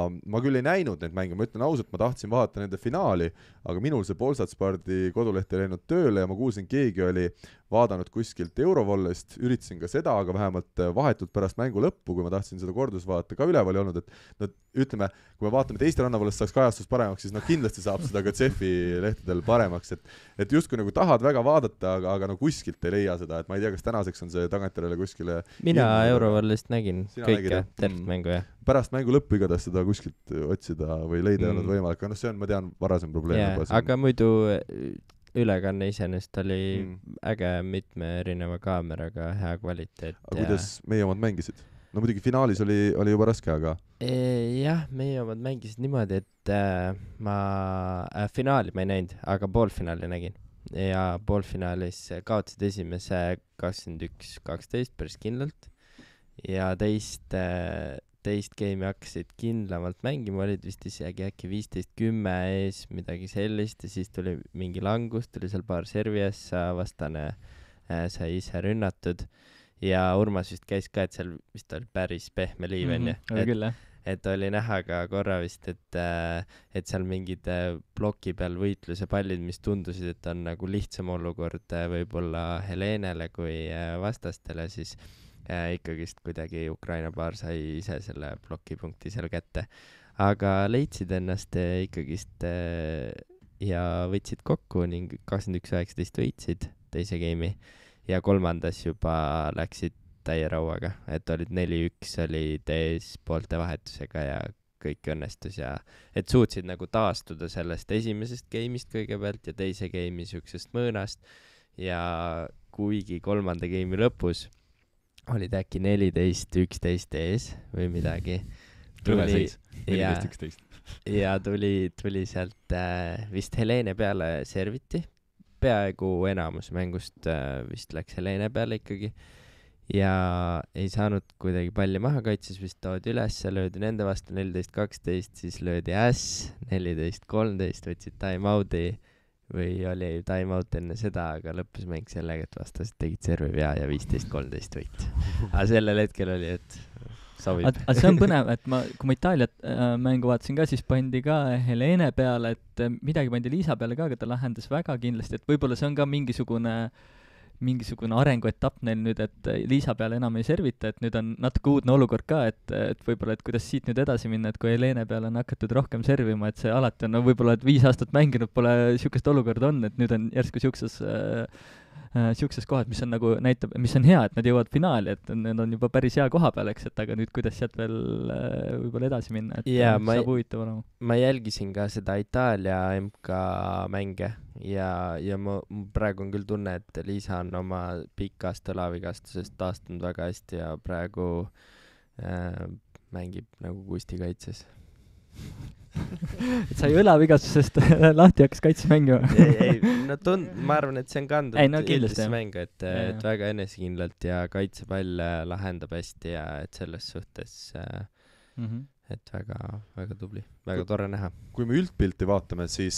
ma küll ei näinud neid mänge, ma ütlen ausalt, ma tahtsin vaadata nende finaali, aga minul see Polsatspardi koduleht ei läinud tööle ja ma kuulsin, keegi oli vaadanud kuskilt Eurovollest, üritasin ka seda, aga vähemalt vahetult pärast mängu lõppu, kui ma tahtsin seda kordus vaadata, ka üleval ei olnud, et no ütleme, kui me vaatame, et Eesti rannavollest saaks kajastus paremaks, siis no kindlasti saab seda ka Cefi lehtedel paremaks, et et justkui nagu tahad väga vaadata, aga, aga no kuskilt ei leia seda, et ma ei tea, kas tänaseks on see tagantjärele kuskile mina Eurovollist nägin kõike, tervet mängu, jah. Pärast mängu lõppu igatahes seda kuskilt otsida või leida ei olnud mm. võimalik, aga noh, see on, ma tean, varasem probleem yeah,. aga muidu ülekanne iseenesest oli mm. äge mitme erineva kaameraga, hea kvaliteet. Aga ja... kuidas meie omad mängisid? No muidugi finaalis oli, oli juba raske, aga... E, jah, meie omad mängisid niimoodi, et äh, ma äh, finaali ma ei näinud, aga poolfinaali nägin. ja poolfinaalis kaotasid esimese kakskümmend üks kaksteist päris kindlalt ja teist, teist game'i hakkasid kindlamalt mängima, olid vist isegi äkki viisteist kümme ees, midagi sellist ja siis tuli mingi langus, tuli seal paar servi essa, vastane äh, sai ise rünnatud ja Urmas vist käis ka, et seal vist oli päris pehme liiv enne mm-hmm, et, küll, et oli näha ka korra vist, et, et seal mingid ploki peal võitluse pallid, mis tundusid, et on nagu lihtsam olukord võib-olla Helenele kui vastastele, siis äh, ikkagist kuidagi Ukraina paar sai ise selle plokipunkti seal kätte. Aga leidsid ennast äh, ikkagist äh, ja võtsid kokku ning kakskümmend üks üheksateist võitsid teise game'i ja kolmandas juba läksid täie rauaga, et olid neli üks, oli tees poolte vahetusega ja kõik õnnestus ja et suutsid nagu taastuda sellest esimesest game'ist kõigepealt ja teise game'i siuksest mõõnast ja kuigi kolmanda game'i lõpus olid äkki neliteist üksteist ees või midagi. Tuli, ja, neliteist üksteist. ja tuli, tuli sealt äh, vist Helene peale serviti, peaaegu enamus mängust äh, vist läks Helene peale ikkagi. Ja ei saanud kuidagi palli maha kaitses, vist toodi üles, löödi nende vastu neliteist kaksteist, siis löödi äss, neliteist kolmteist, võtsid time-out'i või oli time-out enne seda, aga lõppes mäng sellega, et vastased tegid servi vea ja viisteist kolmteist võit. Aga sellel hetkel oli, et sobib. Aga see on põnev, et ma, kui ma Itaaliat äh, mängu vaatasin ka, siis pandi ka Helene peale, et midagi pandi Liisa peale ka, aga ta lahendas väga kindlasti, et võib-olla see on ka mingisugune mingisugune arenguetapp neil nüüd, et Liisa peale enam ei servita, et nüüd on natuke uudne olukord ka, et, et võib-olla, et kuidas siit nüüd edasi minna, et kui Helene peale on hakatud rohkem servima, et see alati on, no võib-olla, et viis aastat mänginud pole niisugust olukorda on, et nüüd on järsku niisuguses äh, niisuguses kohas, mis on nagu näitab, mis on hea, et nad jõuavad finaali, et need on juba päris hea koha peal, eks, et aga nüüd kuidas sealt veel äh, võib-olla edasi minna, et ja, saab ma, huvitav olema. Ma jälgisin ka seda Itaalia M K mänge ja, ja ma praegu on küll tunne, et Liisa on oma pikast õlavigastusest taastunud väga hästi ja praegu äh, mängib nagu Kusti kaitses. et sai õlavigastusest lahti hakkas kaitses mängima. ei, ei, no tund, ma arvan, et see on kandunud ei, no, üldisse mängu, et, et väga enesekindlalt ja kaitsepall lahendab hästi ja et selles suhtes äh, mm-hmm. et väga, väga tubli, väga tore näha. Kui me üldpilti vaatame, siis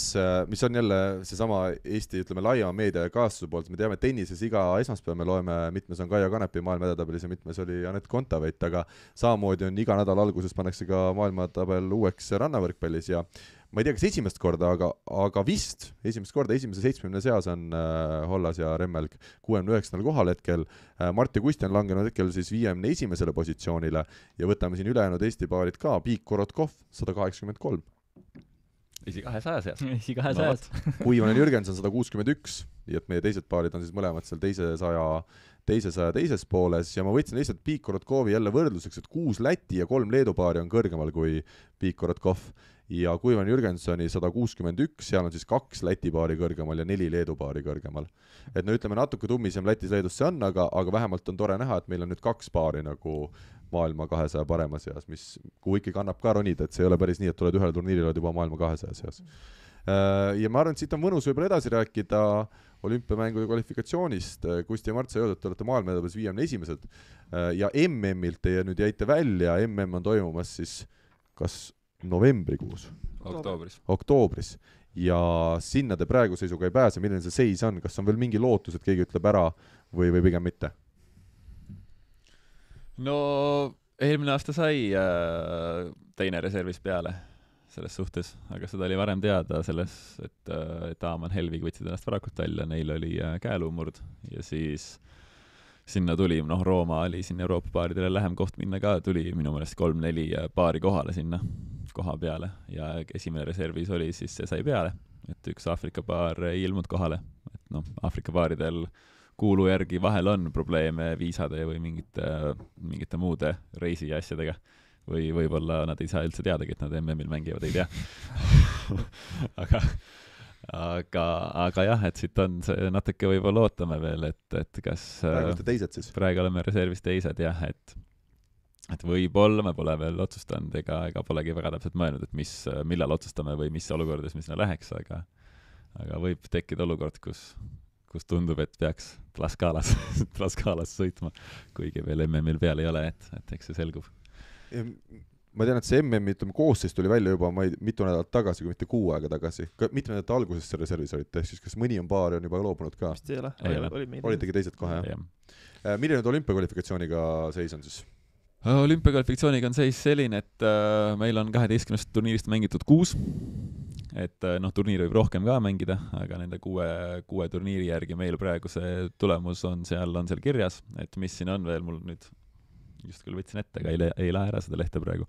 mis on jälle seesama Eesti, ütleme, laiema meedia ja kaastuse poolt, me teame tennises iga esmaspäev me loeme, mitmes on Kaia Kanepi maailmaedetabelis ja mitmes oli Anett Kontaveit, aga samamoodi on iga nädal alguses pannakse ka maailmatabel uueks rannavõrkpallis ja ma ei tea, kas esimest korda, aga, aga vist esimest korda esimese seitsmekümne seas on äh, Hollas ja Remmelg kuuekümne üheksandal kohal hetkel. Äh, Mart ja Kusti on langenud hetkel siis viiekümne esimesele positsioonile ja võtame siin ülejäänud Eesti paarid ka. Piik Korotkov sada kaheksakümmend kolm. Esi kahesaja seas. Esi kahesajas. Kuivanen Jürgens on sada kuuskümmend üks, nii et meie teised paarid on siis mõlemad seal teise saja, teise saja teises pooles ja ma võtsin lihtsalt Piik Korotkovi jälle võrdluseks, et kuus Läti ja kolm Leedu paari on kõrgemal kui Piik Korotkov ja Kuivan Jürgensoni sada kuuskümmend üks, seal on siis kaks Läti paari kõrgemal ja neli Leedu paari kõrgemal. Et no ütleme, natuke tummisem Lätis-Leedus see on, aga, aga vähemalt on tore näha, et meil on nüüd kaks paari nagu maailma kahesaja parema seas, mis kuhu ikkagi annab ka ronida, et see ei ole päris nii, et tuled ühele turniiril oled juba maailma kahesaja seas. Ja ma arvan, et siit on mõnus võib-olla edasi rääkida olümpiamängude kvalifikatsioonist. Kusti ja Mart sai öelda, et te olete maailma edabas viiekümne esimesed ja M M-ilt teie nüüd jäite välja, M M on toimumas siis kas novembrikuus? Oktoobris. Oktoobris. Ja sinna te praegu seisuga ei pääse, milline see seis on, kas on veel mingi lootus, et keegi ütleb ära või, või pigem mitte? No eelmine aasta sai äh, teine reservis peale selles suhtes, aga seda oli varem teada selles, et, et Aaman Helvig võtsid ennast varakult välja, neil oli äh, käeluumurd ja siis sinna tuli, noh, Rooma oli siin Euroopa paaridele lähem koht minna ka, tuli minu meelest kolm-neli paari kohale sinna koha peale ja esimene reservis oli, siis see sai peale, et üks Aafrika paar ei ilmunud kohale, et noh, Aafrika paaridel kuulu järgi vahel on probleeme viisade või mingite, mingite muude reisi ja asjadega või võib-olla nad ei saa üldse teadagi, et nad M M-il mängivad, ei tea. aga, aga, aga jah, et siit on see natuke võib-olla ootame veel, et, et kas praegu olete teised siis? Praegu oleme reservis teised, jah, et et võib-olla me pole veel otsustanud ega, ega polegi väga täpselt mõelnud, et mis, millal otsustame või mis olukordades me sinna läheks, aga aga võib tekkida olukord, kus, kus tundub, et peaks Tlaxcalas, Tlaxcalas sõitma, kuigi veel M M-il peal ei ole, et, et eks see selgub. Ma tean, et see M M-i ütleme, koosseis tuli välja juba ma ei, mitu nädalat tagasi, kui mitte kuu aega tagasi. Mitme nädalate alguses see reservis olite, ehk siis kas mõni on paari on juba loobunud ka? Vist ei ole, ei ole. Oli olitegi teised kohe, jah? Milline nüüd olümpiakvalifikatsiooniga seis on siis? Olümpiakvalifikatsiooniga on seis selline, et äh, meil on kaheteistkümnest turniirist mängitud kuus, et äh, noh, turniiri võib rohkem ka mängida, aga nende kuue, kuue turniiri järgi meil praegu see tulemus on seal, on seal kirjas, et mis siin on veel, mul nüüd just küll võtsin ette, aga ei, ei lähe ära seda lehte praegu.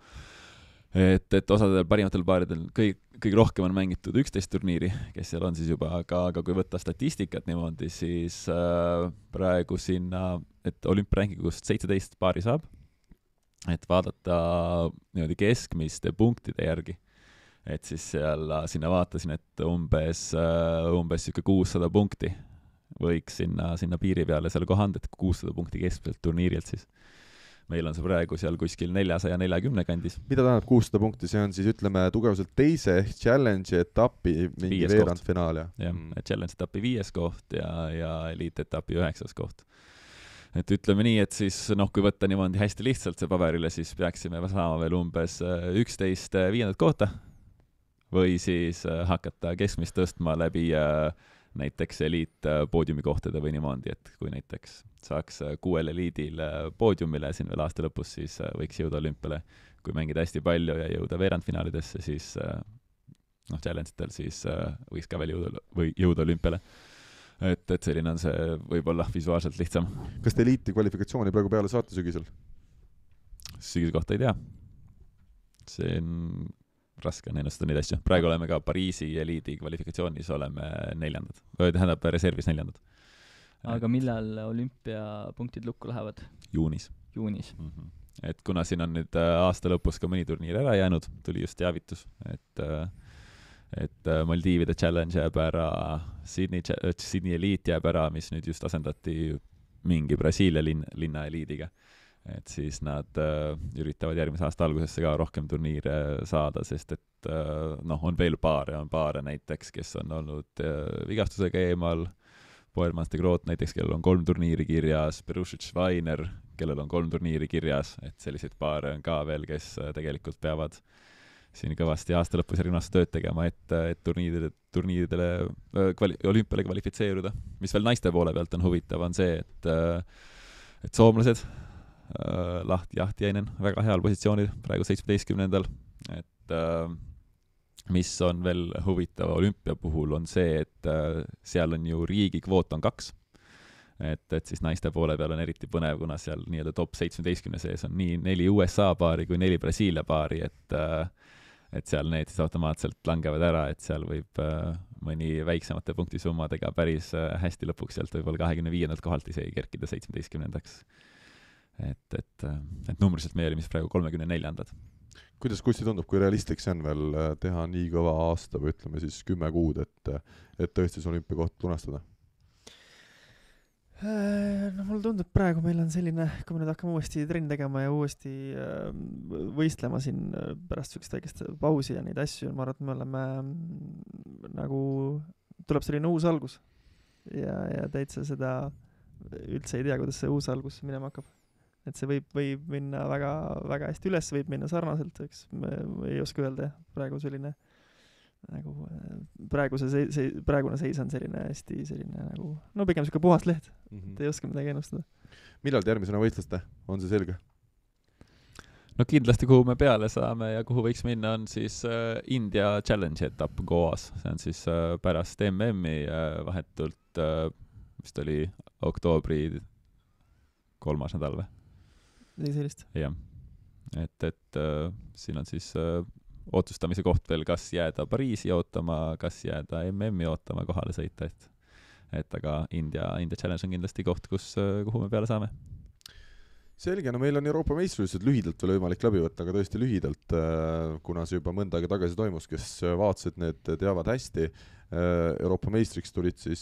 Et, et osadel parimatel paaridel kõik, kõik rohkem on mängitud üksteist turniiri, kes seal on siis juba, aga, aga kui võtta statistikat niimoodi, siis äh, praegu sinna, et olümpiaränkingust seitseteist paari saab, et vaadata niimoodi keskmiste punktide järgi, et siis seal sinna vaatasin, et umbes, umbes siuke kuussada punkti võiks sinna, sinna piiri peale seal kohand, et kuussada punkti keskmiselt turniirilt siis. Meil on see praegu seal kuskil neljasaja neljakümne kandis. Mida tähendab kuussada punkti? See on siis, ütleme, tugevuselt teise ehk challenge etapi mingi veerandfinaal, ja? jah, mm. challenge etapi viies koht ja, ja elite etapi üheksas koht. Et ütleme nii, et siis noh, kui võtta niimoodi hästi lihtsalt see paberile, siis peaksime saama veel umbes üksteist viiendat kohta või siis hakata keskmist tõstma läbi näiteks eliit poodiumikohtade või niimoodi, et kui näiteks saaks kuuel eliidil poodiumile siin veel aasta lõpus, siis võiks jõuda olümpiale. Kui mängida hästi palju ja jõuda veerandfinaalidesse, siis noh, challenge'itel siis võiks ka veel jõuda, või jõuda olümpiale. Et, et selline on see võib-olla visuaalselt lihtsam. Kas te eliiti kvalifikatsiooni praegu peale saate sügisel? Sügise kohta ei tea. See on raske on ennustada neid asju. Praegu oleme ka Pariisi eliidi kvalifikatsioonis oleme neljandad. Või tähendab reservis neljandad. Aga millal olümpiapunktid lukku lähevad? Juunis. Juunis. Mm-hmm. Et kuna siin on nüüd aasta lõpus ka mõni turniir ära jäänud, tuli just teavitus, et et Maldiivide challenge jääb ära, Sydney, Sydney eliit jääb ära, mis nüüd just asendati mingi Brasiilia lin, linna eliidiga. Et siis nad äh, üritavad järgmise aasta algusesse ka rohkem turniire saada, sest et äh, noh, on veel paare, on paare näiteks, kes on olnud äh, vigastusega eemal, Poermans de Groot näiteks, kellel on kolm turniiri kirjas, Perušić Schweiner, kellel on kolm turniiri kirjas, et selliseid paare on ka veel, kes äh, tegelikult peavad siin kõvasti aasta lõpus järgmine aasta tööd tegema, et, et turniiridele, turniiridele kvali, olümpiale kvalifitseeruda. Mis veel naiste poole pealt on huvitav, on see, et, et soomlased äh, Lahti Jahtiainen väga heal positsioonil, praegu seitsmeteistkümnendal, et äh, mis on veel huvitav olümpia puhul, on see, et äh, seal on ju riigi kvoot on kaks, et, et siis naiste poole peal on eriti põnev, kuna seal nii-öelda top seitsmeteistkümne sees on nii neli U S A paari kui neli Brasiilia paari, et äh, et seal need siis automaatselt langevad ära, et seal võib äh, mõni väiksemate punktisummadega päris äh, hästi lõpuks sealt võib-olla kahekümne viiendalt kohalt isegi kerkida seitsmeteistkümnendaks. Et, et, et numbriliselt me olime siis praegu kolmekümne neljandad. Kuidas Kusti tundub, kui realistlik see on veel teha nii kõva aasta või ütleme siis kümme kuud, et, et tõesti see olümpiakoht lunastada? No mulle tundub praegu meil on selline, kui me nüüd hakkame uuesti trenn tegema ja uuesti võistlema siin pärast sükest väikest pausi ja neid asju, ma arvan, et me oleme nagu, tuleb selline uus algus ja, ja täitsa seda üldse ei tea, kuidas see uus algus minema hakkab. Et see võib, võib minna väga, väga hästi üles, võib minna sarnaselt, eks me ei oska öelda, praegu selline nagu praegu see, see praegune seis on selline hästi selline nagu no pigem siuke puhas leht, mm-hmm. et ei oska midagi ennustada. Millal te järgmisena võistluste? On see selge? No kindlasti kuhu me peale saame ja kuhu võiks minna on siis äh, India Challenge etapp Goas, see on siis äh, pärast M M-i äh, vahetult äh, vist oli oktoobri kolmas nädal või? Nii sellist. Jah, et, et äh, siin on siis äh, otsustamise koht veel, kas jääda Pariisi ootama, kas jääda M M-i ootama kohale sõita, et, et aga India, India Challenge on kindlasti koht, kus, kuhu me peale saame. Selge, no meil on Euroopa meistrivõistlused lühidalt veel võimalik läbi võtta, aga tõesti lühidalt, kuna see juba mõnda aega tagasi toimus, kes vaatasid, need teavad hästi. Euroopa meistriks tulid siis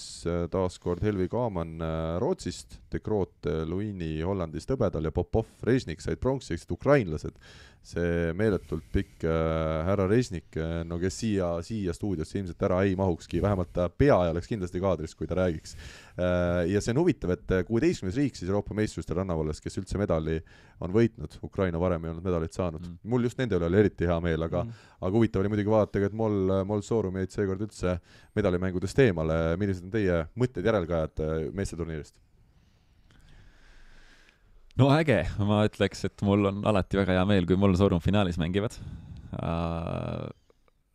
taaskord Helvi Kaaman Rootsist, De Groot Luini Hollandist hõbedal ja Popov Režnik said pronksi, ehk ukrainlased. See meeletult pikk äh, härra Režnik, no kes siia, siia stuudiosse ilmselt ära ei mahukski, vähemalt ta pea ei oleks kindlasti kaadris, kui ta räägiks. Äh, ja see on huvitav, et kuueteistkümnes riik siis Euroopa meistrustel rannavalles, kes üldse medali on võitnud, Ukraina varem ei olnud medalit saanud. Mm. Mul just nende üle oli eriti hea meel, aga, mm. aga huvitav oli muidugi vaadata, et Mol, Mol Soorum jäid seekord üldse medalimängudest eemale. Millised on teie mõtted järelkajad meesteturniirist? No äge, ma ütleks, et mul on alati väga hea meel, kui mul Soorum finaalis mängivad. Uh,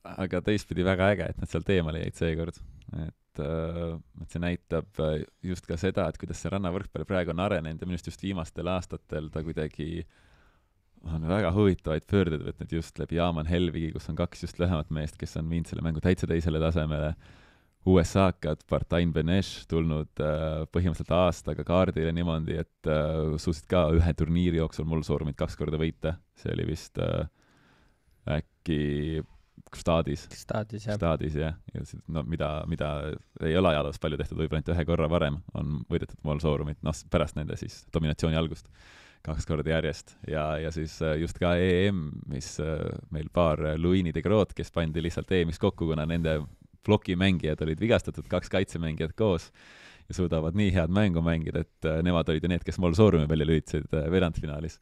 aga teistpidi väga äge, et nad seal teemale jäid seekord. Et, uh, et see näitab just ka seda, et kuidas see rannavõrkpalli praegu on arenenud ja minust just viimastel aastatel ta kuidagi on väga huvitavaid pöördeid võtnud just läbi Jaaman Helvigi, kus on kaks just lühemat meest, kes on viinud selle mängu täitsa teisele tasemele. U S A-kad, Partain Benesh tulnud äh, põhimõtteliselt aastaga kaardile niimoodi, et äh, suutsid ka ühe turniiri jooksul mul Soorumit kaks korda võita. See oli vist äh, äkki staadis. Staadis, jah. Staadis, jah. Ja see, no, mida, mida ei ole ajaloos palju tehtud, võib-olla ainult ühe korra varem on võidetud mul Soorumit, noh, pärast nende siis dominatsiooni algust kaks korda järjest. Ja, ja siis just ka E M, mis äh, meil paar Luini De Groot, kes pandi lihtsalt E M-is kokku, kuna nende plokimängijad olid vigastatud, kaks kaitsemängijad koos ja suudavad nii head mängu mängida, et uh, nemad olid ju need, kes mul Soorumi välja lüütsid uh, veerandfinaalis.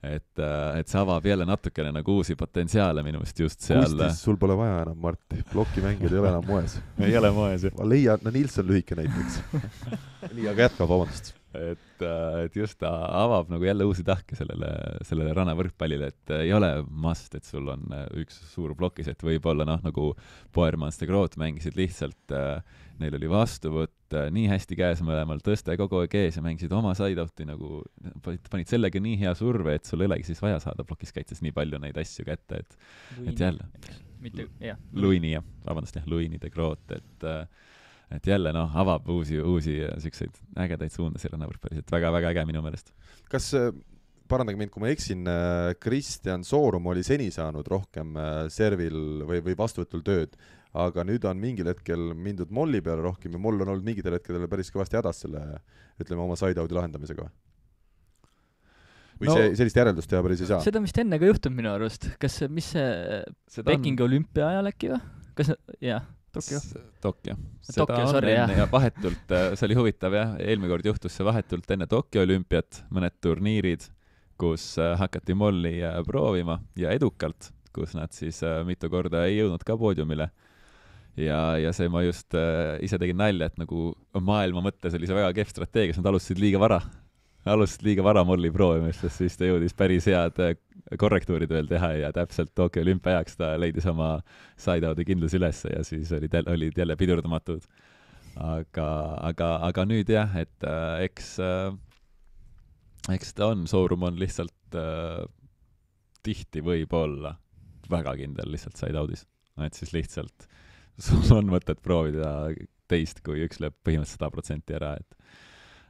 Et, uh, et see avab jälle natukene nagu uusi potentsiaale minu meelest just seal. Kustis, sul pole vaja enam, Mart. Plokimängijad ei ole enam moes. ei ole moes, jah. Ma leian, no Nilsson lühike näiteks. nii, aga jätka, vabandust. Et, et just ta avab nagu jälle uusi tahke sellele, sellele rannavõrkpallile, et ei ole must, et sul on üks suur plokis, et võib-olla noh, nagu Poermans De Groot mängisid lihtsalt, neil oli vastuvõtt nii hästi käes mõlemal, tõste kogu aeg ees ja mängisid oma side-out'i nagu, panid sellega nii hea surve, et sul ei olegi siis vaja saada plokiskaitses nii palju neid asju kätte, et, et jälle. Mitte, jah. Luini, jah, vabandust, jah, Luini De Groot, et et jälle noh, avab uusi, uusi selliseid ägedaid suundasid rannavõrkpallis, et väga-väga äge minu meelest. Kas, parandage mind, kui ma eksin, Kristjan Soorum oli seni saanud rohkem servil või, või vastuvõtul tööd, aga nüüd on mingil hetkel mindud molli peale rohkem ja moll on olnud mingitel hetkedel päris kõvasti hädas selle, ütleme, oma side-out'i lahendamisega. Või no, see, sellist järeldust teha päris ei saa? Seda vist enne ka juhtunud minu arust. Kas, mis see Pekingi on... olümpia ajal äkki või? Kas, jah. Tokyo. Tokyo. Seda Tokyo, on sorry, enne jah. ja vahetult, see oli huvitav jah, eelmine kord juhtus see vahetult enne Tokyo olümpiat, mõned turniirid, kus hakati molli proovima ja edukalt, kus nad siis mitu korda ei jõudnud ka poodiumile. Ja, ja see ma just äh, ise tegin nalja, et nagu maailma mõttes oli see väga kehv strateegia, nad alustasid liiga vara. Alustasid liiga vara molli proovimist, sest siis ta jõudis päris head korrektuurid veel teha ja täpselt Tokyo olümpia ajaks ta leidis oma side-out'i kindlus üles ja siis olid, olid jälle pidurdamatud. Aga, aga, aga nüüd jah, et äh, eks, äh, eks ta on, Soorum on lihtsalt äh, tihti võib-olla väga kindel lihtsalt side-out'is. Et siis lihtsalt sul on mõtet proovida teist, kui üks lööb põhimõtteliselt sada protsenti ära, et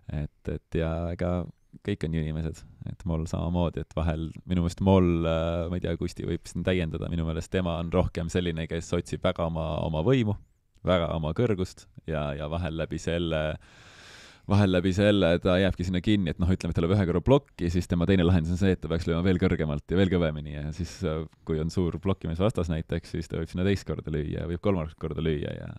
et, et ja ega kõik on ju inimesed, et mul samamoodi, et vahel minu meelest mul, ma ei tea, Kusti võib siin täiendada, minu meelest tema on rohkem selline, kes otsib väga oma, oma võimu, väga oma kõrgust ja, ja vahel läbi selle vahel läbi selle ta jääbki sinna kinni, et noh, ütleme, et ta lööb ühe korra plokki, siis tema teine lahendus on see, et ta peaks lööma veel kõrgemalt ja veel kõvemini ja siis kui on suur plokkimis vastas näiteks, siis ta võib sinna teist korda lüüa ja võib kolmandat korda lüüa ja,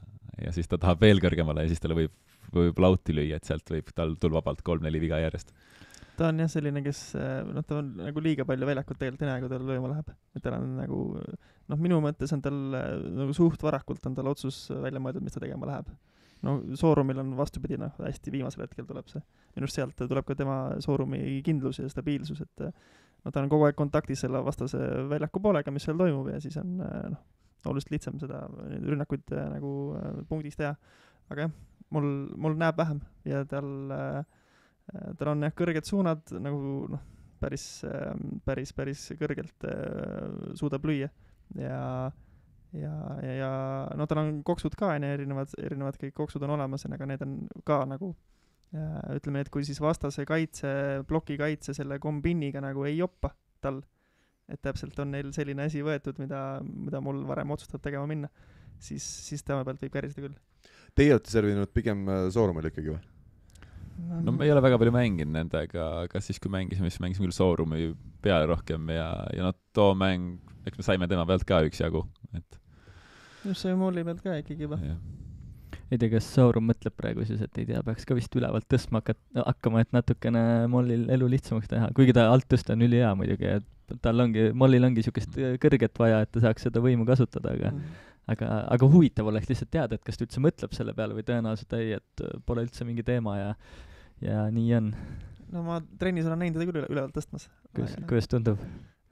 ja siis ta tahab veel kõrgemale ja siis talle võib, võib lauti lüüa, et sealt võib tal tulla vabalt kolm-neli viga järjest. Ta on jah selline, kes, noh, ta on nagu liiga palju väljakut tegelikult enää, kui tal lööma läheb. Et tal on nagu, noh, minu mõttes on tal nagu suht varakult on tal otsus välja mõeldud, mis ta tegema läheb. No Soorumil on vastupidi, noh, hästi viimasel hetkel tuleb see. Minust sealt tuleb ka tema Soorumi kindlus ja stabiilsus, et no, ta on kogu aeg kontaktis selle vastase väljaku poolega, mis seal toimub ja siis on noh, oluliselt lihtsam seda rünnakuid nagu punktis teha. Aga jah, mul, mul näeb vähem ja tal, tal on jah, kõrged suunad nagu noh, päris, päris, päris kõrgelt suudab lüüa ja ja, ja, ja no tal on koksud ka, erinevad, erinevad kõik koksud on olemas, aga need on ka nagu ja, ütleme, et kui siis vastase kaitse, ploki kaitse selle kombiniga nagu ei joppa tal, et täpselt on neil selline asi võetud, mida, mida mul varem otsustab tegema minna siis, siis tema pealt võib käriseda küll. Teie olete servinud pigem Soorumil ikkagi või? No me ei ole väga palju mänginud nendega, aga siis kui mängisime, siis mängisime küll Soorumi peale rohkem ja, ja no too mäng, eks me saime tema pealt ka üks jagu, et just see Molli pealt ka ikkagi juba. Ei tea, kas Soorum mõtleb praegu siis, et ei tea, peaks ka vist ülevalt tõstma hakkat, hakkama, et natukene Mollil elu lihtsamaks teha, kuigi ta alt tõsta on üli hea muidugi, et tal ongi, Mollil ongi niisugust kõrget vaja, et ta saaks seda võimu kasutada, aga mm. aga, aga huvitav oleks lihtsalt teada, et kas ta üldse mõtleb selle peale või tõenäoliselt ei, et pole üldse mingi teema ja, ja nii on. No ma trennis olen näinud teda küll üle, ülevalt tõstmas. Kuidas, kuidas tundub?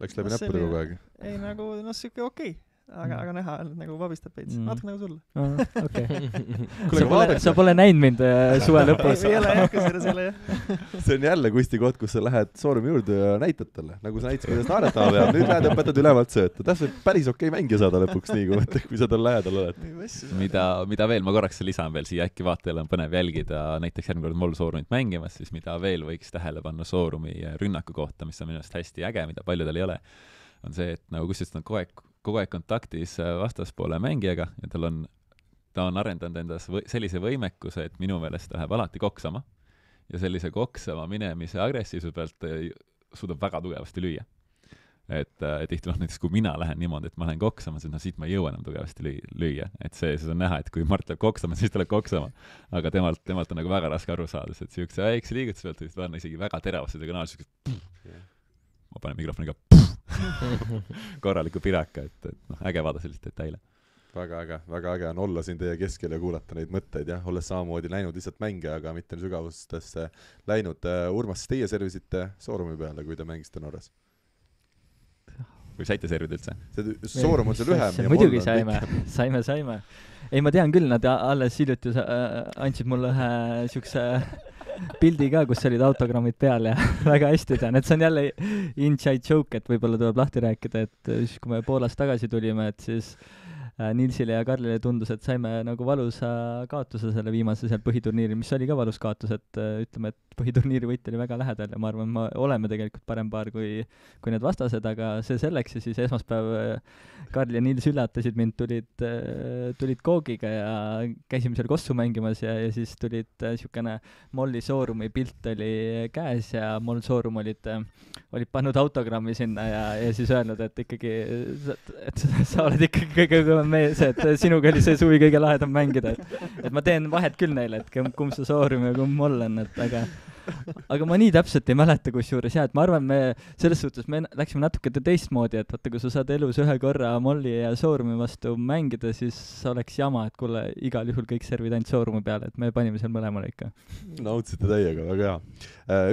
Läks läbi no, näppude kogu aeg? Ei, nagu, no siuke okei okay. Aga, aga näha, nagu vabistab veits. Mm. Natuke nagu sulle. Oh, okay. sa, pole, sa pole näinud mind äh, suve lõpus. ei ole jah, kas selle jah. See on jälle Kusti koht, kus sa lähed Soorumi juurde ja näitad talle. Nagu sa näitasid, kuidas naeretama peab. Nüüd lähed õpetad ülevalt sööta. Täpselt päris okei okay mängija saada lõpuks nii, kui, kui sa tal lähedal oled. Mida, mida veel, ma korraks lisan veel siia, äkki vaatajal on põnev jälgida näiteks järgmine kord Moll Soorumit mängimas, siis mida veel võiks tähele panna Soorumi rünnaku kohta, mis on minu arust hästi äge, mida paljudel ei ole, on see, et nagu kusjuures on kogu aeg kogu aeg kontaktis vastaspoole mängijaga ja tal on, ta on arendanud endas või, sellise võimekuse, et minu meelest ta läheb alati koksama ja sellise koksama minemise agressiivsuse pealt suudab väga tugevasti lüüa. Et, et tihti noh, näiteks kui mina lähen niimoodi, et ma lähen koksama, siis no siit ma ei jõua enam tugevasti lüüa. Et see, see on näha, et kui Mart läheb koksama, siis ta läheb koksama. Aga temalt, temalt on nagu väga raske aru saada, et siukse väikse liigutuse pealt võis võrna isegi väga teravasti tõenäoliselt ma panen mikrofoniga korraliku piraka, et, et noh, äge vaada sellist detaile. Väga äge, väga äge on olla siin teie keskel ja kuulata neid mõtteid, jah, olles samamoodi läinud lihtsalt mänge, aga mitte sügavustesse läinud. Urmas, teie servisite Soorumi peale, kui te mängisite Norras? Või saite servida üldse? Soorum on see lühem. Muidugi saime, saime, saime. Ei, ma tean küll, nad alles hiljuti andsid mulle ühe siukse pildi ka, kus olid autogrammid peal ja väga hästi tean, et see on jälle inside joke, et võib-olla tuleb lahti rääkida, et siis kui me Poolast tagasi tulime, et siis Nilsile ja Karlile tundus, et saime nagu valusa kaotuse selle viimase seal põhiturniiri, mis oli ka valus kaotus, et ütleme, et põhiturniiri võit oli väga lähedal ja ma arvan, ma oleme tegelikult parem paar kui, kui need vastased, aga see selleks ja siis esmaspäev Karl ja Nils üllatasid mind, tulid, tulid koogiga ja käisime seal kossu mängimas ja, ja siis tulid niisugune Molli Soorumi pilt oli käes ja Moll Soorum olid, olid pannud autogrammi sinna ja, ja siis öelnud, et ikkagi, et sa oled ikkagi kõige kõvem mees, et sinuga oli see suvi kõige lahedam mängida, et, et ma teen vahet küll neile, et kumb see Soorum ja kumb Moll on, et aga aga ma nii täpselt ei mäleta kusjuures jah, et ma arvan, me selles suhtes me läksime natuke teistmoodi, et vaata, kui sa saad elus ühe korra Molli ja Soorumi vastu mängida, siis oleks jama, et kuule, igal juhul kõik servid ainult Soorumi peale, et me panime seal mõlemale ikka. Nautsite täiega, väga hea.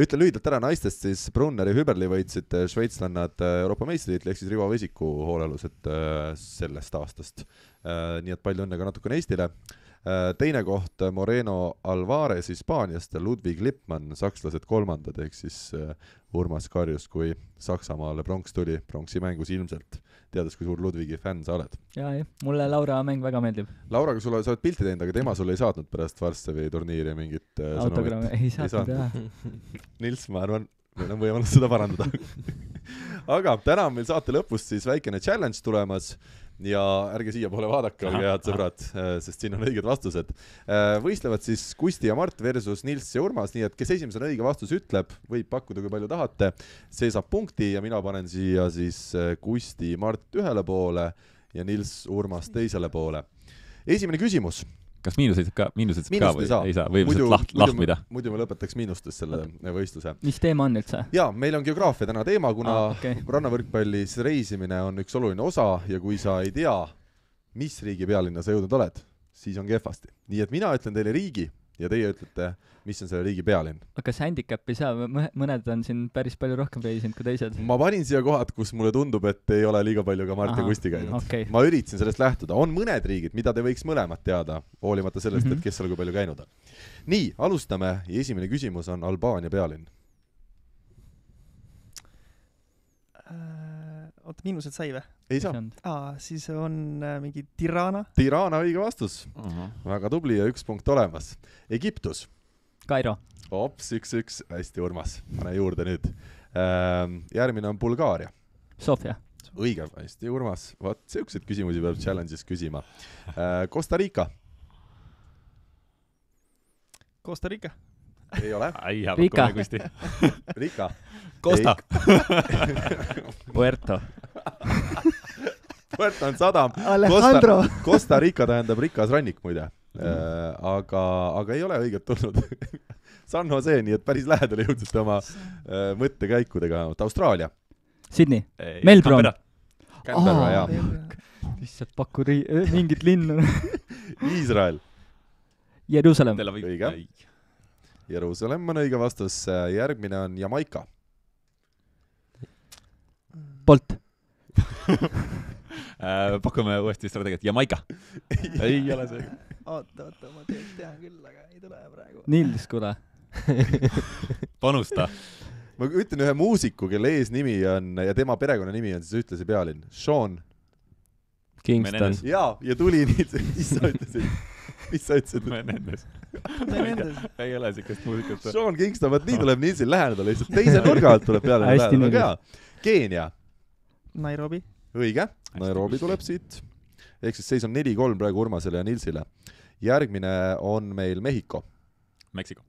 Ütlen lühidalt ära naistest, siis Brunner ja Hüberli võitsid šveitslannad Euroopa meistritiitli, ehk siis Rivo Vesiku hoolealused sellest aastast. Nii et palju õnne ka natukene Eestile. Teine koht Moreno Alvarez Hispaaniast ja Ludwig Lippmann, sakslased kolmandad, ehk siis Urmas karjus, kui Saksamaale pronks tuli, pronksi mängus ilmselt, teades, kui suur Ludwigi fänn sa oled. Jaa, jah, mulle Laura mäng väga meeldib. Lauraga sulle, sa oled pilti teinud, aga tema sulle ei saatnud pärast Varssavi turniiri mingit autogrammi, ei saatnud, jah. Nils, ma arvan, meil on võimalus seda parandada. Aga täna on meil saate lõpust siis väikene challenge tulemas ja ärge siia poole vaadake, olge head sõbrad, sest siin on õiged vastused. Võistlevad siis Kusti ja Mart versus Nils ja Urmas, nii et kes esimesena õige vastus ütleb, võib pakkuda, kui palju tahate, see saab punkti ja mina panen siia siis Kusti Mart ühele poole ja Nils Urmas teisele poole. Esimene küsimus. Kas miinuseid ka, miinuseid ka või ei saa, ei saa või muidu, laht, lahtmida? Muidu me lõpetaks miinustes selle võistluse. Mis teema on üldse? Jaa, meil on geograafia täna teema, kuna ah, okay. rannavõrkpallis reisimine on üks oluline osa ja kui sa ei tea, mis riigi pealinna sa jõudnud oled, siis on kehvasti. Nii et mina ütlen teile riigi ja teie ütlete, mis on selle riigi pealinn. Aga kas handicap ei saa, mõned on siin päris palju rohkem reisinud kui teised? Ma panin siia kohad, kus mulle tundub, et ei ole liiga palju ka Mart ja Kusti käinud. Okay. Ma üritasin sellest lähtuda. On mõned riigid, mida te võiks mõlemad teada, hoolimata sellest, mm -hmm. et kes seal kui palju käinud on. Nii, alustame ja esimene küsimus on Albaania pealinn. Äh, oota, miinused sai või? Ei saa. Aa, siis on äh, mingi Tirana. Tirana, õige vastus. Uh -huh. Väga tubli ja üks punkt olemas. Egiptus. Kairo. Ops, üks, üks. Hästi, Urmas. Pane juurde nüüd. Järgmine on Bulgaaria. Sofia. õige, hästi, Urmas. Vaat, siukseid küsimusi peab challenge'is küsima. Costa Rica. Costa Rica. Ei ole. Ai, hea Rica. pakkumine Kusti. Rica. Costa. Puerto. Puerto on sadam. Alejandro. Costa, Costa Rica tähendab rikas rannik muide. Äh, aga, aga ei ole õiget tulnud. San Jose, nii et päris lähedale jõudsite oma äh, mõttekäikudega. Austraalia. Sydney. Melbourne. Canberra, Aa. jaa. Lihtsalt paku ri- mingit linnu. Iisrael. Jerusalem. Õige. Jerusalem on õige vastus. Järgmine on Jamaica. Bolt. Pakume uuesti strateegiat. Jamaica. Ei ole see. Oota, oota, ma tean küll, aga ei tule praegu. Nils, kuule. Panusta. Ma ütlen ühe muusiku, kelle eesnimi on ja tema perekonna nimi on siis ühtlasi pealinn. Sean. Kingston. Jaa, ja tuli nii, mis sa ütlesid? Mis sa ütlesid? Menendez. Menendez. Ei ole sikast muusikat. Sean Kingston, vaat nii tuleb Nilsil läheneda lihtsalt. Teise nurga alt tuleb peale. Hästi Nils. Keenia. Nairobi. Õige. Nairobi tuleb siit. Ehk siis seis on neli kolm praegu Urmasele ja Nilsile. Järgmine on meil Mehhiko. Meksiko.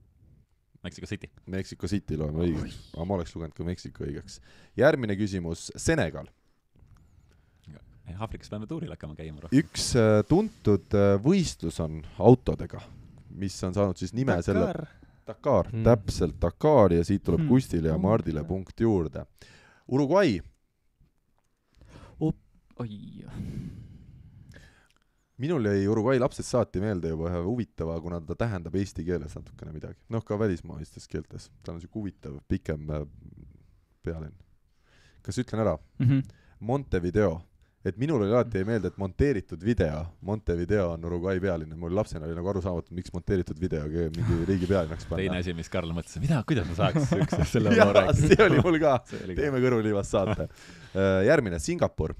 Meksiko City. Meksiko City loeme õigeks. Aga ma oleks lugenud ka Meksiko õigeks. Järgmine küsimus. Senegal. Aafrikas peame tuuril hakkama käima. Üks tuntud võistlus on autodega, mis on saanud siis nime Dakar. selle... Dakar. Hmm. Täpselt Dakar ja siit tuleb Hmm. Kustile ja Mardile punkt juurde. Uruguay. Oi. Minul jäi Uruguay lapsed saati meelde juba ühe huvitava, kuna ta tähendab eesti keeles natukene midagi. Noh, ka välismaistes keeltes. Ta on siuke huvitav, pikem pealinn. Kas ütlen ära? Mhm. Montevideo. Et minul oli alati ei meelde, et monteeritud video. Montevideo on Uruguay pealinn. Mul lapsena oli nagu aru saamatud, miks monteeritud video mingi riigi pealinnaks panna. Teine asi, mis Karl mõtles, mida, kuidas ma saaks üks selle Jaa, ma rääkida. see oli mul ka. Oli Teeme kõrvuliivast saate. Järgmine, Singapur.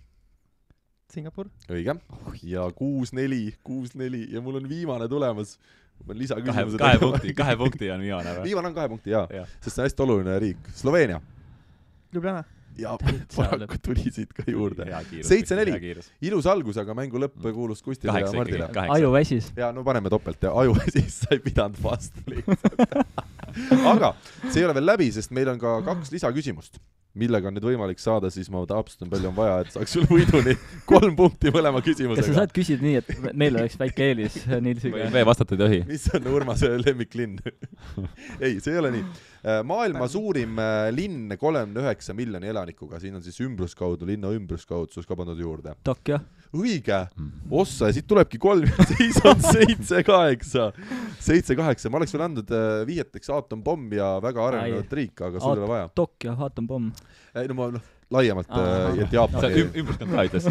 Singapur. Õige. Ja kuus neli, kuus neli ja mul on viimane tulemas. Ma pean kahe, lisaküsimused. kahe punkti, kahe punkti on viimane. Viimane on kahe punkti, jaa. Ja. Sest see on hästi oluline riik. Sloveenia. Ljubljana. Ja paraku tuli siit ka juurde. Seitse seitse neli. Ilus algus, aga mängu lõpp kuulus Kustile ja kaheksa Mardile. ikkagi, Aju väsis. Ja no paneme topelt ja aju siis sai pidanud vastu lihtsalt. Aga see ei ole veel läbi, sest meil on ka kaks lisaküsimust, millega on nüüd võimalik saada, siis ma täpsustan palju on vaja, et saaks sul võiduni kolm punkti mõlema küsimusega. Kas sa saad küsida nii, et meil oleks väike eelis Nilsiga? Või vastata ei tohi. Mis on Urmase lemmiklinn? Ei, see ei ole nii. Maailma suurim linn kolmekümne üheksa miljoni elanikuga, siin on siis ümbruskaudu, linna ümbruskaudsus ka pandud juurde. Tokyo. Õige. Ossa, ja siit tulebki kolm, siis on seitse kaheksa. seitse kaheksa. Ma oleks veel andnud viieteks aatompomm ja väga arenenud riik, aga sul ei ole vaja. Tokyo, aatompomm. Ei, no ma noh, laiemalt, et Jaapan. Sa ümbruskan ka ütles.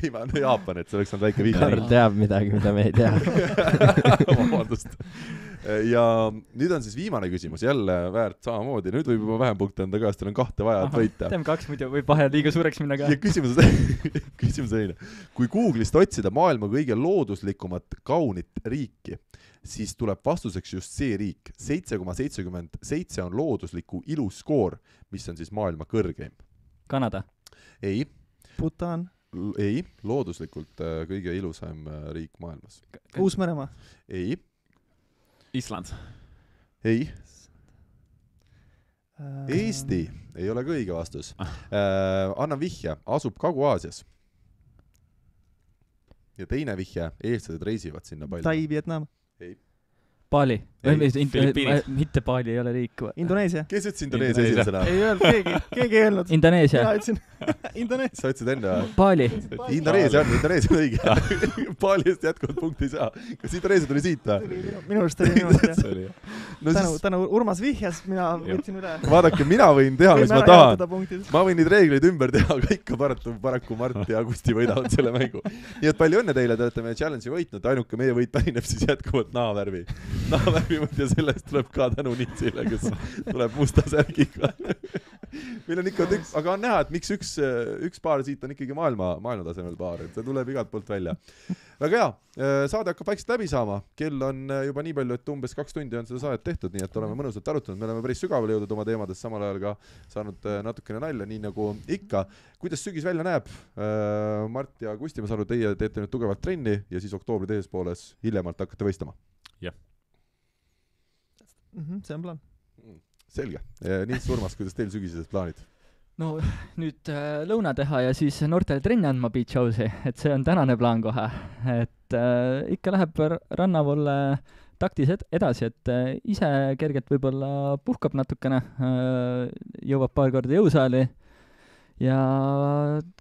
Ei, ma no Jaapan, et see oleks olnud väike viik. Karl teab midagi, mida me ei tea. Vabandust. Ja nüüd on siis viimane küsimus, jälle väärt samamoodi. Nüüd võib juba vähem punkte anda ka, sest teil on kahte vaja, et võita. Teeme kaks, muidu võib vahe liiga suureks minna ka. Ja küsimus, küsimus eile. Kui Google'ist otsida maailma kõige looduslikumat kaunit riiki, siis tuleb vastuseks just see riik. seitse koma seitsekümmend seitse on loodusliku iluskoor, mis on siis maailma kõrgeim. Kanada. Ei. Bhutan. Ei, looduslikult kõige ilusam riik maailmas. Uus-Meremaa. Ei. Island. Ei. Eesti ei ole ka õige vastus. Äh, annan vihje, asub Kagu-Aasias. Ja teine vihje, eestlased reisivad sinna palju. Tai, Vietnam. Ei. Bali. Filipiinid. Mitte Bali ei ole riik. Indoneesia. Kes ütles Indoneesia esimesena? Ei öelnud keegi, keegi ei öelnud. Indoneesia. Mina ütlesin Indoneesia. Sa ütlesid enne? Bali. Indoneesia on, Indoneesia on õige. Bali eest jätkuvalt punkti ei saa. Kas Indoneesia tuli siit või? Minu arust oli minu arust, jah. No tänu, siis... tänu Urmas vihjas, mina võtsin üle. Vaadake, mina võin teha, mis ma tahan. Ma võin neid reegleid ümber teha, aga ikka paraku, paraku Mart ja Kusti võidavad selle mängu. Nii et palju õnne teile, te olete meie challenge'i võitnud. Ainuke meie võit pärineb siis jätkuvalt naavärvi. Naavärvi ja sellest tuleb ka tänu Nitsile, kes tuleb musta särgiga. Meil on ikka üks, aga on näha, et miks üks, üks paar siit on ikkagi maailma, maailma tasemel paar, et see tuleb igalt poolt välja. väga hea, saade hakkab vaikselt läbi saama, kell on juba nii palju, et umbes kaks tundi on seda saadet tehtud, nii et oleme mõnusalt arutanud, me oleme päris sügavale jõudnud oma teemades, samal ajal ka saanud natukene nalja, nii nagu ikka. Kuidas sügis välja näeb? Mart ja Kusti, ma saan aru, teie teete nüüd tugevalt trenni ja siis oktoobri teises pooles hiljemalt hakkate võistlema? Jah. Mm-hmm, see on plaan. Selge. Nii Surmas, kuidas teil sügisesed plaanid? No nüüd äh, lõuna teha ja siis noortele trenni andma Beach House'i, et see on tänane plaan kohe. Et äh, ikka läheb rannavolle taktis ed- edasi, et äh, ise kergelt võib-olla puhkab natukene, äh, jõuab paar korda jõusaali ja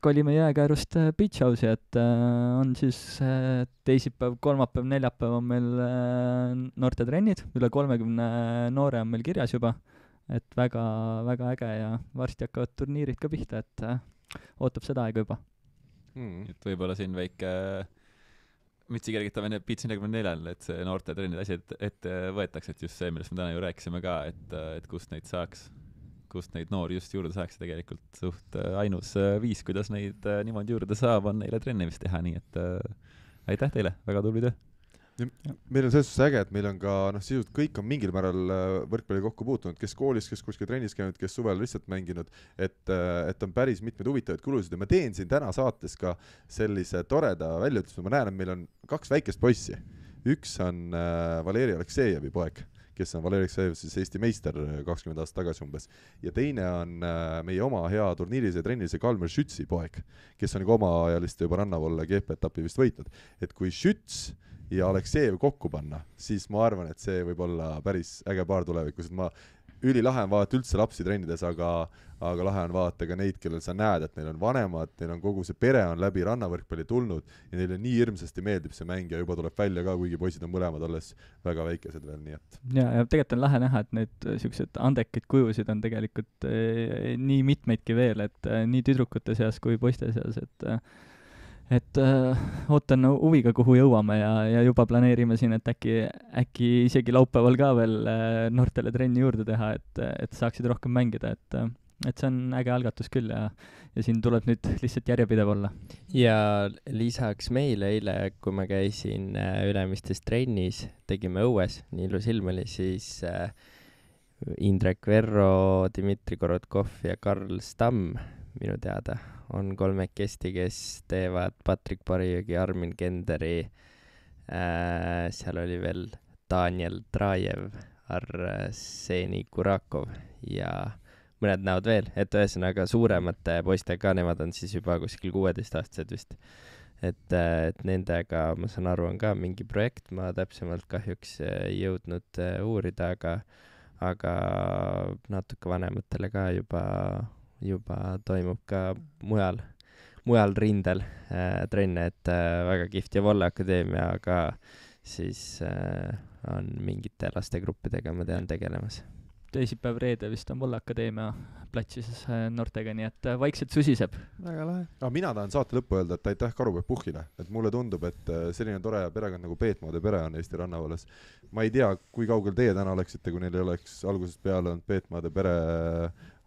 kolime jääkäärust Beach House'i, et äh, on siis äh, teisipäev, kolmapäev, neljapäev on meil äh, noorte trennid, üle kolmekümne noore on meil kirjas juba. Et väga, väga äge ja varsti hakkavad turniirid ka pihta, et äh, ootab seda aega juba. Mm. Et võib-olla siin väike mütsi kergitamine Beach nelikümmend neli, et see noorte trennid asi ette, ette võetakse, et just see, millest me täna ju rääkisime ka, et, et kust neid saaks, kust neid noori just juurde saaks tegelikult suht ainus viis, kuidas neid niimoodi juurde saab, on neile trennimist teha, nii et äh, aitäh teile, väga tubli töö. Meil on selles suhtes äge, et meil on ka, noh, sisult kõik on mingil määral võrkpalli kokku puutunud, kes koolis, kes kuskil trennis käinud, kes suvel lihtsalt mänginud, et, et on päris mitmed huvitavaid kulusid ja ma teen siin täna saates ka sellise toreda väljaütlusme, ma näen, et meil on kaks väikest poissi. Üks on äh, Valeri Aleksejevi poeg, kes on Valeri Aleksejev siis Eesti meister kakskümmend aastat tagasi umbes, ja teine on äh, meie oma hea turniirise ja trennilise Kalmer Schützi poeg, kes on ka oma ajaliste juba rannavolle G P-etappi vist võitnud, et kui Schütz ja Aleksejev kokku panna, siis ma arvan, et see võib olla päris äge paar tulevikus, et ma ülilahe on vaadata üldse lapsi trennides, aga, aga lahe on vaadata ka neid, kellel sa näed, et neil on vanemad, neil on kogu see pere on läbi rannavõrkpalli tulnud ja neile nii hirmsasti meeldib see mäng ja juba tuleb välja ka, kuigi poisid on mõlemad alles väga väikesed veel, nii et. Ja, ja tegelikult on lahe näha, et need siuksed andekaid kujusid on tegelikult e, nii mitmeidki veel, et e, nii tüdrukute seas kui poiste seas, et e, et äh, ootan huviga, kuhu jõuame ja, ja juba planeerime siin, et äkki, äkki isegi laupäeval ka veel äh, noortele trenni juurde teha, et, et saaksid rohkem mängida, et, et see on äge algatus küll ja, ja siin tuleb nüüd lihtsalt järjepidev olla. Ja lisaks meile eile, kui ma käisin äh, Ülemistes trennis, tegime õues, nii ilus ilm oli, siis äh, Indrek Verro, Dmitri Korotkov ja Karl Stamm minu teada on kolmekesti, kes teevad Patrik Parijõgi, Armin Kenderi, äh, seal oli veel Daniel Trajev, Arseni Kurakov ja mõned näod veel, et ühesõnaga suuremate poistega, nemad on siis juba kuskil kuueteistaastased vist. Et, et nendega, ma saan aru, on ka mingi projekt, ma täpsemalt kahjuks ei jõudnud uurida, aga, aga natuke vanematele ka juba juba toimub ka mujal, mujal rindel äh, trenne, et äh, väga kihvt ja Volle Akadeemia, aga siis äh, on mingite lastegruppidega, ma tean, tegelemas. Teisipäev reede vist on Volle Akadeemia platsis äh, noortega, nii et äh, vaikselt susiseb. Väga lahe. Ah, mina tahan saate lõppu öelda, et aitäh Karupeep Puhhile, et mulle tundub, et selline tore perekond nagu Peetmoode pere on Eesti rannavalles. Ma ei tea, kui kaugel teie täna oleksite, kui neil oleks algusest peale olnud Peetmoode pere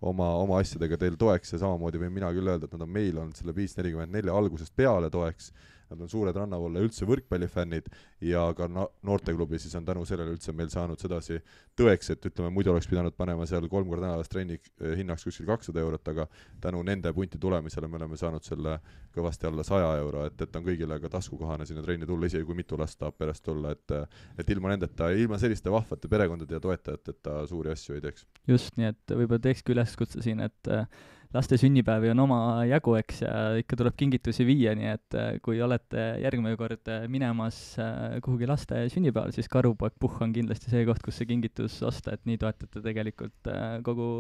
oma, oma asjadega teil toeks ja samamoodi võin mina küll öelda, et nad on meil olnud selle viis nelikümmend neli algusest peale toeks. Nad on suured rannavolle üldse võrkpallifännid ja ka noorteklubi siis on tänu sellele üldse meil saanud sedasi tõeks, et ütleme, muidu oleks pidanud panema seal kolm korda nädalas trenni hinnaks kuskil kakssada eurot, aga tänu nende punti tulemisele me oleme saanud selle kõvasti alla saja euro, et, et on kõigile ka taskukohane sinna trenni tulla, isegi kui mitu last tahab perest tulla, et, et ilma nendeta, ilma selliste vahvate perekondade ja toetajateta suuri asju ei teeks. Just, nii et võib-olla teekski üleskutse siin, et laste sünnipäevi on oma jagu, eks, ja ikka tuleb kingitusi viia, nii et kui olete järgmine kord minemas kuhugi laste sünnipäeval, siis Karupoeg Puhh on kindlasti see koht, kus see kingitus osta, et nii toetate tegelikult kogu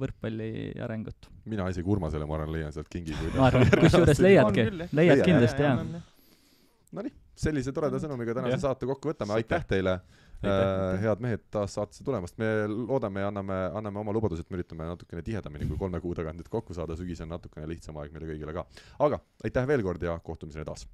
võrkpalli arengut. Mina isegi Urmasele, ma arvan, leian sealt kingi. Ma arvan, kusjuures leiadki, leiad kindlasti, jah. No nii, sellise toreda sõnumiga tänase saate kokku võtame, aitäh teile. Äh, head mehed taas saatesse tulemast, me loodame ja anname, anname oma lubadused, me üritame natukene tihedamini kui kolme kuu tagant nüüd kokku saada, sügis on natukene lihtsam aeg meile kõigile ka. Aga aitäh veel kord ja kohtumiseni taas!